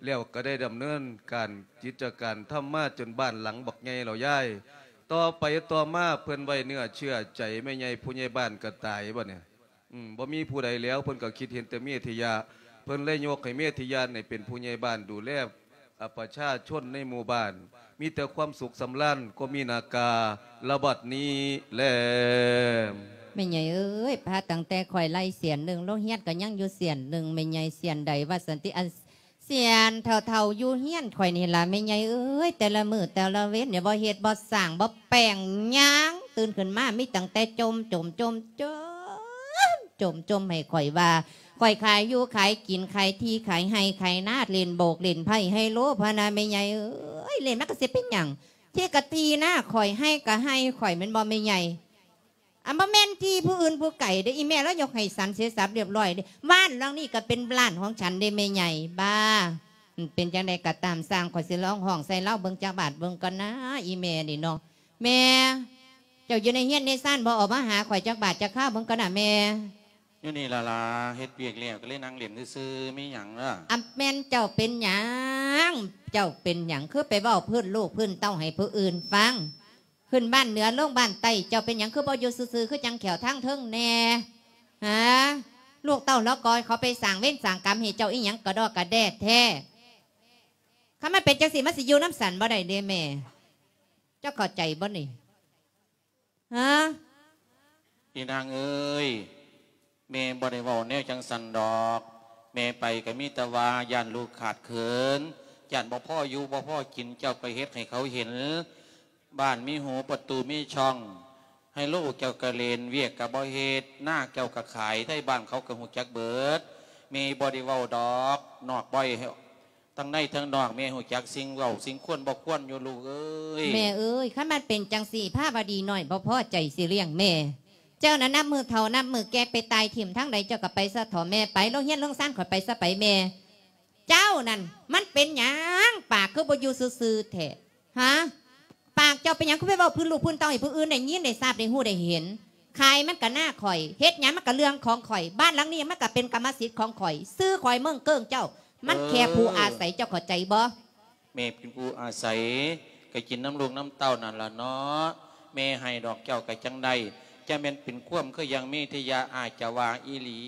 ແລ້ວກໍໄດ້ດຳເນີນການກິດຈະການທຳມາຈົນບ້ານຫຼັງບັກໃຫຍ່ແລ້ວຍາຍ. ຕໍ່ໄປຕໍ່ມາເພິ່ນໄວ້ເນື້ອເຊື່ອໃຈແມ່ໃຫຍ່ ຜູ້ໃຫຍ່ບ້ານກໍຕາຍບັດນີ້. ອືມ ບໍ່ມີຜູ້ໃດແລ້ວ ເພິ່ນກໍຄິດເຫັນແຕ່ເມທິຍະ ເພິ່ນເລີຍຍົກໃຫ້ເມທິຍະນີ້ເປັນຜູ້ໃຫຍ່ບ້ານດູແລ ອາ ປະຊາຊົນໃນໝູ່ບ້ານ ມີແຕ່ຄວາມສຸກສຳລານ ກໍມີນາກາລະບັດນີ້ແລ. ແມ່ໃຫຍ່ເອີຍ ພາຕັ້ງແຕ່ຂ້ອຍໄລ່ເສຍນໜຶ່ງ ໂລງຮຽນກໍຍັງຢູ່ເສຍນໜຶ່ງ ແມ່ໃຫຍ່ ເສຍນໃດວ່າຊັ້ນຕິ ອັນ ເສຍນເຖົ້າໆຢູ່ເຮືອນຂ້ອຍນີ້ລະ ແມ່ໃຫຍ່ເອີຍ ແຕ່ລະມື້ແຕ່ລະເວັນນີ້ ບໍ່ເຮັດບໍ່ສ້າງ ບໍ່ແປ້ງຫຍັງ ຕື່ນຂຶ້ນມາມີຕັ້ງແຕ່ຈົ່ມ ຈົ່ມ ຈົ່ມ ຈົ່ມ ຈົ່ມ ຈົ່ມໃຫ້ຂ້ອຍວ່າ ຂ້ອຍຂາຍຢູ່ຂາຍກິນ ຂາຍທີ່ຂາຍໄຮ່ຂາຍນາ ຫຼິ້ນໂບກຫຼິ້ນໄພ້ໄຮໂລ ພະນາແມ່ໃຫຍ່ເອີຍ ຫຼິ້ນມັນກໍຊິເປັນຫຍັງ ທີ່ກະທີ່ນາຂ້ອຍ ໄຮ່ກະໄຮ່ຂ້ອຍ ແມ່ນບໍ່ແມ່ໃຫຍ່? ອັນບໍ່ແມ່ນທີ່ຜູ້ອື່ນຜູ້ໄກເດ້ ອີແມ່ລາວຍົກໃຫ້ສັນເສຍສັບລຽບລ້ອຍເດ້ ບ້ານຫຼັງນີ້ກໍເປັນບ້ານຂອງສັນເດ້ແມ່ໃຫຍ່. ບ້າ ເປັນຈັ່ງໃດກໍຕາມຊ່າງ ຂ້ອຍຊິລອງຮ້ອງໃສ່ລາວເບິ່ງຈັກບາດເບິ່ງກ່ອນນາ ອີແມ່ນີ້ເນາະ. ແມ່ ເຈົ້າຢູ່ໃນເຮືອນໃນຊານບໍ່ ອອກມາຫາຂ້ອຍຈັກບາດຈັກຄາວເບິ່ງກ່ອນນາແມ່. ຢູ່ນີ້ລະລາ ເຮັດວຽກແລ້ວກໍເລີຍນັ່ງຫຼິ້ນຊື່ໆ ມີຫຍັງລະ? ອຳ ແມ່ນເຈົ້າເປັນຫຍັງ? ເຈົ້າເປັນຫຍັງ ຄືໄປເວົ້າພື້ນລູກພື້ນເຕົ້າໃຫ້ຜູ້ອື່ນຟັງ? ຂຶ້ນບ້ານເໜືອລົງບ້ານໃຕ້ ເຈົ້າເປັນຫຍັງຄືບໍ່ຢູ່ຊື່ໆ ຄືຈັ່ງແຂ້ວທາງເທິງແດ່? ຫາ ລູກເຕົ້າລະກອຍເຂົາໄປສ້າງເວນສ້າງກຳໃຫ້ເຈົ້າອີ່ຫຍັງກະດໍກະແດ່ແທ້? ຄັນມັນເປັນຈັ່ງຊີ້ ມັນຊິຢູ່ນຳສັນບໍ່ໄດ້ເດ້ແມ່. ເຈົ້າເຂົ້າໃຈບໍ່ນີ້? ຮະ? ອີນາງເອີຍ, ແມ່ບໍ່ໄດ້ເວົ້າແນວຈັ່ງຊັ້ນດອກ. ແມ່ໄປກໍມີແຕ່ວ່າຢ້ານລູກຂາດເຂີນ, ຢ້ານບໍ່ພໍຢູ່ບໍ່ພໍກິນ, ເຈົ້າກໍເຮັດໃຫ້ເຂົາເຫັນ. ບ້ານມີຫູ ປະຕູມີຊ່ອງ, ໄຮໂລເຈົ້າກໍຫຼິ້ນ, ວຽກກໍບໍ່ເຮັດ, ນາເຈົ້າກໍຂາຍ, ໄທບ້ານເຂົາກໍຮູ້ຈັກເບິດ. ແມ່ບໍ່ໄດ້ເວົ້າດອກ, ນອກບໍ່ໃຫ້ ທັງໃນທັງນອກ ແມ່ຮູ້ຈັກສິ່ງເວົ້າສິ່ງຄວນບໍ່ຄວນຢູ່ລູກເອີຍ. ແມ່ເອີຍ, ຄັນມັນເປັນຈັ່ງຊີ້ ພາວະດີນ້ອຍບໍ່ພໍໃຈຊິລ້ຽງແມ່. ເຈົ້ານັ້ນນັບມື້ເຖົ້ານັບມື້ແກ່ໄປຕາຍຖິ້ມທາງໃດ ເຈົ້າກໍໄປຊະເຖາະແມ່ໄປ, ໂຮງຮຽນໂຮງຊານຂ້ອຍໄປຊະໄປແມ່. ເຈົ້ານັ້ນມັນເປັນຫຍັງ ປາກຄືບໍ່ຢູ່ຊື່ໆແທ້? ຫາ ປາກເຈົ້າເປັນຫຍັງຄືໄປເວົ້າພື້ນລູກພື້ນເຕົ້າໃຫ້ຜູ້ອື່ນໄດ້ຍິນໄດ້ຊາບໄດ້ຮູ້ໄດ້ເຫັນ? ຂາຍມັນກະນາຂ້ອຍ, ເຮັດຫຍັງມັນກະເລື່ອງຂອງຂ້ອຍ, ບ້ານຫຼັງນີ້ມັນກະເປັນກຳມະສິດຂອງຂ້ອຍ, ຊື່ຂ້ອຍເມືອງເກີ້ງເຈົ້າ, ມັນແຄ່ຜູ້ອາໄສ, ເຈົ້າເຂົ້າໃຈບໍ່? ແມ່ເປັນຜູ້ອາໄສ, ກະກິນນຳລູກນຳເຕົ້ານັ້ນລະເນາະ. ແມ່ໃຫ້ດອກເຈົ້າກະຈັ່ງໄດ້, ຈະແມ່ນເປັນຄວາມຄືຢ່າງເມທິຍາອາດຈະວ່າອີ່ຫຼີ,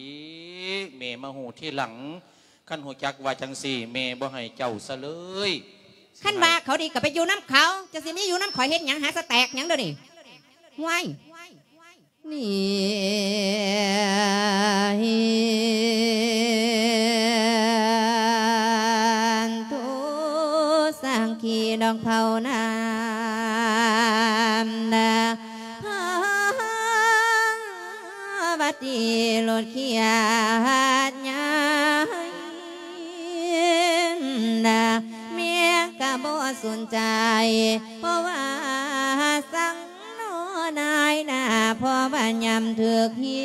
ແມ່ມາຮູ້ທີຫຼັງ. ຄັນຮູ້ຈັກວ່າຈັ່ງຊີ້ ແມ່ບໍ່ໃຫ້ເຈົ້າຊະເລີຍ. ຄັນວ່າເຂົາດີກໍໄປຢູ່ນຳເຂົາ, ຈະຊິມີຢູ່ນຳຂ້ອຍເຮັດຫຍັງ? ຫາສະແຕັກຫຍັງດຽວນີ້? ຫ້ວຍ! ນີ້ ໂຕສັງຄີດອກເຜົານ້ຳນາ ພາວັດດີລົດເຂຍຫາດໃຫຍ່ນາ ແມ່ກໍບໍ່ສົນໃຈ ເພາະວ່າສັງນໍນາຍໜ້າ ເພາະວ່າຍາມຖືກຫີ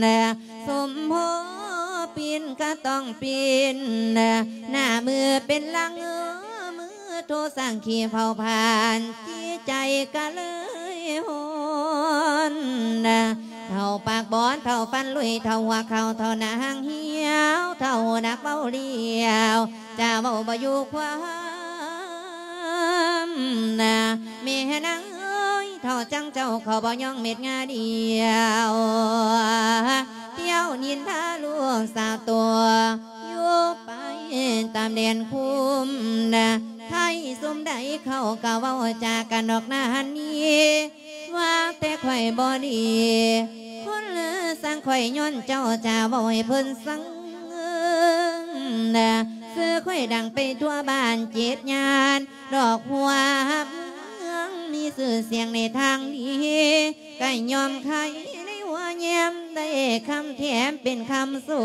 ນ ສົມພໍປິ່ນກໍຕ້ອງປິ່ນ ໜ້າມືເປັນຫຼັງມື ໂທສັງຄີເຜົາຜານ ຈິດໃຈກໍເລີຍຮ້ອນ. ເຖົ້າປາກບອນ ເຖົ້າຟັນລຸຍ ເຖົ້າຫົວເຂົ່າ ເຖົ້າໜັງຫຽວ ເຖົ້າໜັກເວົ້າຫຼຽວ ຈາເວົ້າບໍ່ຢູ່ຄວາມນາ ແມ່ນາງເອີຍ ເຖົ້າຈັ່ງເຈົ້າເຂົາບໍ່ຍອງເມັດງາດຽວ ທ່ຽວນິນທາລູກສາວຕົວ ຢູ່ໄປຕາມແດນຄຸ້ມນາ ໃຜຊຸມໃດເຂົາກໍເວົ້າຈາກັນນອກໜ້າຫັ້ນນີ້ ວ່າແຕ່ຂ້ອຍບໍ່ດີ ຄົນສັງຂ້ອຍຍ້ອນເຈົ້າຈາເວົ້າໃຫ້ເພິ່ນສັງນາ ຊື່ຂ້ອຍດັງໄປທົ່ວບ້ານເຈັດຍ່ານ ດອກຫົວເມືອງມີຊື່ສຽງໃນທາງດີ ກໍຍອມຂາຍໃນຫົວແຍ້ມ ໄດ້ຄຳແຖມເປັນຄຳຊົ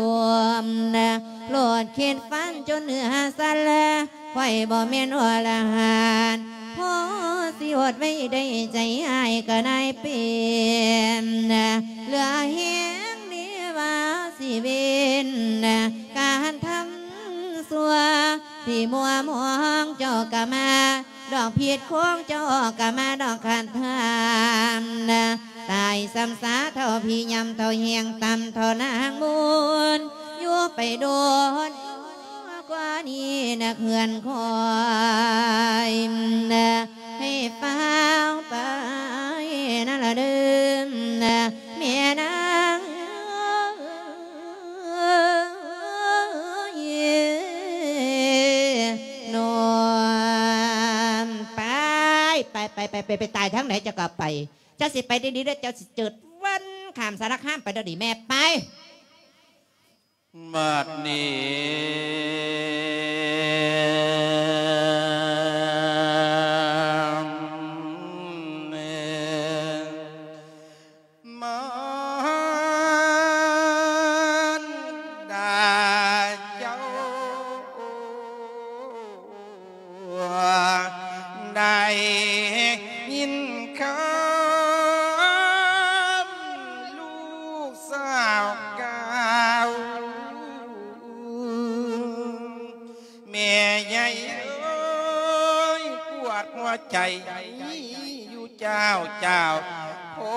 ມນາ ໂລດເຂດຝັນຈົນເໜືອສັນລະ ຂ້ອຍບໍ່ແມ່ນອໍລະຫັນ ພໍຊິອົດໄວ້ໄດ້ໃຈອ້າຍກໍນາຍເປັນ ເຫຼືອແຮງເດວ່າຊິເວັ້ນ ການທຳຊົ່ວທີ່ມົວມອງ ເຈົ້າກໍມາດອກຜິດຂອງ ເຈົ້າກໍມາດອກຂັດທຳ ຕາຍຊ້ຳສາເທົ່າຜີ ຍຳເທົ່າແຮງຕ່ຳເທົ່ານາງມົນ ຢູ່ໄປດົນ ກວ່ານີ້ນະເພື່ອນຂ້ອຍ ໃຫ້ຟ້າວໄປນັ້ນລະເດີ ແມ່ນາງເອີຍ ນ້ອມໄປ ໄປ ໄປ ໄປ ໄປ ໄປຕາຍທາງໃດເຈົ້າກໍໄປ ເຈົ້າຊິໄປດີໆເດີ ເຈົ້າຊິເຈີດວັນຂ້າມສາລະຄາມໄປດຽວນີ້ ແມ່ໄປ. ບັດນີ້ມານດາເຈົ້າ ໄດ້ຍິນຄຳລູກສາວກ່າວ ແມ່ໃຫຍ່ເອີຍ ປວດຫົວໃຈຢູ່ເຈົ້າ ເຈົ້າ ໂອ້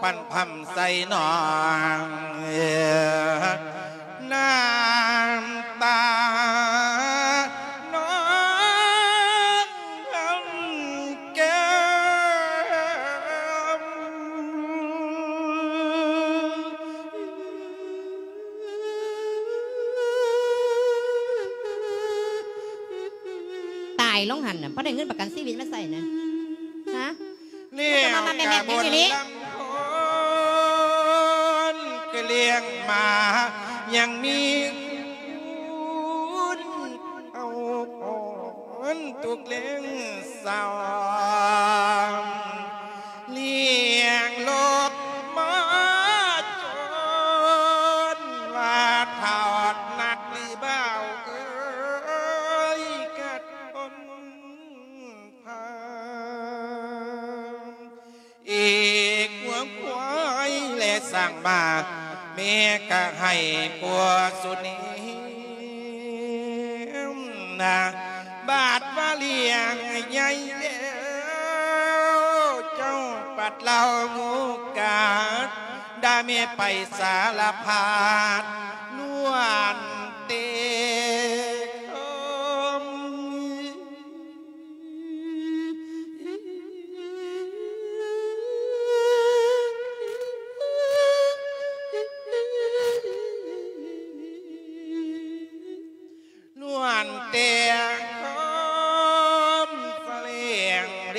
ປັນພຳໃສ່ນ້ອງ ນ້ຳຕານ້ອງເອົາແກ້ມ. ຕາຍລົງຫັ້ນນະ ບໍ່ໄດ້ເງິນປະກັນຊີວິດມາໃຊ້ນະ ຮະ? ລ້ຽງກະບົນລຳໂພນ ກະລ້ຽງໝາ ຍັງມີບຸນເອົາອອນທຸກແລງເຊົ້າ ລ້ຽງລູກມາຈົນວ່າເຖົ້ານັກຫຼືບ່າວເອີຍ ກະທົນ ພາ ເອກງົວຄວາຍແລະຊ້າງມ້າ ແມ່ກະໃຫ້ປົວສຸນີນະ ບາດວ່າລ້ຽງໃຫຍ່ແລ້ວ ເຈົ້າປັດເລົ່າໂງກາດ ດາແມ່ໄປສາລະພັດ ນວນເຕ ນວນແຕ່ຄອມສະແຫຼງເດ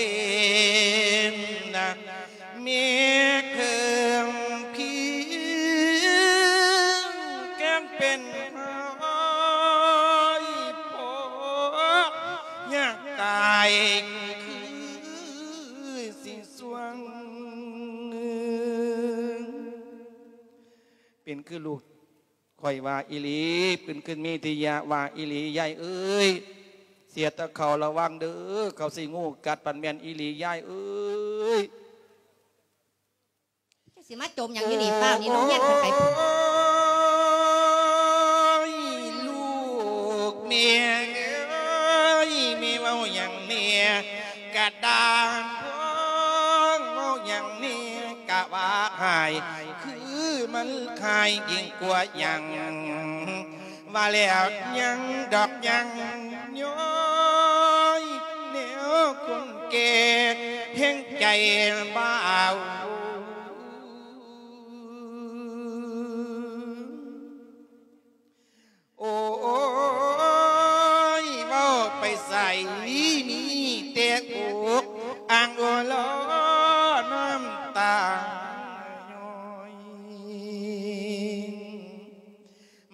ນນະ ແມ່ເຄິ່ງພິງແກ້ມເປັນຫອຍ ພໍຢາກຕາຍຄືຊິຊ່ວງ. ເປັນຄືລູກຂ້ອຍວ່າອີ່ຫຼີ ເປັນຄືເມທິຍະວ່າອີ່ຫຼີ ຍາຍເອີຍ ເສຍແຕ່ເຂົາລະວັງເດີ ເຂົາຊິງູກັດ ປານແມ່ນອີ່ຫຼີ ຍາຍເອີຍ. ຈະຊິມາຈົມຫຍັງຢູ່ນີ້ ຟ້າວໜີໂຮງຮຽນໄປພຸ້ນ. ໂອ້ຍ ລູກແມ່ເອີຍ ແມ່ເວົ້າຫຍັງແນ່ ກະດ່າງພ້ອງ ເວົ້າຫຍັງແນ່ກະວ່າຮ້າຍ ຄືມັນຮ້າຍຍິ່ງກວ່າຫຍັງ ວ່າແລ້ວຍັງດອກຍັງຍ້ອຍ ແນວຄົນແກ່ແຮງໃຈບ່າວ. ໂອ້ຍ ເວົ້າໄປໃສມີແຕ່ອົກອ່າງໂອລອ ນ້ຳຕາຍ້ອຍ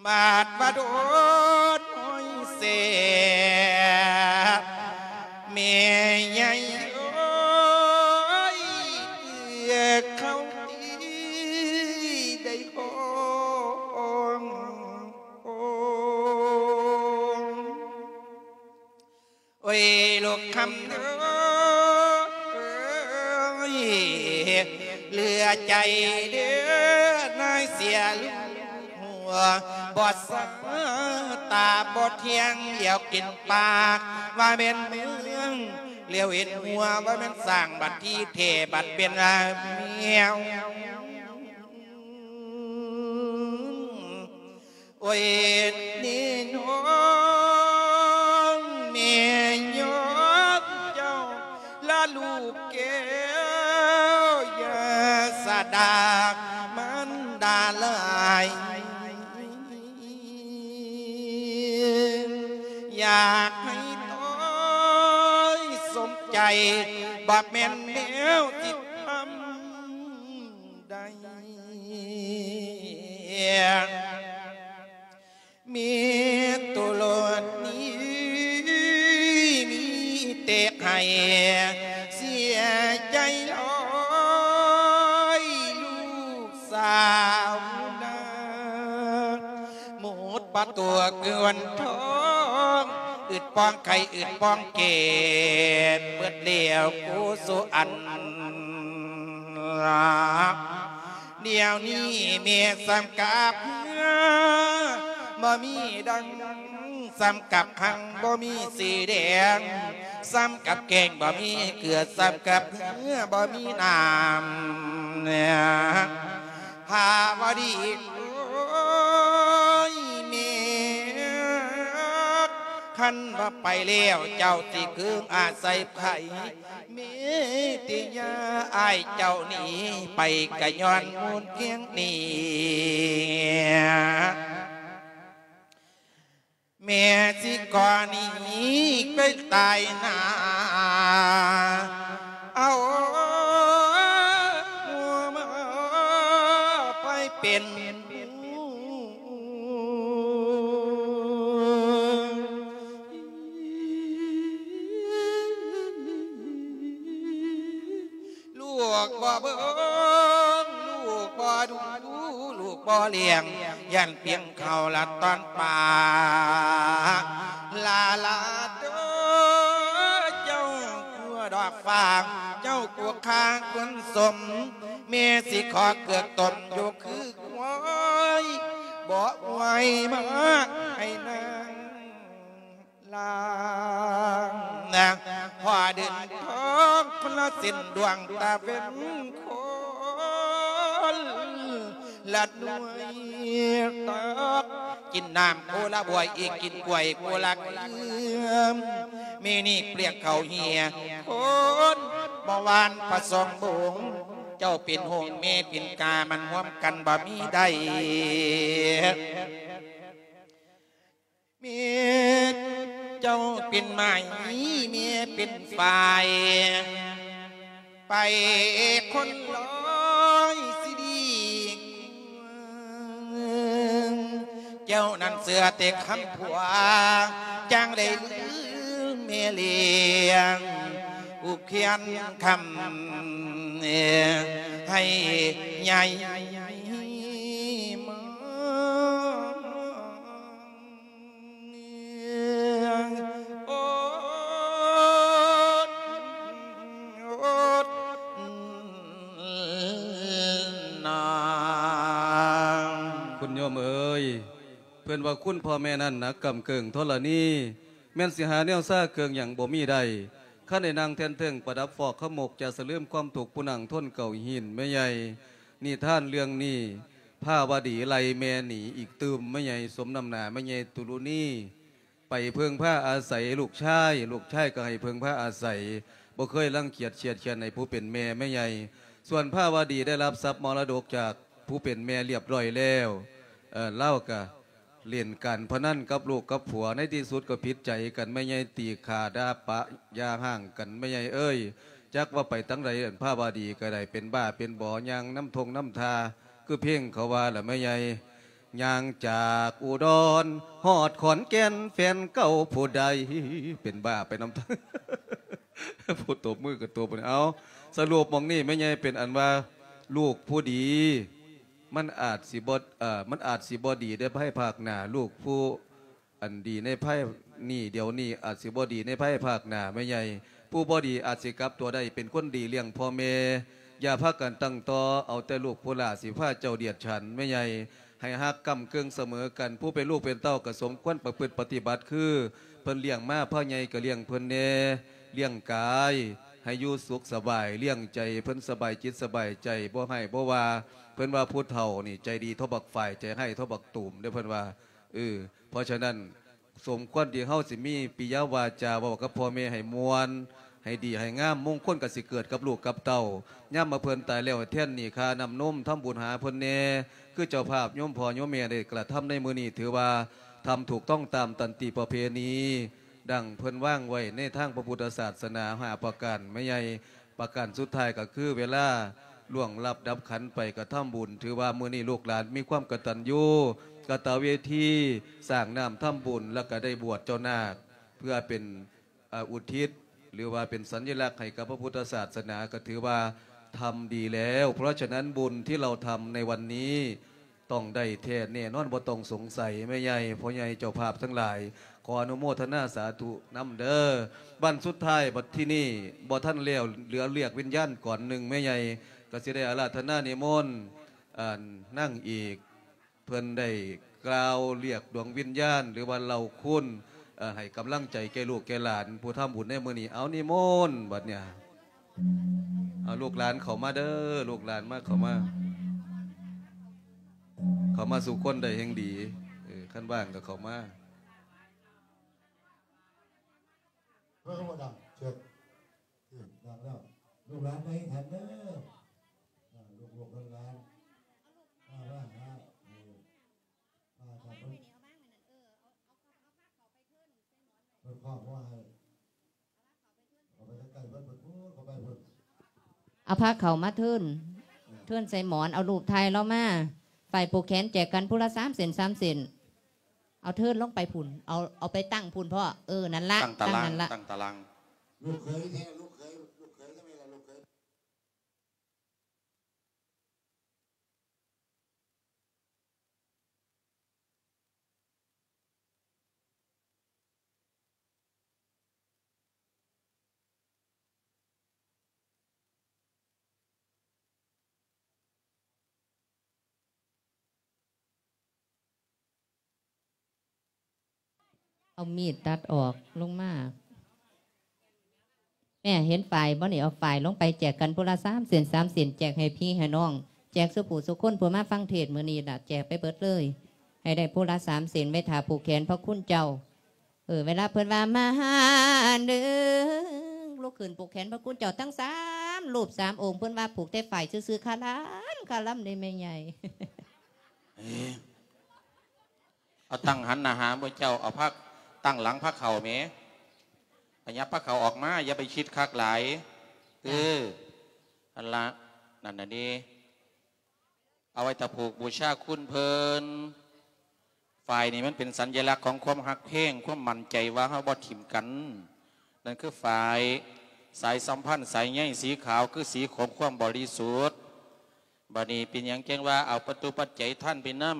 ບາດວ່າໂດນຫ້ອຍແສບ ແມ່ໃຫຍ່ເອີຍ ເອື້ອເຂົ້າຕີໄດ້ຮ້ອງ ໂອ້ຍ ລູກຄຳເອີຍ ເຫຼືອໃຈເດີ ນາຍເສຍລູກຫົວ ບໍ່ສາຕາບໍ່ທ່ຽງ ຫຼຽວເຫັນປາກ ວ່າແມ່ນເມືອງ ຫຼຽວເຫັນຫົວ ວ່າແມ່ນຊ້າງ ບັດທີ່ແທ້ບັດເປັນແມວ. ໂອ້ຍ ນີ້ນ້ອງແມ່ຍອມເຈົ້າລະລູກແກ້ວ ຢ່າສະດາກມັນດາຫຼາຍ ຢາກໃຫ້ຕ້ອຍສົມໃຈ ບໍ່ແມ່ນແນວທີ່ທຳ ໄດ້ ມີໂຕໂລດນີ້ ມີແຕ່ໃຫ້ເສຍໃຈຫຼາຍ ລູກສາວນາ ໝົດປະຕົວເກືອນທອງ ອຶດປ້ອງໄຂ່ ອຶດປ້ອງເກດ ເບິດແລ້ວໂກສຸອັນ ດຽວນີ້ແມ່ສຳກັບເຮືອ ບໍ່ມີດັ່ງ ສ່ຳກັບຄັງບໍ່ມີສີແດງ, ສ່ຳກັບແກງບໍ່ມີເກືອ, ສ່ຳກັບເຮືອບໍ່ມີນ້ຳ. ພາວະດີ ໂອ້ຍແມ່, ຄັນວ່າໄປແລ້ວເຈົ້າຊິເກີງອາໄສໃຜ? ແມ່ຕິຍາອ້າຍເຈົ້າໜີໄປກະຍ້ອນມູນແກງນີ້. ແມ່ຊິຂໍໜີໄປຕາຍໜ້າ ເອົາຫົວມາໄປເປັນ ລູກບໍ່ເບິ່ງ ລູກບໍ່ດູ ລູກບໍ່ລ້ຽງ ຢ້ານປ່ຽງເຂົ້າລະຕອນປາ ລາລາເດີ ເຈົ້າກົວດອກຟາງ ເຈົ້າກົວຄາຄົນສົມ ແມ່ຊິຂໍເກືອກຕົ້ມຢູ່ຄືຄວາຍ ບໍ່ໄຫວມາໃຫ້ນາງ ລາງນະ ພໍເດີນທາງຄົນລະເສັ້ນ ດວງຕາເວັນຄົນລະໜ່ວຍ ຕັກກິນນ້ຳໂຄລະບວຍ ອີກກິນກ້ວຍໂຄລະເຄືອມ ມື້ນີ້ປ່ຽງເຂົ້າເຫຍຄົນບໍ່ຫວານປະສອງບົງ ເຈົ້າເປັນຫົງແມ່ເປັນກາ ມັນຮ່ວມກັນບໍ່ມີໄດ້. ແມ່ເຈົ້າເປັນໄມ້ ແມ່ເປັນຝ້າຍ ໄປຄົນລອຍຊິດີກວ່າ ເຈົ້ານັ້ນເຊື່ອແຕ່ຄຳຜົວ ຈັ່ງໄດ້ລືມແມ່ລ້ຽງ ອຸບຂຽນຄຳໃຫ້ໃຫຍ່ມາ. ໂອດ ໂອດ ນາງ ຄຸນໂຍມເອີຍ, ເພິ່ນວ່າຄຸນພໍ່ແມ່ນັ້ນໜັກກ້ຳເກີ້ງທໍລະນີ, ແມ່ນຊິຫາແນວຊາເກີ້ງຫຍັງບໍ່ມີໄດ້. ຄັນໄດ້ນັ່ງແທ່ນເທິງປະດັບຟອກຂະໝົກ ຈະສະເຫຼີມຄວາມທຸກຜູ້ນັ່ງທົນເກົ່າຫີນແມ່ໃຫຍ່. ນິທານເລື່ອງນີ້ ພາວະດີໄລ່ແມ່ໜີອີກຕື່ມແມ່ໃຫຍ່ ສົມນຳໜ້າແມ່ໃຫຍ່ຕຸລຸນີ ໄປເພິ່ງພາອາໄສລູກຊາຍ, ລູກຊາຍກໍໃຫ້ເພິ່ງພາອາໄສ, ບໍ່ເຄີຍລັງກຽດຄຽດຄ້ານໃຫ້ຜູ້ເປັນແມ່ແມ່ໃຫຍ່. ສ່ວນພາວະດີໄດ້ຮັບຊັບມໍລະດົກຈາກຜູ້ເປັນແມ່ລຽບຮ້ອຍແລ້ວ, ເອີ ລາວກໍ ຫຼິ້ນການພະນັນກັບລູກກັບຜົວ, ໃນທີ່ສຸດກໍຜິດໃຈກັນ, ແມ່ໃຫຍ່ຕີຂ້າດ່າປະຢ່າຮ້າງກັນ, ແມ່ໃຫຍ່ເອີຍ ຈັກວ່າໄປທາງໃດ. ພາວະດີກໍໄດ້ເປັນບ້າເປັນບໍ ຍ່າງນຳທົ່ງນຳທ່າ ຄືເພງເຂົາວ່າລະແມ່ໃຫຍ່, ຍ່າງຈາກອຸດອນຮອດຂອນແກ່ນ ແຟນເກົ່າຜູ້ໃດ ເປັນບ້າໄປນຳ ຜູ້ຕົບມືກໍຕົບ. ເອົາ ສະຫຼຸບໝ່ອງນີ້ແມ່ໃຫຍ່ເປັນອັນວ່າ ລູກຜູ້ດີ ມັນອາດຊິບໍ່ ເອີ ມັນອາດຊິບໍ່ດີໃນພາຍພາກໜ້າ, ລູກຜູ້ອັນດີໃນພາຍນີ້ດຽວນີ້ ອາດຊິບໍ່ດີໃນພາຍພາກໜ້າແມ່ໃຫຍ່. ຜູ້ບໍ່ດີອາດຊິກັບຕົວໄດ້ເປັນຄົນດີລ້ຽງພໍ່ແມ່. ຢ່າພາກັນຕັ້ງຕໍ່ເອົາແຕ່ລູກຜູ້ຫຼ້າ ຊິພາເຈົ້າດຽດສານແມ່ໃຫຍ່. ໃຫ້ຮັກກ້ຳເກີ້ງສະເໝີກັນ. ຜູ້ເປັນລູກເປັນເຕົ້າກໍສົມຄວນປະພຶດປະຕິບັດ ຄືເພິ່ນລ້ຽງມາ, ພາໃຫຍ່ກໍລ້ຽງເພິ່ນແດ່, ລ້ຽງກາຍໃຫ້ຢູ່ສຸກສະບາຍ, ລ້ຽງໃຈເພິ່ນສະບາຍຈິດສະບາຍໃຈ, ບໍ່ຮ້າຍບໍ່ວ່າ. ເພິ່ນວ່າຜູ້ເຖົ້ານີ້ໃຈດີເທົ່າບັກຝ້າຍ, ໃຈຮ້າຍເທົ່າບັກຕູມເດ້ ເພິ່ນວ່າ. ເອີ ເພາະສະນັ້ນ ສົມຄວນທີ່ເຮົາຊິມີປິຍະວາຈາເວົ້າກັບພໍ່ແມ່ໃຫ້ມ່ວນ, ໃຫ້ດີໃຫ້ງາມ, ມົງຄົນກໍຊິເກີດກັບລູກກັບເຕົ້າ. ຍາມວ່າເພິ່ນຕາຍແລ້ວ ແທນໜີ້ຄ່ານ້ຳນົມ, ທຳບຸນຫາເພິ່ນແດ່. ຄືເຈົ້າພາບໂຍມພໍ່ໂຍມແມ່ໄດ້ກະທຳໃນມື້ນີ້ ຖືວ່າທຳຖືກຕ້ອງຕາມຕັນຕິປະເພນີ ດັ່ງເພິ່ນວາງໄວ້ໃນທາງພະພຸດທະສາສະໜາຫ້າປະການແມ່ໃຫຍ່. ປະການສຸດທ້າຍກໍຄືເວລາລ່ວງລັບດັບຂັນໄປກໍທຳບຸນ. ຖືວ່າມື້ນີ້ລູກຫຼານມີຄວາມກະຕັນຍູກະຕະເວທີ, ສ້າງນ້ຳທຳບຸນ ແລ້ວກໍໄດ້ບວດເຈົ້ານາກ ເພື່ອເປັນ ອາ ອຸທິດ ຫຼືວ່າເປັນສັນຍະລັກໃຫ້ກັບພະພຸດທະສາສະໜາ ກໍຖືວ່າທຳດີແລ້ວ. ເພາະສະນັ້ນ ບຸນທີ່ເຮົາທຳໃນວັນນີ້ ຕ້ອງໄດ້ແທ້ແນ່ນອນ ບໍ່ຕ້ອງສົງໄສ. ແມ່ໃຫຍ່ ພໍ່ໃຫຍ່ ເຈົ້າພາບທັງຫຼາຍ ຂໍອະນຸໂມທະນາສາທຸນຳເດີ. ວັນສຸດທ້າຍບັດທີນີ້ ບໍ່ທັນແລ້ວ ເຫຼືອລຽກວິນຍານກ່ອນໜຶ່ງ ແມ່ໃຫຍ່ກໍຊິໄດ້ອາລາທະນານິມົນ ອັນ ນາງເອກ ເພິ່ນໄດ້ກ່າວລຽກດວງວິນຍານ ຫຼືວ່າເລົ່າຄຸນ ເອີ ໃຫ້ກຳລັງໃຈແກ່ລູກແກ່ຫຼານ ຜູ້ທຳບຸນໃນມື້ນີ້. ເອົາ ນິມົນບັດເນີ້ຍ. ເອົາ ລູກຫຼານເຂົ້າມາເດີ ລູກຫຼານມາ ເຂົ້າມາ ເຂົ້າມາສູ່ຄົນໄດ້ແຮ່ງດີ. ເອີ ຄັນວ່າງກໍເຂົ້າມາ. ເພິ່ນກໍບໍ່ດັງ ເຊີນ ນີ້ດັງແລ້ວ. ລູກຫຼານໄປແຖມເດີ ອ່າ ລູກໆຫຼານໆ ມາ ມາຫາ ເອີ ມາ ຖ້າເພິ່ນ ເພິ່ນຄອບບໍ່ໃຫ້ ເອົາພາເຂົ້າມາເທີນ ເທີນໃສ່ໝອນ ເອົາຮູບຖ່າຍລາວມາ. ຝ່າຍຜູກແຂນແຈກກັນຜູ້ລະສາມເສັ້ນ ສາມເສັ້ນ. ເອົາເທີນລົງໄປພຸ້ນ ເອົາ ເອົາໄປຕັ້ງພຸ້ນພໍ່. ເອີ ນັ້ນລະ ຕັ້ງຕາລາງ ຕັ້ງນັ້ນລະ ຕັ້ງຕາລາງ. ລູກເຂີຍແທ້ ລູກເຂີຍ ລູກເຂີຍທຳໄມລະ ລູກເຂີຍ. ເອົາມີດຕັດອອກລົງມາ. ແມ່ເຫັນຝ້າຍບໍ່ນີ້? ເອົາຝ້າຍລົງໄປແຈກກັນຜູ້ລະສາມເສັ້ນ ສາມເສັ້ນ ແຈກໃຫ້ພີ່ໃຫ້ນ້ອງ ແຈກສູ່ຜູ້ສູ່ຄົນ ຜູ້ມາຟັງເທດມື້ນີ້ລະ ແຈກໄປເບິດເລີຍ ໃຫ້ໄດ້ຜູ້ລະສາມເສັ້ນ ໄວ້ຖ້າຜູກແຂນພະຄຸນເຈົ້າ. ເອີ ເວລາເພິ່ນວ່າ ມາຫາເດີ ລຸກຂຶ້ນຜູກແຂນພະຄຸນເຈົ້າທັງສາມຮູບສາມອົງ. ເພິ່ນວ່າຜູກແຕ່ຝ້າຍຊື່ໆ ຄະລຳ ຄະລຳເດ້ແມ່ໃຫຍ່. ເອີ ເອົາຕັ້ງຫັນໜ້າຫາໝູ່ເຈົ້າ ເອົາພາ ຕັ້ງຫຼັງພາເຂົ້າແໝ ຂະຫຍັບພາເຂົ້າອອກມາ ຢ່າໄປຊິດຄັກຫຼາຍ. ເອີ ຫັ້ນລະ ນັ້ນນະເດ ເອົາໄວ້ຖ້າຜູກບູຊາຄຸນເພິ່ນ. ຝ້າຍນີ້ມັນເປັນສັນຍະລັກຂອງຄວາມຮັກແພງ ຄວາມໝັ້ນໃຈວ່າເຮົາບໍ່ຖິ້ມກັນ. ນັ້ນຄືຝ້າຍ ສາຍສຳພັນ ສາຍໃຍສີຂາວ ຄືສີຂອງຄວາມບໍລິສຸດ. ບາດນີ້ເປັນຫຍັງຈຶ່ງວ່າເອົາປະຕຸປັດໄຈທານໄປນຳ?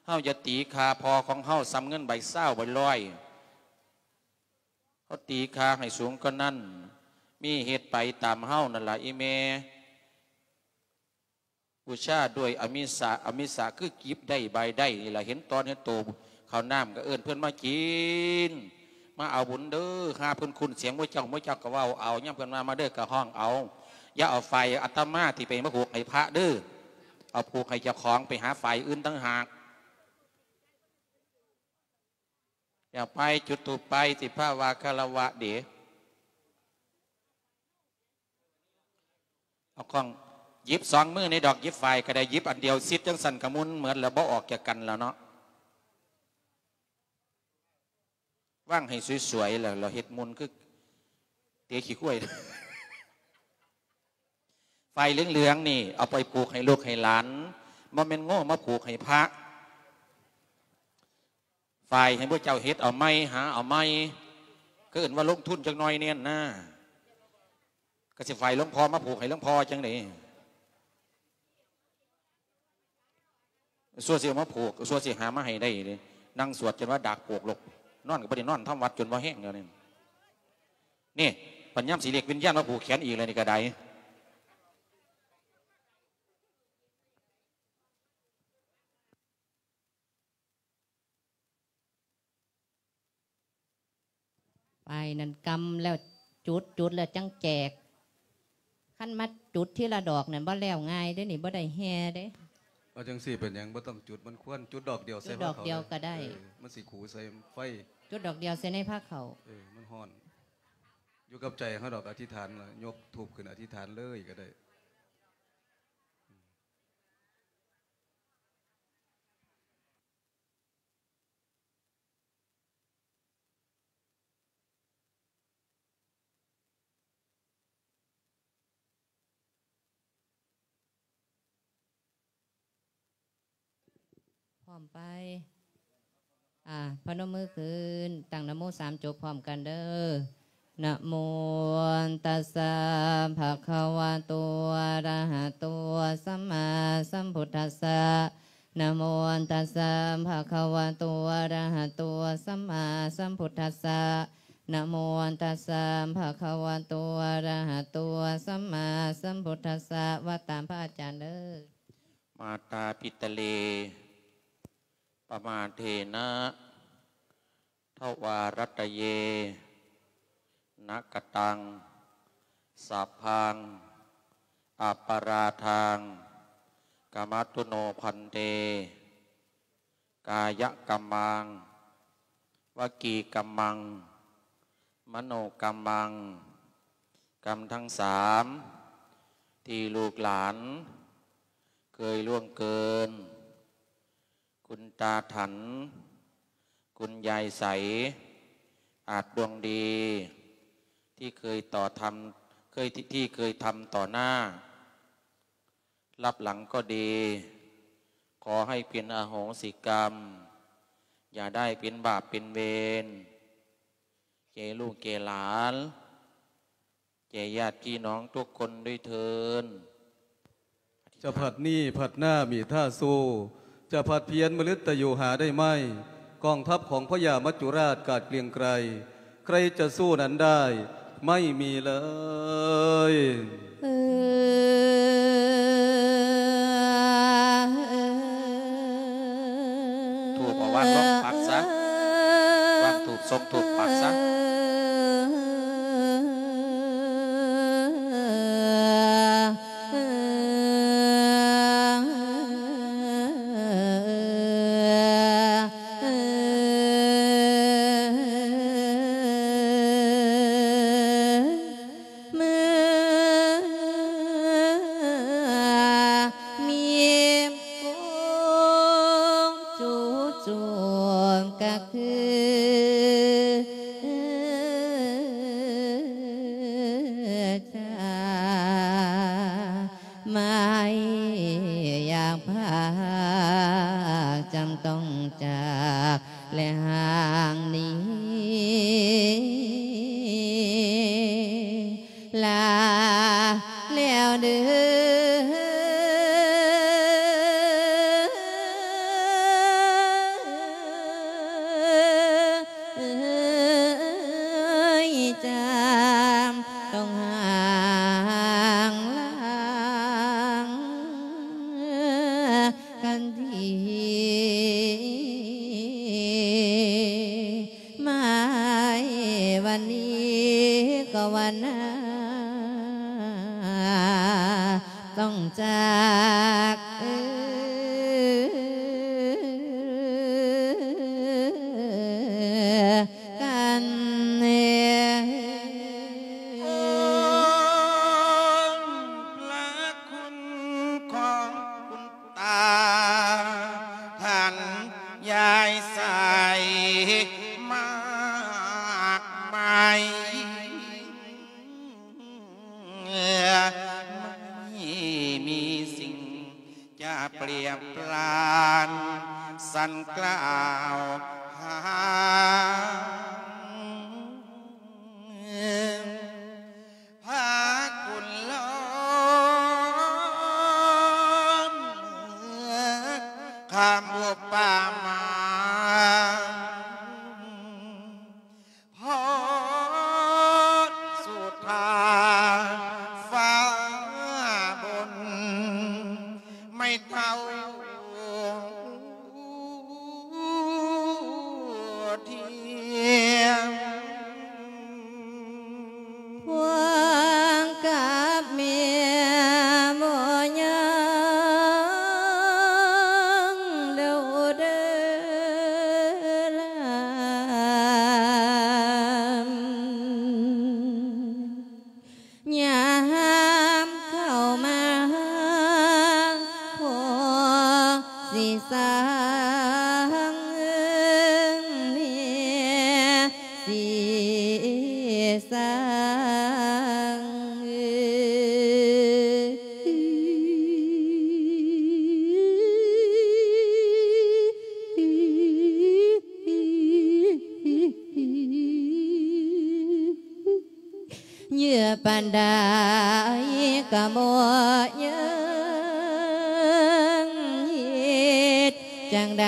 ເຮົາຢ່າຕີຄ່າພໍ່ຂອງເຮົາສ່ຳເງິນໃບຊາວໃບຮ້ອຍ. ເຮົາຕີຄ່າໃຫ້ສູງກວ່ານັ້ນ. ມີເຮັດໄປຕາມເຮົານັ້ນລະອີ່ແມ່. ບູຊາດ້ວຍອະມິສະ ອະມິສະຄືກິບໄດ້ບາຍໄດ້ນີ້ລະ ເຫັນຕອນເຫັນໂຕ. ເຂົ້ານ້ຳກໍເອີ້ນເພິ່ນມາກິນ ມາເອົາບຸນເດີ. ຫາເພິ່ນຄຸ້ນສຽງໝູ່ເຈົ້າ ໝູ່ເຈົ້າກໍເວົ້າເອົາ. ຍາມເພິ່ນວ່າ ມາເດີ ກໍຮ້ອງເອົາ. ຢ່າເອົາຝ້າຍອາດຕະມາທີ່ໄປມາຜູກໃຫ້ພະເດີ ເອົາຜູກໃຫ້ເຈົ້າຂອງ. ໄປຫາຝ້າຍອື່ນຕ່າງຫາກ. ຢ່າໄປ ຈຸດທູບໄປ ຊິພາວ່າຄາລະວະເດ. ເອົາຂອງ ຫຍິບສອງມືນີ້ດອກ ຫຍິບຝ້າຍກໍໄດ້ ຫຍິບອັນດຽວຊິດຈັ່ງຊັ້ນກໍໝຸ່ນໝົດແລ້ວ ບໍ່ອອກຈາກກັນແລ້ວເນາະ. ວາງໃຫ້ສວຍໆ ແລ້ວ ແລ້ວເຮັດໝຸ່ນຄືເຕະຂີ້ຄວາຍ. ຝ້າຍເຫຼືອງໆ ນີ້ເອົາໄປຜູກໃຫ້ລູກໃຫ້ຫຼານ ບໍ່ແມ່ນໂງ່ມາຜູກໃຫ້ພະ. ຝ້າຍໃຫ້ໝູ່ເຈົ້າເຮັດເອົາໃໝ່ ຫາເອົາໃໝ່ ກໍເອີ້ນວ່າລົງທຶນຈັກໜ້ອຍແດ່ນະ. ກໍຊິຝ້າຍຫຼວງພໍ່ມາຜູກໃຫ້ຫຼວງພໍ່ຈັ່ງໃດ? ຊົ່ວຊິເອົາມາຜູກ ຊົ່ວຊິຫາມາໃຫ້ໄດ້ເດ້. ນັ່ງສວດຈົນວ່າດາກໂປກໂລກ ນອນກໍບໍ່ໄດ້ນອນ ທຳວັດຈົນບໍ່ແຮງແລ້ວນີ້. ນີ້ ບັດຍາມຊິເອີ້ນວິນຍານມາຜູກແຂນອີກແລ້ວນີ້ກໍໄດ້. ໄປນັ້ນກຳແລ້ວ ຈຸດ ຈຸດແລ້ວຈັ່ງແຈກ. ຄັນມາຈຸດທີລະດອກນັ້ນ ບໍ່ແລ້ວງ່າຍເດ້ນີ້ ບໍ່ໄດ້ແຫ່ເດ້. ເອົາຈັ່ງຊີ້ເປັນຫຍັງ? ບໍ່ຕ້ອງຈຸດ ມັນຄວນຈຸດດອກດຽວໃສ່ ຈຸດດອກດຽວກໍໄດ້. ເອີ ມັນຊິຂູໃສ່ໄຟ. ຈຸດດອກດຽວໃສ່ໃນພາເຂົ້າ. ເອີ ມັນຮ້ອນ. ຢູ່ກັບໃຈເຮົາດອກ. ອະທິຖານລະ ຍົກທູບຂຶ້ນອະທິຖານເລີຍກໍໄດ້. ພ້ອມໄປ. ອ່າ ພະນົມມືຂຶ້ນ ຕັ້ງນະໂມສາມຈົບພ້ອມກັນເດີ. ນະໂມຕັດສະ ພະຄະວະໂຕ ອະຣະຫະໂຕ ສຳມາສຳພຸດທັດສະ. ນະໂມຕັດສະ ພະຄະວະໂຕ ອະຣະຫະໂຕ ສຳມາສຳພຸດທັດສະ. ນະໂມຕັດສະ ພະຄະວະໂຕ ອະຣະຫະໂຕ ສຳມາສຳພຸດທັດສະ. ວ່າຕາມພະອາຈານເດີ. ມາຕາປິຕະເລ ປະມາເທນະ ທະວາຣັດຕະເຍ ນະກະຕັງ ສັບພັງ ອະປະລາທັງ ກະມະຕຸໂນ ພັນເຕ ກາຍະກຳມັງ ວະກີກຳມັງ ມະໂນກຳມັງ ກຳທັງສາມ ທີ່ລູກຫຼານເຄີຍລ່ວງເກີນ ຄຸນຕາຖັນ ຄຸນຍາຍໃສ ອາດດວງດີ ທີ່ເຄີຍຕໍ່ທຳ ເຄີຍ ທີ່ເຄີຍທຳຕໍ່ໜ້າ ລັບຫຼັງກໍດີ ຂໍໃຫ້ເປັນອະໂຫສິກຳ ຢ່າໄດ້ເປັນບາບເປັນເວນ ແກ່ລູກແກ່ຫຼານ ແກ່ຍາດພີ່ນ້ອງທຸກຄົນດ້ວຍເທີ້ນ. ຈະພັດນີ້ພັດໜ້າມີທ່າສູ້ ຈະພັດພຽນມະລຶດຕະໂຍຫາໄດ້ໄໝ? ກອງທັບຂອງພະຍາມັດຈຸລາດກາດເກຣັງໄກຣ ໃຄຈະສູ້ນັ້ນໄດ້ ໄມ່ມີເລີຍ. ທູບເອົາວາງລົງປັກຊະ ວາງທູບ ສົ່ງທູບປັກຊະ. ເມື່ອມີໂກງຈູຈູກະຄື ຈາ ໄມ່ຢາກພາກ ຈຳຕ້ອງຈາກ ແລະຫ່າງໜີ ລາແລ້ວເດີ ຈຳຕ້ອງຫ່າງລາ ກັນທີ ມາໃຫ້ວັນນີ້ກໍວັນໜ້າ ຕ້ອງຈາກ ເອີ ກັນເອງ. ໂອ້ ພະຄຸນຂອງຄຸນຕາທ່ານ ຍາຍໃສມາກມາຍ ໄມ່ມີສິ່ງ ຈະປຽບປານ ສັນກ່າວຫາ ພະຄຸນລ້ອມ ຄຳອຸປະມາ ພໍດສຸທາຟ້າບົນ ໄມ້ເທົ້າທຽງ ພວງກັບແມ່ບໍ່ຍັງເດົາເດີລາມ ຍາມເຂົ້າມາພໍຊິສັງເອີງ ແມ່ຊິສັງເອີງ. ເຫຍື່ອປານໃດກໍບໍ່ຍັງ ເຮັດຈັ່ງໃດ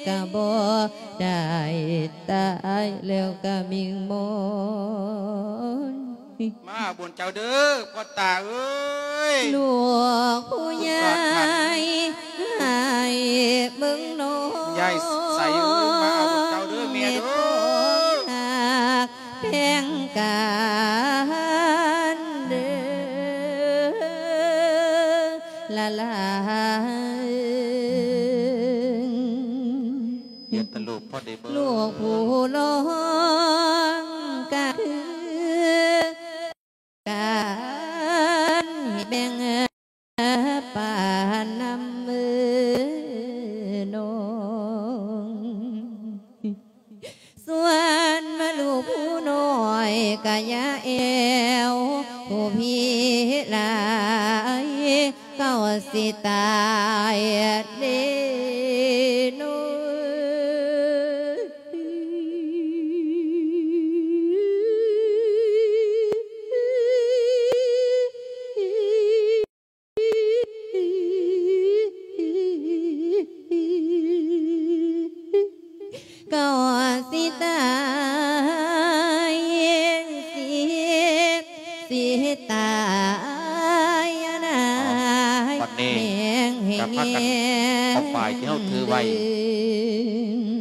ກໍບໍ່ໄດ້ ຕາຍແລ້ວກໍມິ່ງມອນ ມາບຸນເຈົ້າເດີ ພໍ່ຕາເອີຍ ລູກຜູ້ໃຫຍ່ໃຫ້ເບິ່ງນ້ອງ ຍາຍໃສເອີຍ ມາບຸນເຈົ້າເດີແມ່ເດີ ແພງກັນເດີລະລາ ເຮັດຕະຫຼຸບພໍໄດ້ເບິ່ງ ລູກຜູ້ຮ້ອງກະຄືກັນ ໃຫ້ແບ່ງປານນຳເອີນ້ອງ ສ່ວນວ່າລູກຜູ້ນ້ອຍກະຢ່າແອວຜູ້ພີຫຼາຍ ເຂົາຊິຕາຍເດ້ນ້ອງ. ກໍຊິຕາຍ ຊິ ຊິຕາຍນາຍ ບັດນີ້ກໍພາກັນເອົາປ້າຍທີ່ເຮົາຖືໄວ້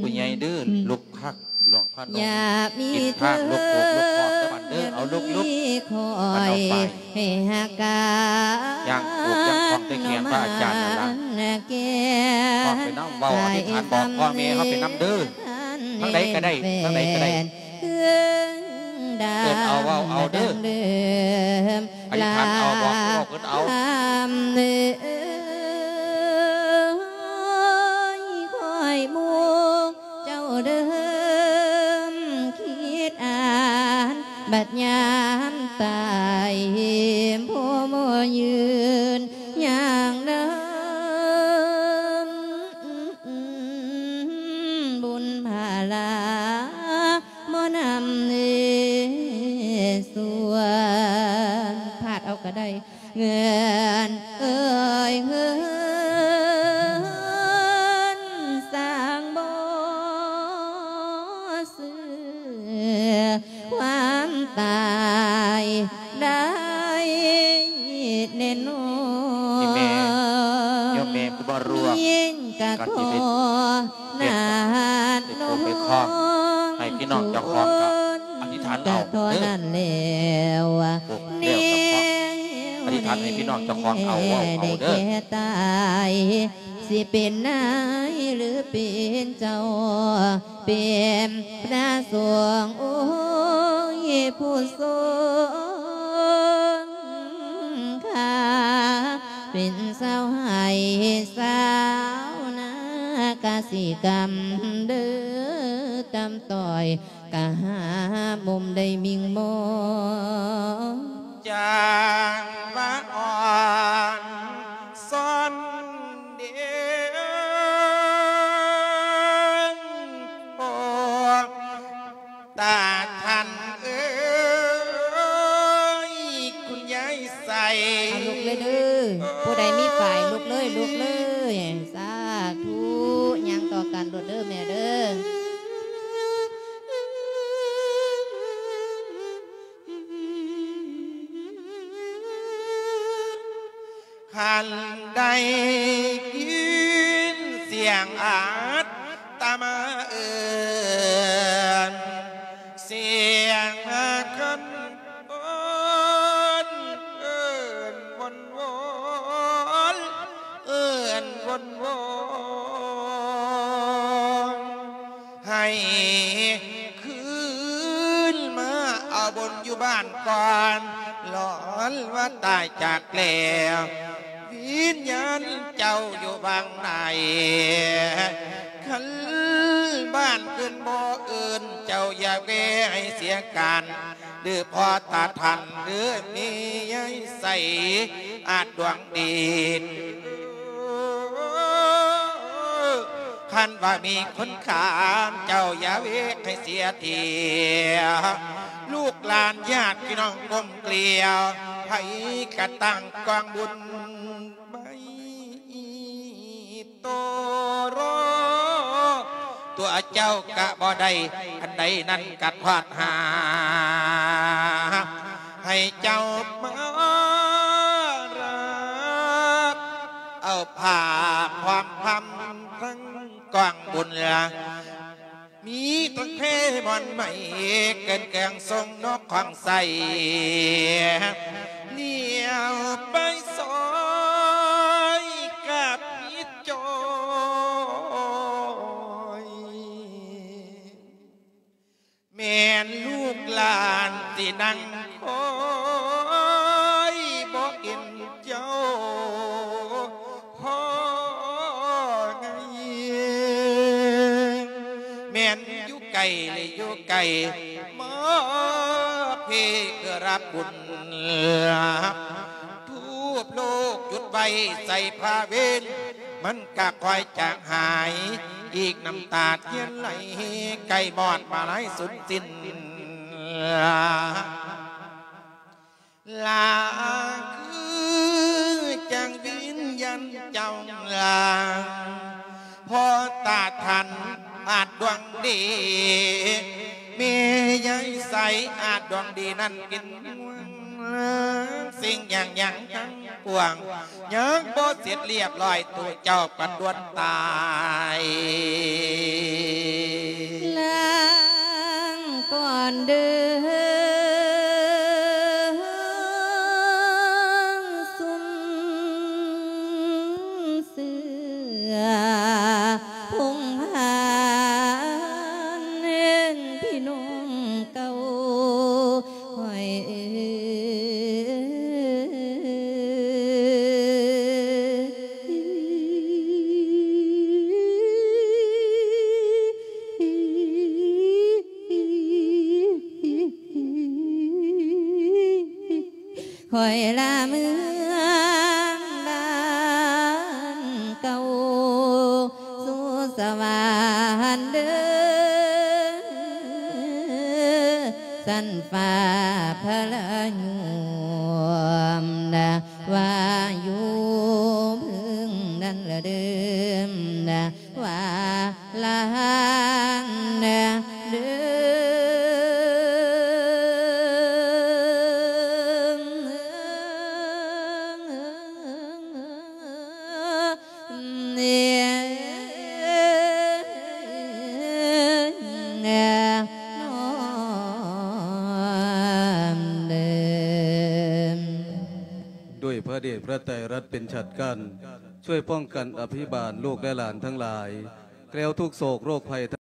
ຜູ້ໃຫຍ່ເດີ ລຸກ ຄັກ ຫຼວງພະນົມ ຍາມີ ກິນທານ ເທີນ ລຸກໂອກລຸກຫ້ອມເດີບັດເດີ ເອົາລຸກໆ ມີຄອຍ ເອົາໄປ ໃຫ້ຫາກາ ຍ່າງໂອກຍ່າງຂອງແຕ່ແຂນພະອາຈານນັ້ນລະ ແກ້ ພ້ອມໄປນຳເວົ້າອະທິຖານບອກພໍ່ແມ່ເຮົາໄປນຳເດີ ທາງໃດກໍໄດ້ ທາງໃດກໍໄດ້ ເອີ້ນເອົາເວົ້າເອົາເດີ ອະທິຖານເອົາບອກເຂົາເວົ້າເພິ່ນເອົາ ເອີ ຄອຍໝູ່ເຈົ້າເດີ ຄິດອ່ານ ບັດຍາມຕາຍ ຜູ້ບໍ່ຢືນຍ່າງນຳ ບຸນພາລາ ໝໍນຳເນສວນ ພາດເອົາກໍໄດ້ ເງິນເອີຍເງິນ ສ້າງບໍ່ເຊື່ອຄວາມຕາຍໄດ້ແນ່ນອນ ອີແມ່ ໂຍມແມ່ຜູ້ບໍ່ລວກ ຍິ່ງກະຂໍ ເຮັດ ເຮັດເປັນຜູ້ເປັນຂອງໃຫ້ພີ່ນ້ອງເຈົ້າຂອງກໍອະທິຖານເອົາເດີ ເອີ ແລ້ວ ແລ້ວກໍຂໍອະທິຖານໃຫ້ພີ່ນ້ອງເຈົ້າຂອງເອົາ ເວົ້າເອົາເດີ ໄດ້ແກ່ຕາຍ ຊິເປັນນາຍຫຼືເປັນເຈົ້າ ເປັນພະສົງ ໂອ້ຍ ຜູ້ຊົງຄ່າ ເປັນຊາວໄຮ່ຊາວນາ ກະສິກຳເດີ ກຳຕ້ອຍ ກະຫາມຸມໄດ້ມິ່ງມອງ ຈາງວ່າອ່ອນຊອນເດ ພວກ ຕາທ່ານເອີຍ ຄຸນຍາຍໃສ ເອົາລຸກເລີຍເດີ ຜູ້ໃດມີຝ້າຍລຸກເລີຍ ລຸກເລີຍ ສາທຸ ຍ່າງຕໍ່ກັນໂລດເດີແມ່ເດີ ຄັນໄດ້ຍິນສຽງອາດຕະມາເອີ້ນ ສຽງຄັນໂອນ ເອີ້ນວົນວອນ ເອີ້ນວົນວອນ ໃຫ້ຄືນມາເອົາບຸນຢູ່ບ້ານກ່ອນ ຫຼອນວ່າຕາຍຈາກແລ້ວ ວິນຍານເຈົ້າຢູ່ຫວ່າງໃດ ຄັນບ້ານອື່ນບໍ່ເອີ້ນເຈົ້າ ຢ່າແວ່ໃຫ້ເສຍການ ຫຼືພໍ່ຕາທ່ານ ຫຼືແມ່ຍາຍໃສ ອາດດວງດີ ຄັນວ່າມີຄົນຂ້າມ ເຈົ້າຢ່າເວກໃຫ້ເສຍທີ ລູກຫຼານຍາດພີ່ນ້ອງກົ້ມເກລ້ຽວ ໃຜກະຕັ້ງກອງບຸນໄວ້ ໂຕໂຣ ຕົວເຈົ້າກະບໍ່ໄດ້ ອັນໃດນັ້ນກະທອດຫາ ໃຫ້ເຈົ້າມາຮັບເອົາຜ້າພ້ອມຄຳທັງກອງບຸນລະ ມີທັງເພໝອນໄມ້ ເກີນເຄື່ອງຊົງນົກຂອງໃຊ້ ລຽວໄປຊອຍກັບມິດຈອຍ ແມ່ນລູກຫຼານຊິນັ່ງຄອຍ ບໍ່ເຫັນເຈົ້າພໍໄງ ແມ່ນຢູ່ໄກ ຫຼື ຢູ່ໃກ້ ມາເພຄືຮັບບຸນ ທູບໂລກຈຸດໄວ້ໃສ່ພະເວນ ມັນກະຄ່ອຍຈາງຫາຍ ອີກນ້ຳຕາທຽນໄຫຼ ໃກ້ມອດມາລາຍສຸດສິ້ນ ລາຄືຈັ່ງວິນຍານເຈົ້າລາ ພໍຕາທັນອາດດວງດີ ແມ່ຍາຍໃສອາດດວງດີນັ້ນເປັນຫ່ວງ ສິ່ງຫຍັງຫຍັງທັງປວງ ຍັງບໍ່ເສັດລຽບຮ້ອຍ ໂຕເຈົ້າກໍດ່ວນຕາຍ ລາງກ່ອນເດີ ຊຸມເສືອ ພົງພານ ເອີ້ນພີ່ນ້ອງເກົ່າຂ້ອຍເອີຍ ຂ້ອຍລາເມືອງບ້ານເກົ່າ ສູ່ສະຫວັນເດີ ຊັ້ນຟ້າພະລະຍວມ ວ່າຢູ່ເພິງນັ້ນລະເດີ ວ່າລະຫັນເດີ ດ້ວຍພະເດດພະໄຕລັດເປັນຊາດການ ຊ່ວຍປ້ອງກັນອະພິບານລູກແລະຫຼານທັງຫຼາຍ ແຄล้วທຸກໂສກໂລກໄພ